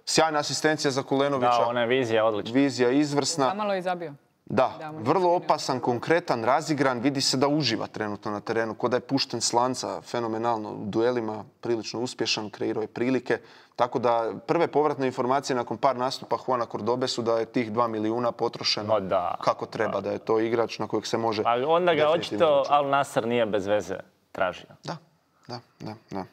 Sjajna asistencija za Kulenovića, Da, ona je vizija odlična. vizija izvrsna. Zamalo je zabio. Da, Da, možda vrlo se ne- opasan, konkretan, razigran, vidi se da uživa trenutno na terenu, ko da je pušten s lanca, fenomenalno, u duelima prilično uspješan, kreirao je prilike. Tako da prve povratne informacije nakon par nastupa Juana Cordobe su da je tih dva milijuna potrošeno Ma da. kako treba, da je to igrač na kojeg se može Ali onda ga definitivno očito računati. Al Nassr nije bez veze tražio. Da, da, da, da.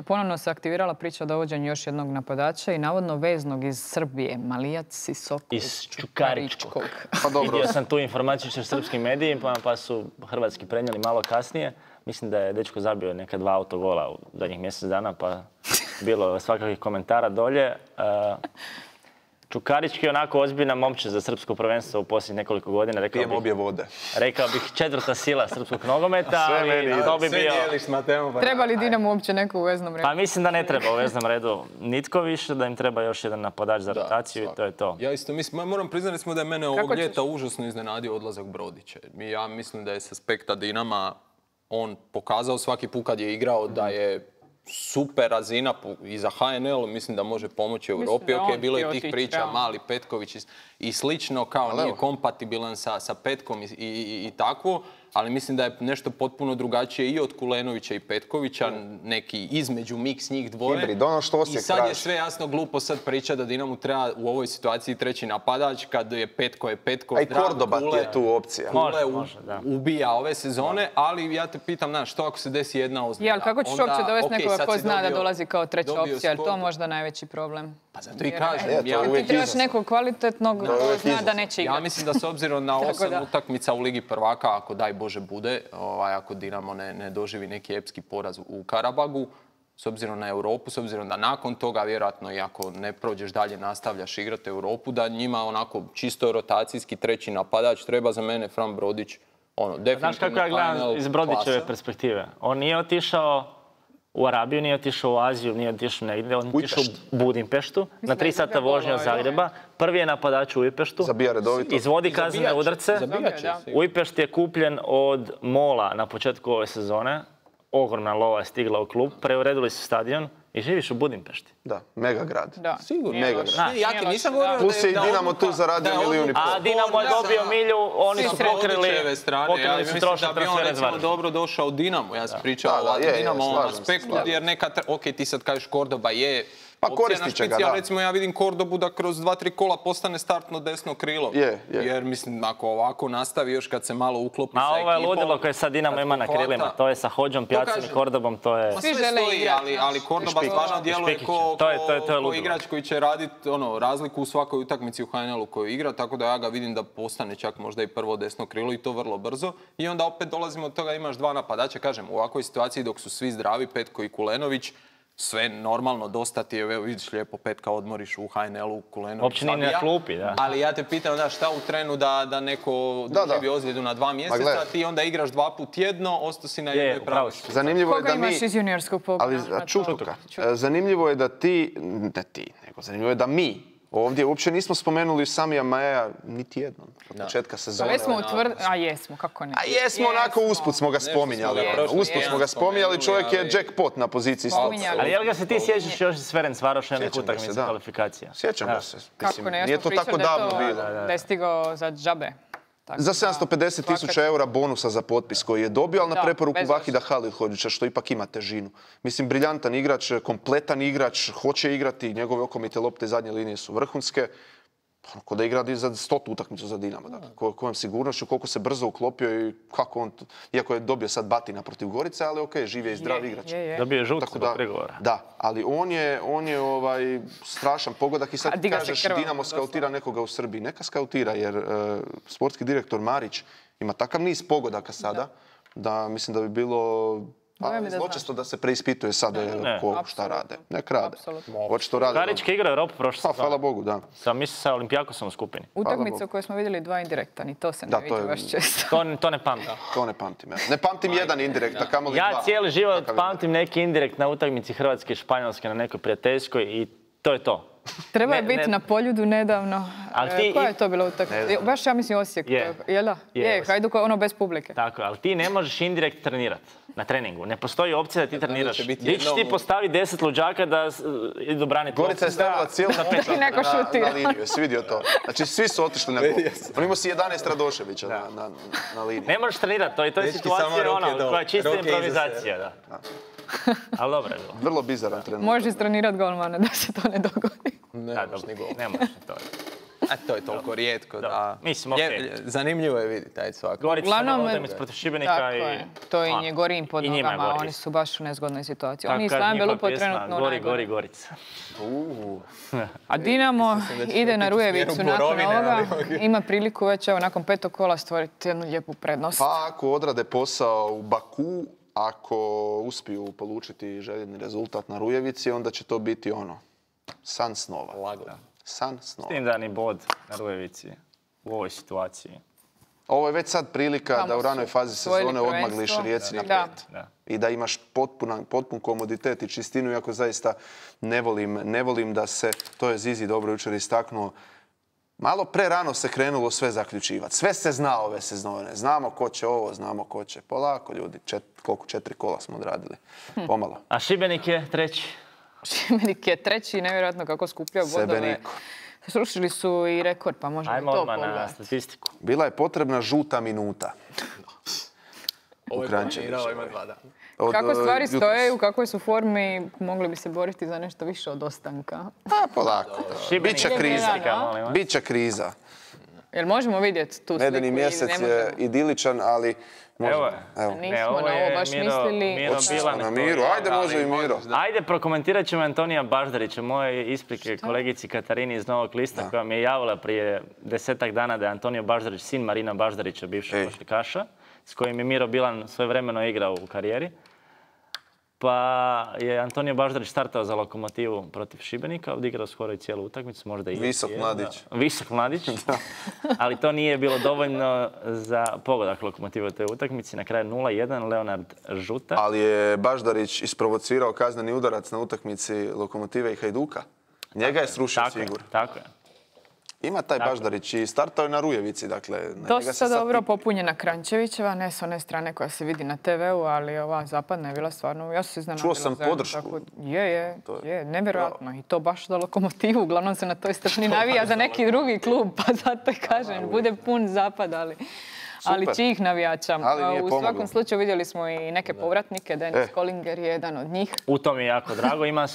Ponovno se aktivirala priča o dovođenju još jednog napadača i navodno veznog iz Srbije, Malijac Sisoko Iz Čukaričkog. Pa dobro, Vidio sam tu informaciju u srpskim medijima, pa su hrvatski prenijeli malo kasnije. Mislim da je dečko zabio neka dva autogola u zadnjih mjesec dana, pa bilo je svakakvih komentara dolje. E, Čukarički je onako ozbiljna momče za srpsko prvenstvo u posljednjih nekoliko godina. Rekao pijem bih, obje vode. rekao bih četvrta sila srpskog nogometa, Sve meni ali ide. to bi Sve bio... dijeliš s Mateom, pa Treba li Dinamo uopće neko u veznom redu? Pa mislim da ne treba u veznom redu nitko više, da im treba još jedan napadač za rotaciju i to je to. Ja isto mislim, ma moram priznati smo da je mene ovog Kako ćeš? ljeta užasno iznenadio odlazak Brodića. Mi- Ja mislim da je s aspekta Dinama on pokazao svaki put kad je igrao da je super razina pu- i za H N L, mislim da može pomoći Europi. da je Ok, on bilo je htio tih otići, priča, realno. Mali Petković i, i slično, kao Ali nije evo. kompatibilan sa, sa Petkom i, i, i, i takvo, ali mislim da je nešto potpuno drugačije i od Kulenovića i Petkovića, neki između miks njih dvoje. Hibrid, ono što I Osijek sad je traži. sve jasno glupo sad priča da Dinamo treba u ovoj situaciji treći napadač, kad je Petko je Petko. A i zdrav, Kordoba ti Kule- je tu opcija. Kule Može, u- može, da. ubija ove sezone, ali ja te pitam, znaš, što ako se desi jedna ozljeda? Je, ali kako ćeš Onda, uopće dovesti okej, nekoga sad ko si zna da dobio- dolazi kao treća dobio opcija, jer to skor- je možda najveći problem. Pa zato i Jer, kažem. E, to je ja, uvijek Ti trebaš izazov. nekog kvalitetnog je ko uvijek zna da izazov. neće ja igrati. mislim da s obzirom na Tako osam da. utakmica u Ligi prvaka, ako daj Bože bude, ovaj, ako Dinamo ne, ne doživi neki epski poraz u Karabagu, s obzirom na Europu, s obzirom da nakon toga, vjerojatno i ako ne prođeš dalje, nastavljaš igrati Europu, da njima onako čisto rotacijski treći napadač treba za mene Fran Brodić, ono, definitivno Znaš kako ja gledam iz Brodićeve perspektive? On nije otišao u Arabiju, nije otišao u Aziju, nije otišao negdje, on je otišao u Budimpeštu, na tri sata vožnje od Zagreba. Prvi je napadač u Ujpeštu, Zabija redovito. izvodi kaznene udarce. Ujpešt je kupljen od Mola na početku ove sezone. Ogromna lova je stigla u klub, preuredili su stadion i živiš u Budimpešti. Da, mega grad. Da. Sigurno. Mega grad. Ne, ja ti nisam govorio Plus je i da Dinamo odluka- tu zaradio da je milijun i odluka pol. A Dinamo je dobio milju, oni su pokrili, Brodićeve strane. Ja pokrili su mislim trošak da bi on transfera recimo zvara. dobro došao u Dinamo. Ja sam pričao Da, da, o je, je, Dinamovom slažem se, aspektu slažem. jer neka, tra- ok, ti sad kažeš Kordoba je Pa opcija koristit na će ga, špici, ali da. recimo ja vidim Kordobu da kroz dva, tri kola postane startno desno krilo. Je, je. Jer mislim, ako ovako nastavi još kad se malo uklopi Ma sa ovo je ekipom, ludilo koje sad Dinamo kad ima na pohvata- krilima. To je sa Hodžom, Pjacom i kažem. Kordobom, to je... Ma Svi sve žele stoji, igrati, ali, znaš. ali Kordoba Špikić. stvarno djeluje Špikić. ko, To je- to je- to je ko ludilo. igrač koji će raditi ono, razliku u svakoj utakmici u H N L-u koju igra, tako da ja ga vidim da postane čak možda i prvo desno krilo i to vrlo brzo. I onda opet dolazimo od toga da imaš dva napadača, kažem, u ovakvoj situaciji dok su svi zdravi, Petko i Kulenović, sve normalno, dosta ti je, evo vidiš lijepo Petka odmoriš u H N L-u, Kulenović Uopće nije ni na zabija. klupi, da. Ali ja te pitam, da, šta u trenu da, da neko Da, da. doživi ozljedu na dva mjeseca, gledaj. ti onda igraš dva put tjedno, ostao si na Je, jednoj upravo pravoj. si. Zanimljivo je Koga da mi... imaš iz juniorskog pogona? Ali a, Čutuka. E, Zanimljivo je da ti, ne ti, nego zanimljivo je da mi ovdje uopće nismo spomenuli Samija Majeja niti jednom od početka Pa sezone. već smo utvrdili, a jesmo, kako ne? A jesmo onako usput smo ga smo spominjali. ga ono, prošli Usput smo ga tjedan spominjali, čovjek je spomenuli, ali- jackpot na poziciji stopca. Spominjali. Ali jel ga se ti sjećaš još iz Ferenc Varoša jednih Sjećam ga se, utakmica da. kvalifikacija? Sjećam Da. ga se. Kako Mislim, ne, ja nije smo to tako pričali da je davno to- bilo. Da je stigao za džabe. Tako Za da, sedamsto pedeset tisuća eura bonusa za potpis koji je dobio, ali na Da, preporuku bez Vahida Halilhodžića, što ipak ima težinu. Mislim, briljantan igrač, kompletan igrač, hoće igrati, njegove okomite lopte iz zadnje linije su vrhunske. Ono, ko da igra za stotu utakmicu za Dinamo. Dakle, ko- kojom sigurnošću, koliko se brzo uklopio i kako on, t- iako je dobio sad batina protiv Gorice, ali ok, živ je i zdrav je, igrač. je, je. Dobio je žuti Tako zbog da, prigovora. da, ali on je, on je ovaj, strašan pogodak i A sad diga se kažeš krvavom, Dinamo skautira nekoga u Srbiji. Neka skautira jer e, sportski direktor Marić ima takav niz pogodaka sada da, mislim da bi bilo pa, Dojam je da zločesto da se preispituje sada ne. ko šta Apsolutno. rade. Nek rade. Apsolutno. Očito rade. Karićka igra Europu prošle Pa, sezone. hvala Bogu, da. Sam mislim sa Olimpijakosom u skupini. Utakmica Bogu. u kojoj smo vidjeli dva indirektan i to se ne Da, to vidi je- baš često. To, to ne pamtim. To ne pamtim. Ja. Ne pamtim jedan indirekt, a kamoli dva. Ja cijeli život Takav pamtim neki indirekt na utakmici Hrvatske i Španjolske na nekoj prijateljskoj i to je to. Treba je Ne, biti ne- na Poljudu nedavno. Ali E, ti koja i- je to bila utakmica? Baš ja mislim Osijek. Je. Jel da? Je, Je, Osijek. Hajduk ono bez publike. Tako, ali ti ne možeš indirekt trenirati na treningu. Ne postoji opcija da ti treniraš. će biti Gdje ćeš ti jednom- postaviti deset luđaka da s- idu braniti Gorica je loptu? stavila cijelu I neko na, na šutira. liniju, jesi vidio to? Znači svi su otišli na gol. On imao si jedanaest Radoševića na, na, na liniji. Ne možeš trenirati, to je, to je Dečki, samo situacija ruke ona, dole, koja je čista ruke iza improvizacija. Da. Ali dobro je bilo. Vrlo bizaran trenutak. Možeš istrenirati golmana da se to ne dogodi. Ne Da, možeš dobro, ni gol. ne možeš to. A to je toliko rijetko da... Mislim, Je- okej. zanimljivo je vidjeti taj svak. Gorica Uglavnom, Uglavnom, utakmica protiv Šibenika Tako i... je. To im je ono, gori im pod i njima je nogama, gori oni isto. su baš u nezgodnoj situaciji. Tako Oni i kaže Stan njihova Belupo pjesma, trenutno Gori, najgore. gori, Gorica. A Dinamo da će ide to na biti u Rujevicu smjeru nakon Borovine, ovoga. ali Ima priliku već evo, nakon petog kola stvoriti jednu lijepu prednost. Pa ako odrade posao u Baku, ako uspiju polučiti željeni rezultat na Rujevici, onda će to biti ono, san snova. Lago. San snova. Tim da ni bod na Rujevici u ovoj situaciji. Ovo je već sad prilika Tamo da u su ranoj fazi osvojili sezone odmagliš prvenstvo. Rijeci na Da. pet. Da. I da imaš potpunan, potpun komoditet i čistinu, iako zaista ne volim, ne volim da se, to je Zizi dobro jučer istaknuo, malo pre rano se krenulo sve zaključivati. Sve se zna ove sezone. Znamo ko će ovo, znamo ko će. Polako ljudi, Čet, koliko četiri kola smo odradili. Pomalo. A Šibenik je treći. Šibenik je treći, nevjerojatno kako skuplja Sebe bodove. niko. Srušili su i rekord, pa možemo i Ajmo to odmah na pogledati. statistiku. Bila je potrebna žuta minuta. Ovo je Kranjčeviću. planirao, ima dva dana. Od, Kako e, stvari jutros. stoje, u kakvoj su formi, mogli bi se boriti za nešto više od ostanka. Pa polako. Šibenik Biće je kriza. statistika, molim vas. Biće kriza. Jel možemo vidjeti tu sliku? Medeni ili mjesec ne je možemo? idiličan, ali možemo. Evo je. Evo. Nismo Ne, na ovo ovo je baš Miro- mislili. Miro Otišli Bilan smo na je Miru. to. Ajde, može i Miro. Ajde, prokomentirat ćemo Antonija Baždarića, moje isprike kolegici Katarini iz Novog lista, koja mi je javila prije desetak dana da je Antonio Baždarić sin Marina Baždarića, bivšeg Ej. košarkaša, s kojim je Miro Bilan svojevremeno igrao u karijeri. Pa je Antonio Baždarić startao za Lokomotivu protiv Šibenika, odigrao skoro i cijelu utakmicu, možda i... Visok mladić. Visok mladić, ali to nije bilo dovoljno za pogodak Lokomotive u toj utakmici. Na kraju nula jedan, Leonard Žuta. Ali je Baždarić isprovocirao kazneni udarac na utakmici Lokomotive i Hajduka. Njega je srušio Cigur. Tako je. Ima taj Baždarić i startao je na Rujevici, dakle... Dosta dobro popunjena Krančevićeva, ne s one strane koja se vidi na te veu, ali ova zapadna je bila stvarno... Ja sam se iznenadila. Čuo sam podršku. Je, je, je, nevjerojatno. I to baš za Lokomotivu, uglavnom se na toj strani navija za neki drugi klub, pa zato i kažem, bude pun zapad, ali... Ali čijih navijača. U svakom slučaju vidjeli smo i neke povratnike. Denis Kolinger je jedan od njih. U tom je jako drago. Ima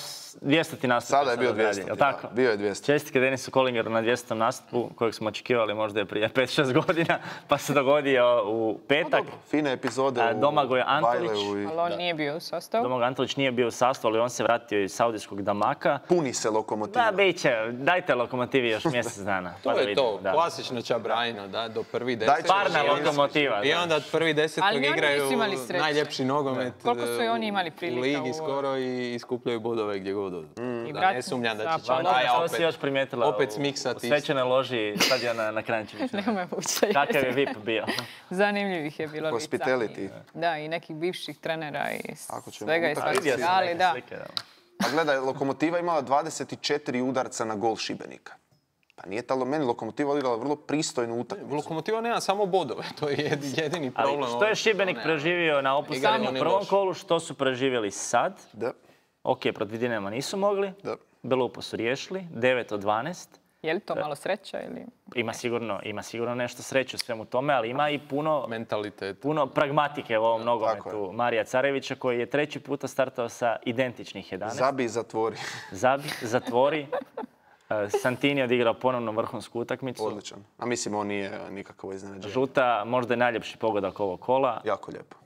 dvjesto nastup. Sada je bio dvjesto. Bio je dvjesto. Čestitke Denisu Kolingeru na dvjestotom nastupu, kojeg smo očekivali možda je prije pet šest godina, pa se dogodio u petak. Fine epizode u Domagoj Antolić. Ali on nije bio u sastavu. Domagoj Antolić nije bio u sastavu, ali on se vratio iz saudijskog Damaka. Puni se Lokomotiva. Da, bit će. Dajte Lokomotivi još mjesec dana. To je to. Klasično Čabrajno, da, do prvi deset. Parna Lokomotiva. I onda od prvi desetog igraju najljepši nogomet Koliko su i oni imali prilika u ligi skoro i iskupljaju bodove gdje god odu. Da, ne sumnjam da će Čabraja opet, si još primijetila opet smiksati. U svečanoj loži stadiona na Kranjčeviću. Nema vuče. Kakav je V I P bio. Zanimljivih je bilo Hospitality. Da, i nekih bivših trenera i svega i svačega. Ali da. A gledaj, Lokomotiva imala dvadeset četiri udarca na gol Šibenika. Pa nije talo, meni Lokomotiva odigrala vrlo pristojnu utakmicu. Lokomotiva nema samo bodove, to je jedini problem. Ali što je Šibenik preživio na opuštanju u prvom kolu, što su preživjeli sad? Da. Ok, protiv Dinama nisu mogli. Da. Belupo su riješili, devet od dvanaest. Je li to malo sreća ili... Ima sigurno, ima sigurno nešto sreće u svemu tome, ali ima i puno... mentalitet. Puno pragmatike u ovom nogometu Marija Carevića, koji je treći puta startao sa identičnih jedanaest. Zabi i zatvori. Zabi, zatvori. Santini je odigrao ponovno vrhunsku utakmicu. Odličan. A mislim, on nije nikakvo iznenađenje. Žuta, možda je najljepši pogodak ovog kola. Jako lijepo.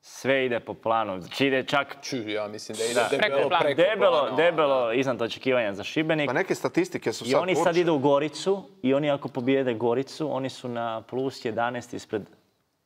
Sve ide po planu. Znači ide čak... Ču, ja mislim da ide da, debelo preko debelo, plana. Debelo iznad očekivanja za Šibenik. Pa neke statistike su sad... I oni sad poručene. Idu u Goricu i oni ako pobijede Goricu, oni su na plus jedanaest ispred...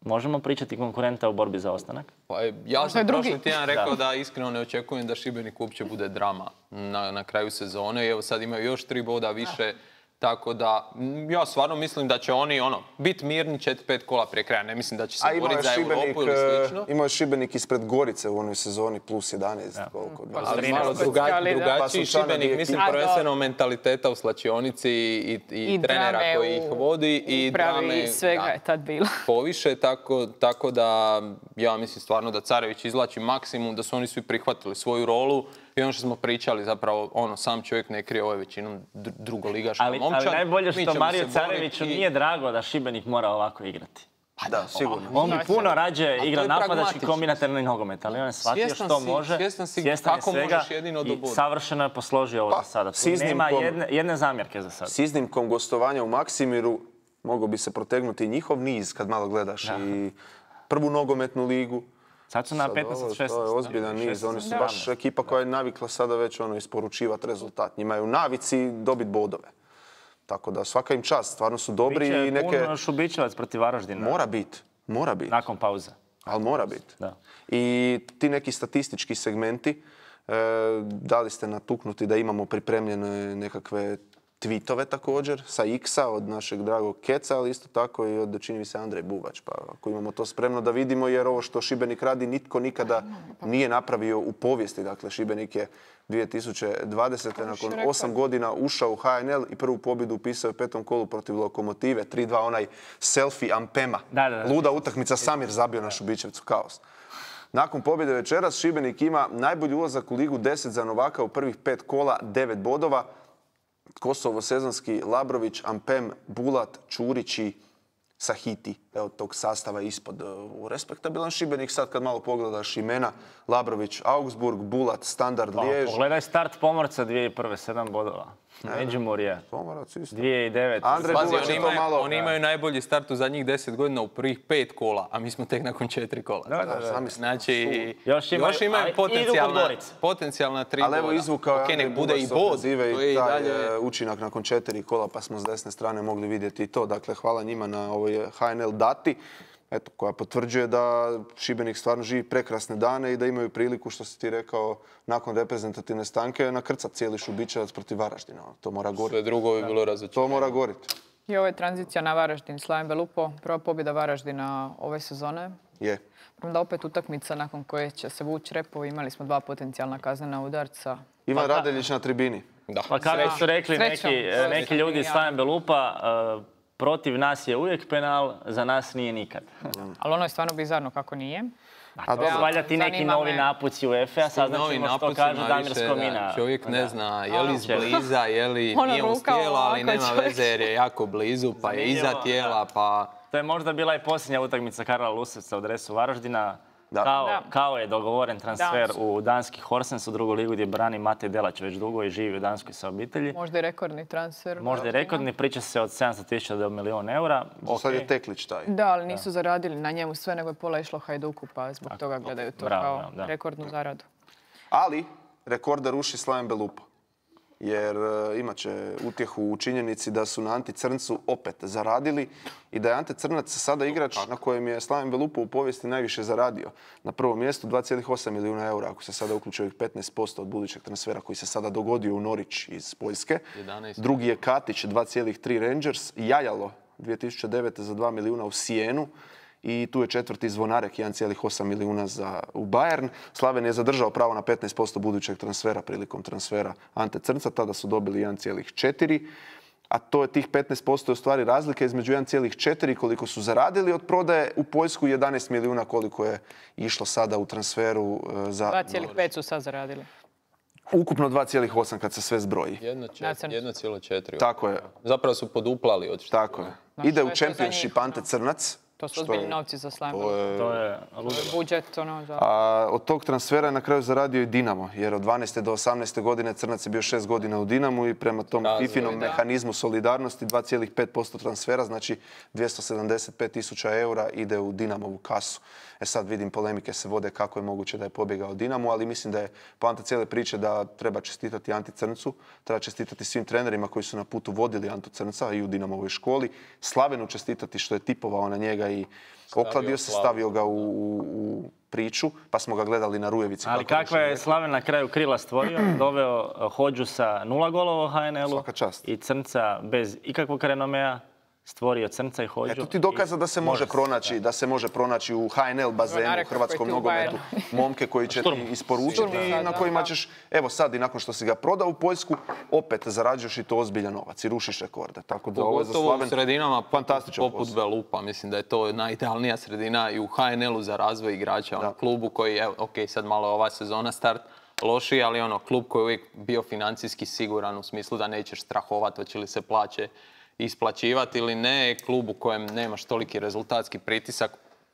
Možemo pričati konkurenta u borbi za ostanak? Pa, ja sam prošli tjedan rekao da. da iskreno ne očekujem da Šibenik uopće bude drama na, na kraju sezone. I evo sad imaju još tri boda više. Tako da, ja stvarno mislim da će oni ono, biti mirni četiri pet kola prije kraja. Ne mislim da će se boriti za Europu ili slično. Imao je Šibenik ispred Gorice u onoj sezoni plus jedanaest. Ja. Koliko, pa, ali malo druga, drugačiji pa Šibenik, mislim prvenstveno mentaliteta u slačionici i, i, i trenera koji ih vodi. I drame svega je tad bilo. Poviše, tako, tako da ja mislim stvarno da Carević izvlači maksimum, da su oni svi prihvatili svoju rolu. I ono što smo pričali, zapravo, ono, sam čovjek ne krije, ovo je većinom drugoligaška momčad. Ali najbolje što Mariju Careviću nije drago da Šibenik mora ovako igrati. Pa da, sigurno. On bi puno rađe igra napadački kombinatorni nogomet, ali on je shvatio što može. Svjestan si kako možeš jedino do boda. I savršeno je posložio ovo za sada. Tu nema jedne zamjerke za sada. S iznimkom gostovanja u Maksimiru mogao bi se protegnuti njihov niz kad malo gledaš i prvu nogometnu ligu. Sad su na petnaest šesnaest. To je ozbiljan niz. Oni su baš ekipa koja je navikla sada već ono isporučivati rezultat. Njima je u navici dobiti bodove. Tako da svaka im čast. Stvarno su dobri i neke... Biće puno Šubićevac protiv Varaždina. Mora biti. Mora biti. Nakon pauze. Ali mora biti. I ti neki statistički segmenti, da li ste natuknuti da imamo pripremljene nekakve tweetove također sa X-a od našeg dragog Keca, ali isto tako i od, čini mi se, Andrej Buvač. Pa ako imamo to spremno da vidimo, jer ovo što Šibenik radi nitko nikada nije napravio u povijesti. Dakle, Šibenik je dvije tisuće dvadesete nakon osam godina ušao u H N L i prvu pobjedu upisao u petom kolu protiv Lokomotive. tri dva onaj selfie Ampema. Da, da, da. Luda utakmica, Samir zabio na Šubićevcu, kaos. Nakon pobjede večeras Šibenik ima najbolji ulazak u ligu, deset za Novaka u prvih pet kola, devet bodova. Kosovo, Sezonski, Labrović, Ampem, Bulat, Čurić i Sahiti. Evo tog sastava ispod. U respektabilan Šibenik sad kad malo pogledaš imena. Labrović, Augsburg, Bulat, Standard, Lijež. Pogledaj start Pomorca dvije tisuće prve, sedam bodova. Međimurje, Pomorac isto. dvije tisuće devete. Andrej Buvač je to malo... Oni imaju najbolji start u zadnjih deset godina u prvih pet kola, a mi smo tek nakon četiri kola. Da, da, da. Znači, još imaju, još imaju potencijalna, potencijalna tri boda. Ali evo izvukao je Andrej Buvač sa ofenzive i taj učinak nakon četiri kola, pa smo s desne strane mogli vidjeti i to. Dakle, hvala njima na ovoj H N L dati. eto, koja potvrđuje da Šibenik stvarno živi prekrasne dane i da imaju priliku, što si ti rekao, nakon reprezentativne stanke, nakrcat cijeli Šubićevac protiv Varaždina. To mora goriti. Sve drugo bi bilo razočaranje. To mora goriti. I ovo je tranzicija na Varaždin. Slaven Belupo, prva pobjeda Varaždina ove sezone. Je. Onda opet utakmica nakon koje će se vući repovi. Imali smo dva potencijalna kaznena udarca. Ivan Radeljić na tribini. Da. Pa kako su rekli Srećom. neki, To je neki srećom. ljudi iz Slaven Belupa, uh, protiv nas je uvijek penal, za nas nije nikad. Ali ono je stvarno bizarno kako nije. A to su valjda ti neki Zanima novi me. napuci UEFA, sad Novi ćemo što napuci, kaže ma Damir više, Skomina. da, Čovjek ne zna je li Će. izbliza, je li Ono nije uz ruka tijela, ali ovako, nema čovjek. veze jer je jako blizu, pa je iza Zanimljivo, tijela, da. pa... To je možda bila i posljednja utakmica Karla Lusevca u dresu Varaždina. Da. Kao, Da. kao je dogovoren transfer Da. u danski Horsens u drugu ligu gdje brani Matej Delać već dugo i živi u Danskoj sa obitelji. Možda i rekordni transfer. Možda i rekordni, priča se od sedamsto tisuća do milijun eura. Za sad je Ok. Teklić taj. Da, ali nisu zaradili na njemu sve, nego je pola išlo Hajduku, pa zbog toga gledaju to Bravo, kao bravo, da. rekordnu zaradu. Ali rekorda ruši Slaven Belupo. Jer e, imat će utjehu u činjenici da su na Anti Crncu opet zaradili i da je Ante Crnac sada igrač na kojem je Slaven Belupo u povijesti najviše zaradio. Na prvom mjestu dva zarez osam milijuna eura, ako se sada uključuje ovih petnaest posto od budućeg transfera koji se sada dogodio u Norić iz Poljske. jedanaest. Drugi je Katić, dva zarez tri Rangers, Jajalo dvije tisuće devete za dva milijuna u Sijenu. I tu je četvrti Zvonarek, jedan zarez osam milijuna za, u Bayern. Slaven je zadržao pravo na petnaest posto budućeg transfera prilikom transfera Ante Crnca. Tada su dobili jedan zarez četiri. A to je tih petnaest posto je u stvari razlika između jedan zarez četiri koliko su zaradili od prodaje u Poljsku i jedanaest milijuna koliko je išlo sada u transferu e, za... dva zarez pet su sad zaradili. Ukupno dva zarez osam kad se sve zbroji. Na Crncu. jedno zarez četiri. Tako je, Zapravo su poduplali od što. tako je. Znaš, Ide to u je to za Championship njih, Ante Crnac. To su što ozbiljni je- novci za Slaven. To je To je ludilo. Budžet, ono, za... A od tog transfera je na kraju zaradio i Dinamo, jer od dvanaeste do osamnaeste godine Crnac je bio šest godina u Dinamu i prema tom Razvoj, Fifinom da. mehanizmu solidarnosti dva zarez pet posto transfera, znači dvjesto sedamdeset pet tisuća eura ide u Dinamovu kasu. E sad vidim polemike se vode kako je moguće da je pobjegao Dinamu, ali mislim da je poanta cijele priče da treba čestitati Anti Crncu, treba čestitati svim trenerima koji su na putu vodili Antu Crnca i u Dinamovoj školi, Slavenu čestitati što je tipovao na njega i okladio se, Slavu. stavio ga u, u, u priču, pa smo ga gledali na Rujevici. Ali kako kakva više je rekao. Slaven na kraju krila stvorio, doveo uh, Hodžu sa nula golova u H N L-u Svaka čast. i Crnca bez ikakvog renomea, stvorio Crnca i Hodžu. Eto ti dokaza da se i može se, pronaći, da se može pronaći u H N L bazenu, Zvonarek u hrvatskom koji ti u nogometu, momke koji će ti isporučiti Šturm i sad, na da, kojima da. ćeš, evo sad i nakon što si ga prodao u Poljsku, opet zarađuješ i to ozbiljan novac i rušiš rekorde. Tako da ovo je za Pogotovo u Slaven sredinama fantastičan poput posao. Belupa. Mislim da je to najidealnija sredina i u H N L-u za razvoj igrača. Ono, klubu koji, evo, ok, sad malo je ova sezona start loši, ali ono, klub koji je uvijek bio financijski siguran u smislu da nećeš strahovati hoće li se plaće isplaćivati ili ne. Klub u kojem nemaš toliki rezultatski pritisak,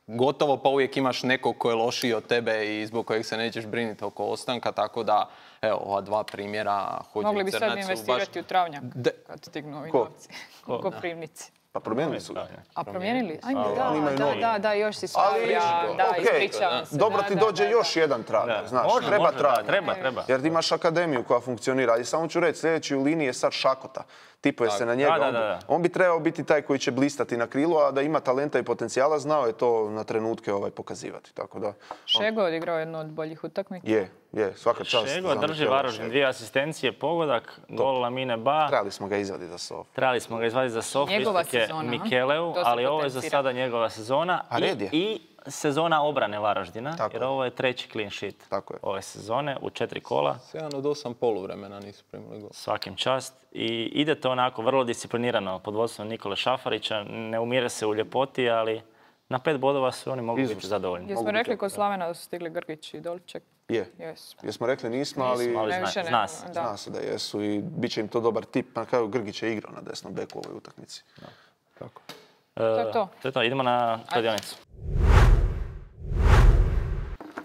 gotovo pa uvijek imaš nekog ko je lošiji od tebe i zbog kojeg se nećeš brinuti oko ostanka, tako da, evo, ova dva primjera Hodža Mogli i bi sad Crnac su investirati baš... u travnjak, De- kad stignu ovi Ko? novci. U Koprivnici. Pa promijenili su ga. A promijenili? Ajme, Ali da, imaju da, novi. da, da, još si Ali, stavlja, da, okej, ispričavam se. dobro da, ti da, dođe da, još da. jedan travnjak, Da. znaš, Može, treba može, da, travnjak. treba, treba. Jer ti imaš akademiju koja funkcionira. I samo ću reći, sljedeći u liniji je sad Šakota. Tipuje se na njega. Da, da, On bi- da, da. On bi trebao biti taj koji će blistati na krilu, a da ima talenta i potencijala, znao je to na trenutke ovaj pokazivati. Tako da, Šego je odigrao jednu od boljih utakmica. je, je, svaka čast. Šego za drži Mikela Varaždin, Šegu. dvije asistencije, pogodak, gol Lamine Ba. Trebali smo ga izvaditi za Sof. Trebali smo ga izvaditi za Sofu, Njegova istok je sezona, a? Mikeleu, To se ali ovo je za potencira. sada njegova sezona A red je. i, i sezona obrane Varaždina, Tako jer je. ovo je treći clean sheet Tako je. ove sezone u četiri kola, sedam od osam poluvremena nisu primili gol. svakim čast. I ide to onako vrlo disciplinirano pod vodstvom Nikole Šafarića, ne umire se u ljepoti, ali na pet bodova su oni mogli biti Izvrsno. zadovoljni. Jesmo Mogu rekli biti, kod Slavena da su stigli Grgić i Dolček? Je. Jesmo. Jesmo rekli nismo, ali Nismo, ali Ne, zna- više ne, zna se. da. zna se da jesu i bit će im to dobar tip. Na kraju Grgić je igrao na desnom beku u ovoj utakmici. Tako. E, je to. To je to, idemo na kladionicu.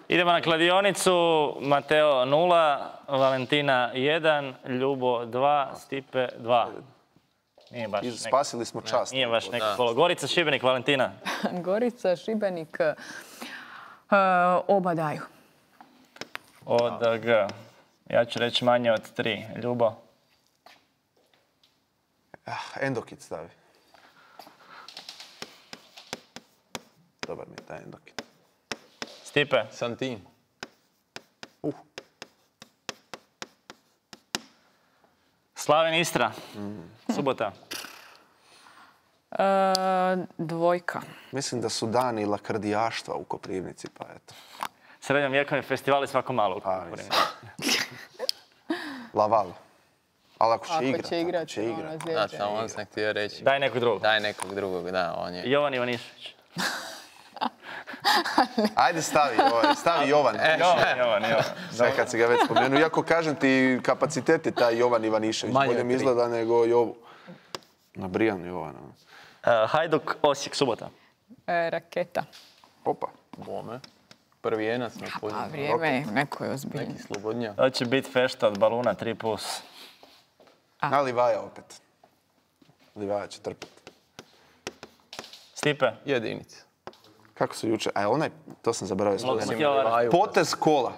Idemo na kladionicu, Mateo nula, Valentina jedan, Ljubo dva, Stipe dva. Nije baš I neki, spasili smo čast. nije baš neki polo. Gorica, Šibenik, Valentina. Gorica, Šibenik, e, oba daju. Od G. Ja ću reći manje od tri. Ljubo. Ah, Endokit stavi. dobar mi je taj Endokin. Stipe. Santin. Uh. Slaven Istra. Subota. E, dvojka. Mislim da su dani lakrdijaštva u Koprivnici, pa eto. Srednjovjekovni festivali svako malo. A, mislim. Laval. Ali ako će Ako igrat, će ako igrat, će ono, igrat. Da, zlijeđe. samo on sam htio reći. Daj nekog drugog. Daj nekog drugog, da, on je... Jovan Ivanišević. Ajde stavi, ovaj, stavi Jovan. Jovan, Jovan, Jovan. Sve kad si ga već spomenuo. Iako kažem ti, kapacitet je taj Jovan Ivanišević. Manje Bolje od mi tri. izgleda nego Jovu. Nabrijan Jovan. ono. Uh, Hajduk, Osijek, subota. E, raketa. Opa. Bome. Prvi jenac na A pozivu. vrijeme je, neko je ozbiljno. Neki slobodnja. To će biti fešta od baluna tri plus. Na Livaja opet. Livaja će trpiti. Stipe. Jedinica. Kako se juče? A onaj, to sam zaboravio spomenuti. Lokomotiva Varaždin. Potez kola.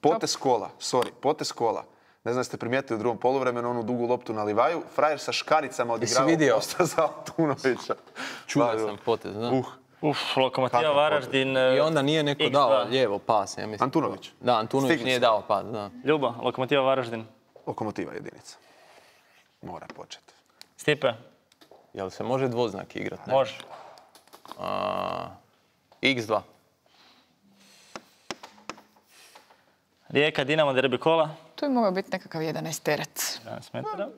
Potez kola, sorry, potez kola. Ne znam jeste primijetili u drugom poluvremenu onu dugu loptu na Livaju. Frajer sa škaricama odigrao vidio? posta za Altunovića. Čuda sam potez, da. Uh, Uf, Lokomotiva Kakav Varaždin. I onda nije neko X dao dva. lijevo pas, ja mislim. Antunović. Da, Antunović Stigli nije su. dao pas, da. Ljubo, Lokomotiva Varaždin. Lokomotiva jedinica. Mora početi. Stipe. Jel se može dvoznak igrat? Ne? Može. A, iks dva. Rijeka, Dinamo, derbi kola. Tu je mogao biti nekakav jedanaesterac. jedanaest metara.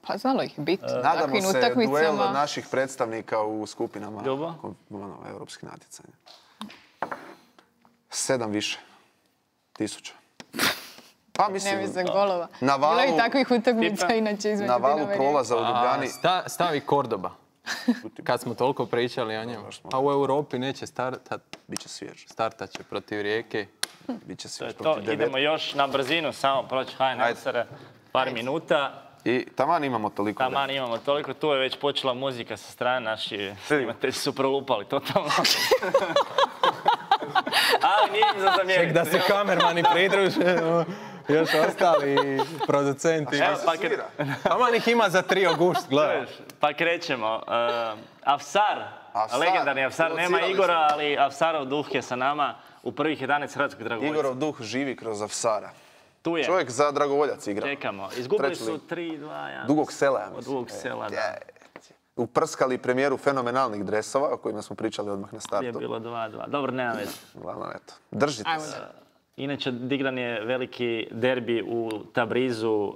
Pa znalo ih biti. Nadamo Takvim se duel utakmicama. naših predstavnika u skupinama Ljubo? ono, europskih natjecanja. Sedam više. Tisuća. Pa mislim, Ne bi za golova. Na valu- Bilo je i takvih utakmica Tipa. inače između na valu Dinama i prolaza u A, Ljubljani. sta- stavi Kordoba. Kad smo toliko pričali o njemu. Pa u Europi neće startat. Biće svjež. Startat će protiv Rijeke. Biće To svjež. je to. protiv devet. Idemo još na brzinu, samo proći H N L-sere. Par minuta. I taman imamo toliko. Taman imamo toliko. Tu je već počela muzika sa strane. Naši snimatelji su prolupali totalno. Ali nije im za zamjeriti. Da se kamermani pridruže. Još ostali producenti. Evo, pa, kad, Taman ih ima za tri august, gledaj. pa krećemo. Uh, Afsar, Afsar, legendarni Afsar. Nema locirali Igora, ali Afsarov duh je sa nama u prvih jedanaest hrvatskog dragovoljca. Igorov duh živi kroz Afsara. Tu je. Čovjek za dragovoljac igra. Čekamo. Izgubili Treći su lig. tri dva jedan. Dugog sela, ja Od mislim. Dugog sela, da. Je. Uprskali premijeru fenomenalnih dresova, o kojima smo pričali odmah na Je startu. bilo dva dva. Dobro, nema veze. Uglavnom, eto. Držite Ajmo se. Inače, digran je veliki derbi u Tabrizu, uh,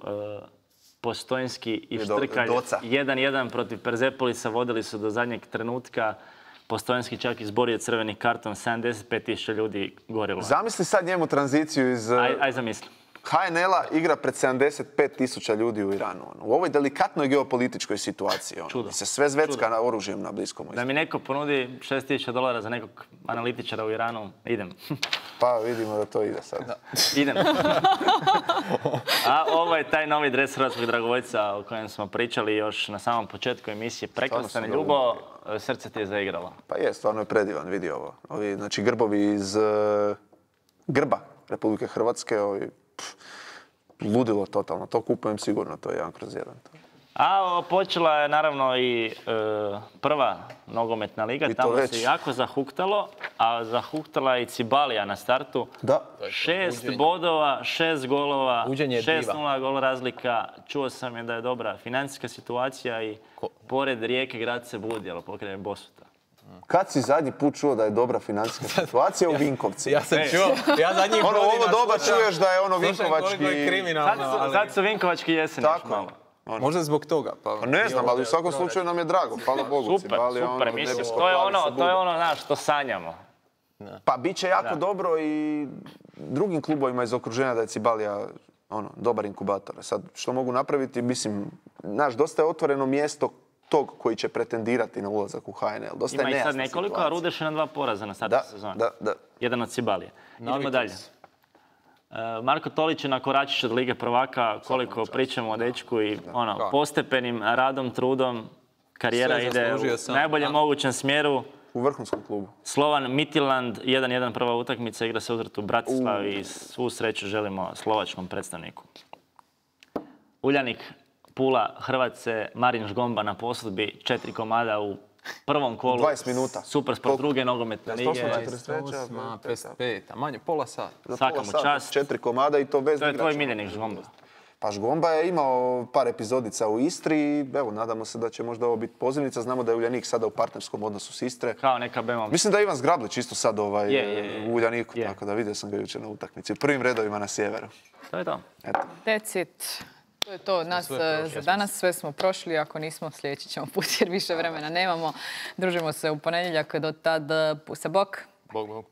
Postojnski i I do- Štrkalj. Doca. jedan jedan protiv Perzepolisa, vodili su do zadnjeg trenutka. Postojnski čak izborio crveni karton, sedamdeset pet tisuća ljudi gorilo. Zamisli sad njemu tranziciju iz Aj, aj zamisli. H N L-a igra pred sedamdeset pet tisuća ljudi u Iranu. ono. U ovoj delikatnoj geopolitičkoj situaciji. ono, Čudo. gdje se sve zvecka na oružjem na Bliskom Da istoku. mi neko ponudi šest tisuća dolara za nekog analitičara u Iranu, idem. Pa vidimo da to ide sad. Idem. A ovo je taj novi dres hrvatskog dragovoljca o kojem smo pričali još na samom početku emisije. Prekrasan Stvarno sam Ljubo, srce ti je zaigralo. Pa je, stvarno je predivan, vidi ovo. Ovi, znači, grbovi iz eh, grba Republike Hrvatske, ovi, pff, ludilo totalno. To kupujem sigurno, to je jedan kroz jedan. To. A o, počela je naravno i e, prva nogometna liga, I to tamo već. se jako zahuktalo, a zahuktala je i Cibalija na startu. Da. Šest buđenje. bodova, šest golova, Buđenje šest diva. nula gol razlika. Čuo sam je da je dobra financijska situacija i pored Rijeke grad se budi, ali pokraj Bosuta. Kad si zadnji put čuo da je dobra financijska situacija u Vinkovci? Ja sam čuo, ja zadnjih Ono, godina ovo doba slušam- čuješ da je ono slušam vinkovački... koliko je kriminalno, Sad, su- ali- sad su Vinkovački jesen još Tako. malo. Ono. Možda zbog toga. Pa, Pa ne znam, ali u svakom slučaju nam je drago, hvala Bogu. Super, Cibalija, super, ono, mislim, nebesko to je plavi ono, sa to je budom. ono, znaš, što sanjamo. Pa bit će jako Da. dobro i drugim klubovima iz okruženja da je Cibalija ono, dobar inkubator. Sad, što mogu napraviti, mislim, znaš, dosta je otvoreno mjesto tog koji će pretendirati na ulazak u H N L. Dosta Ima je ih sad nejasna nekoliko, a situacija. Rudeš je na dva poraza na startu Da, sezone. da, da. Jedan od Cibalije. Idemo Navikli dalje. su. E, Marko Tolić je na koračić od Lige prvaka, koliko pričamo o dečku i ono, Da. postepenim radom, trudom, karijera Sve ide zaslužio u sam, najboljem da. mogućem smjeru. U vrhunskom klubu. Slovan Midtjylland, jedan jedan prva utakmica, igra se uzrat u Bratislavi i svu sreću želimo slovačkom predstavniku. Uljanik, Pula, Hrvatce, Marin Žgomba na posudbi, četiri komada u prvom kolu. dvadeset minuta. Super sport druge nogometne lige. četrdeset treća, Osma, pedeset pet, a manje pola sata. Za Svaka pola mu sata, čast. četiri komada i to bez To je tvoj igrača. miljenik Žgomba. Pa Žgomba je imao par epizodica u Istri i evo, nadamo se da će možda ovo biti pozivnica. Znamo da je Uljanik sada u partnerskom odnosu s Istre. Kao neka bema. Mislim da je Ivan Zgrablić isto sad ovaj, Je, je, je. u Uljaniku, Je. tako da vidio sam ga jučer na utakmici. U prvim redovima na sjeveru. To je to. Eto. That's it. To je to od nas sve eh, prošli. za danas. Sve smo prošli. Ako nismo, sljedeći ćemo put jer više vremena nemamo. Družimo se u ponedjeljak. Do tad, eh, pusa bok. Bog, bog.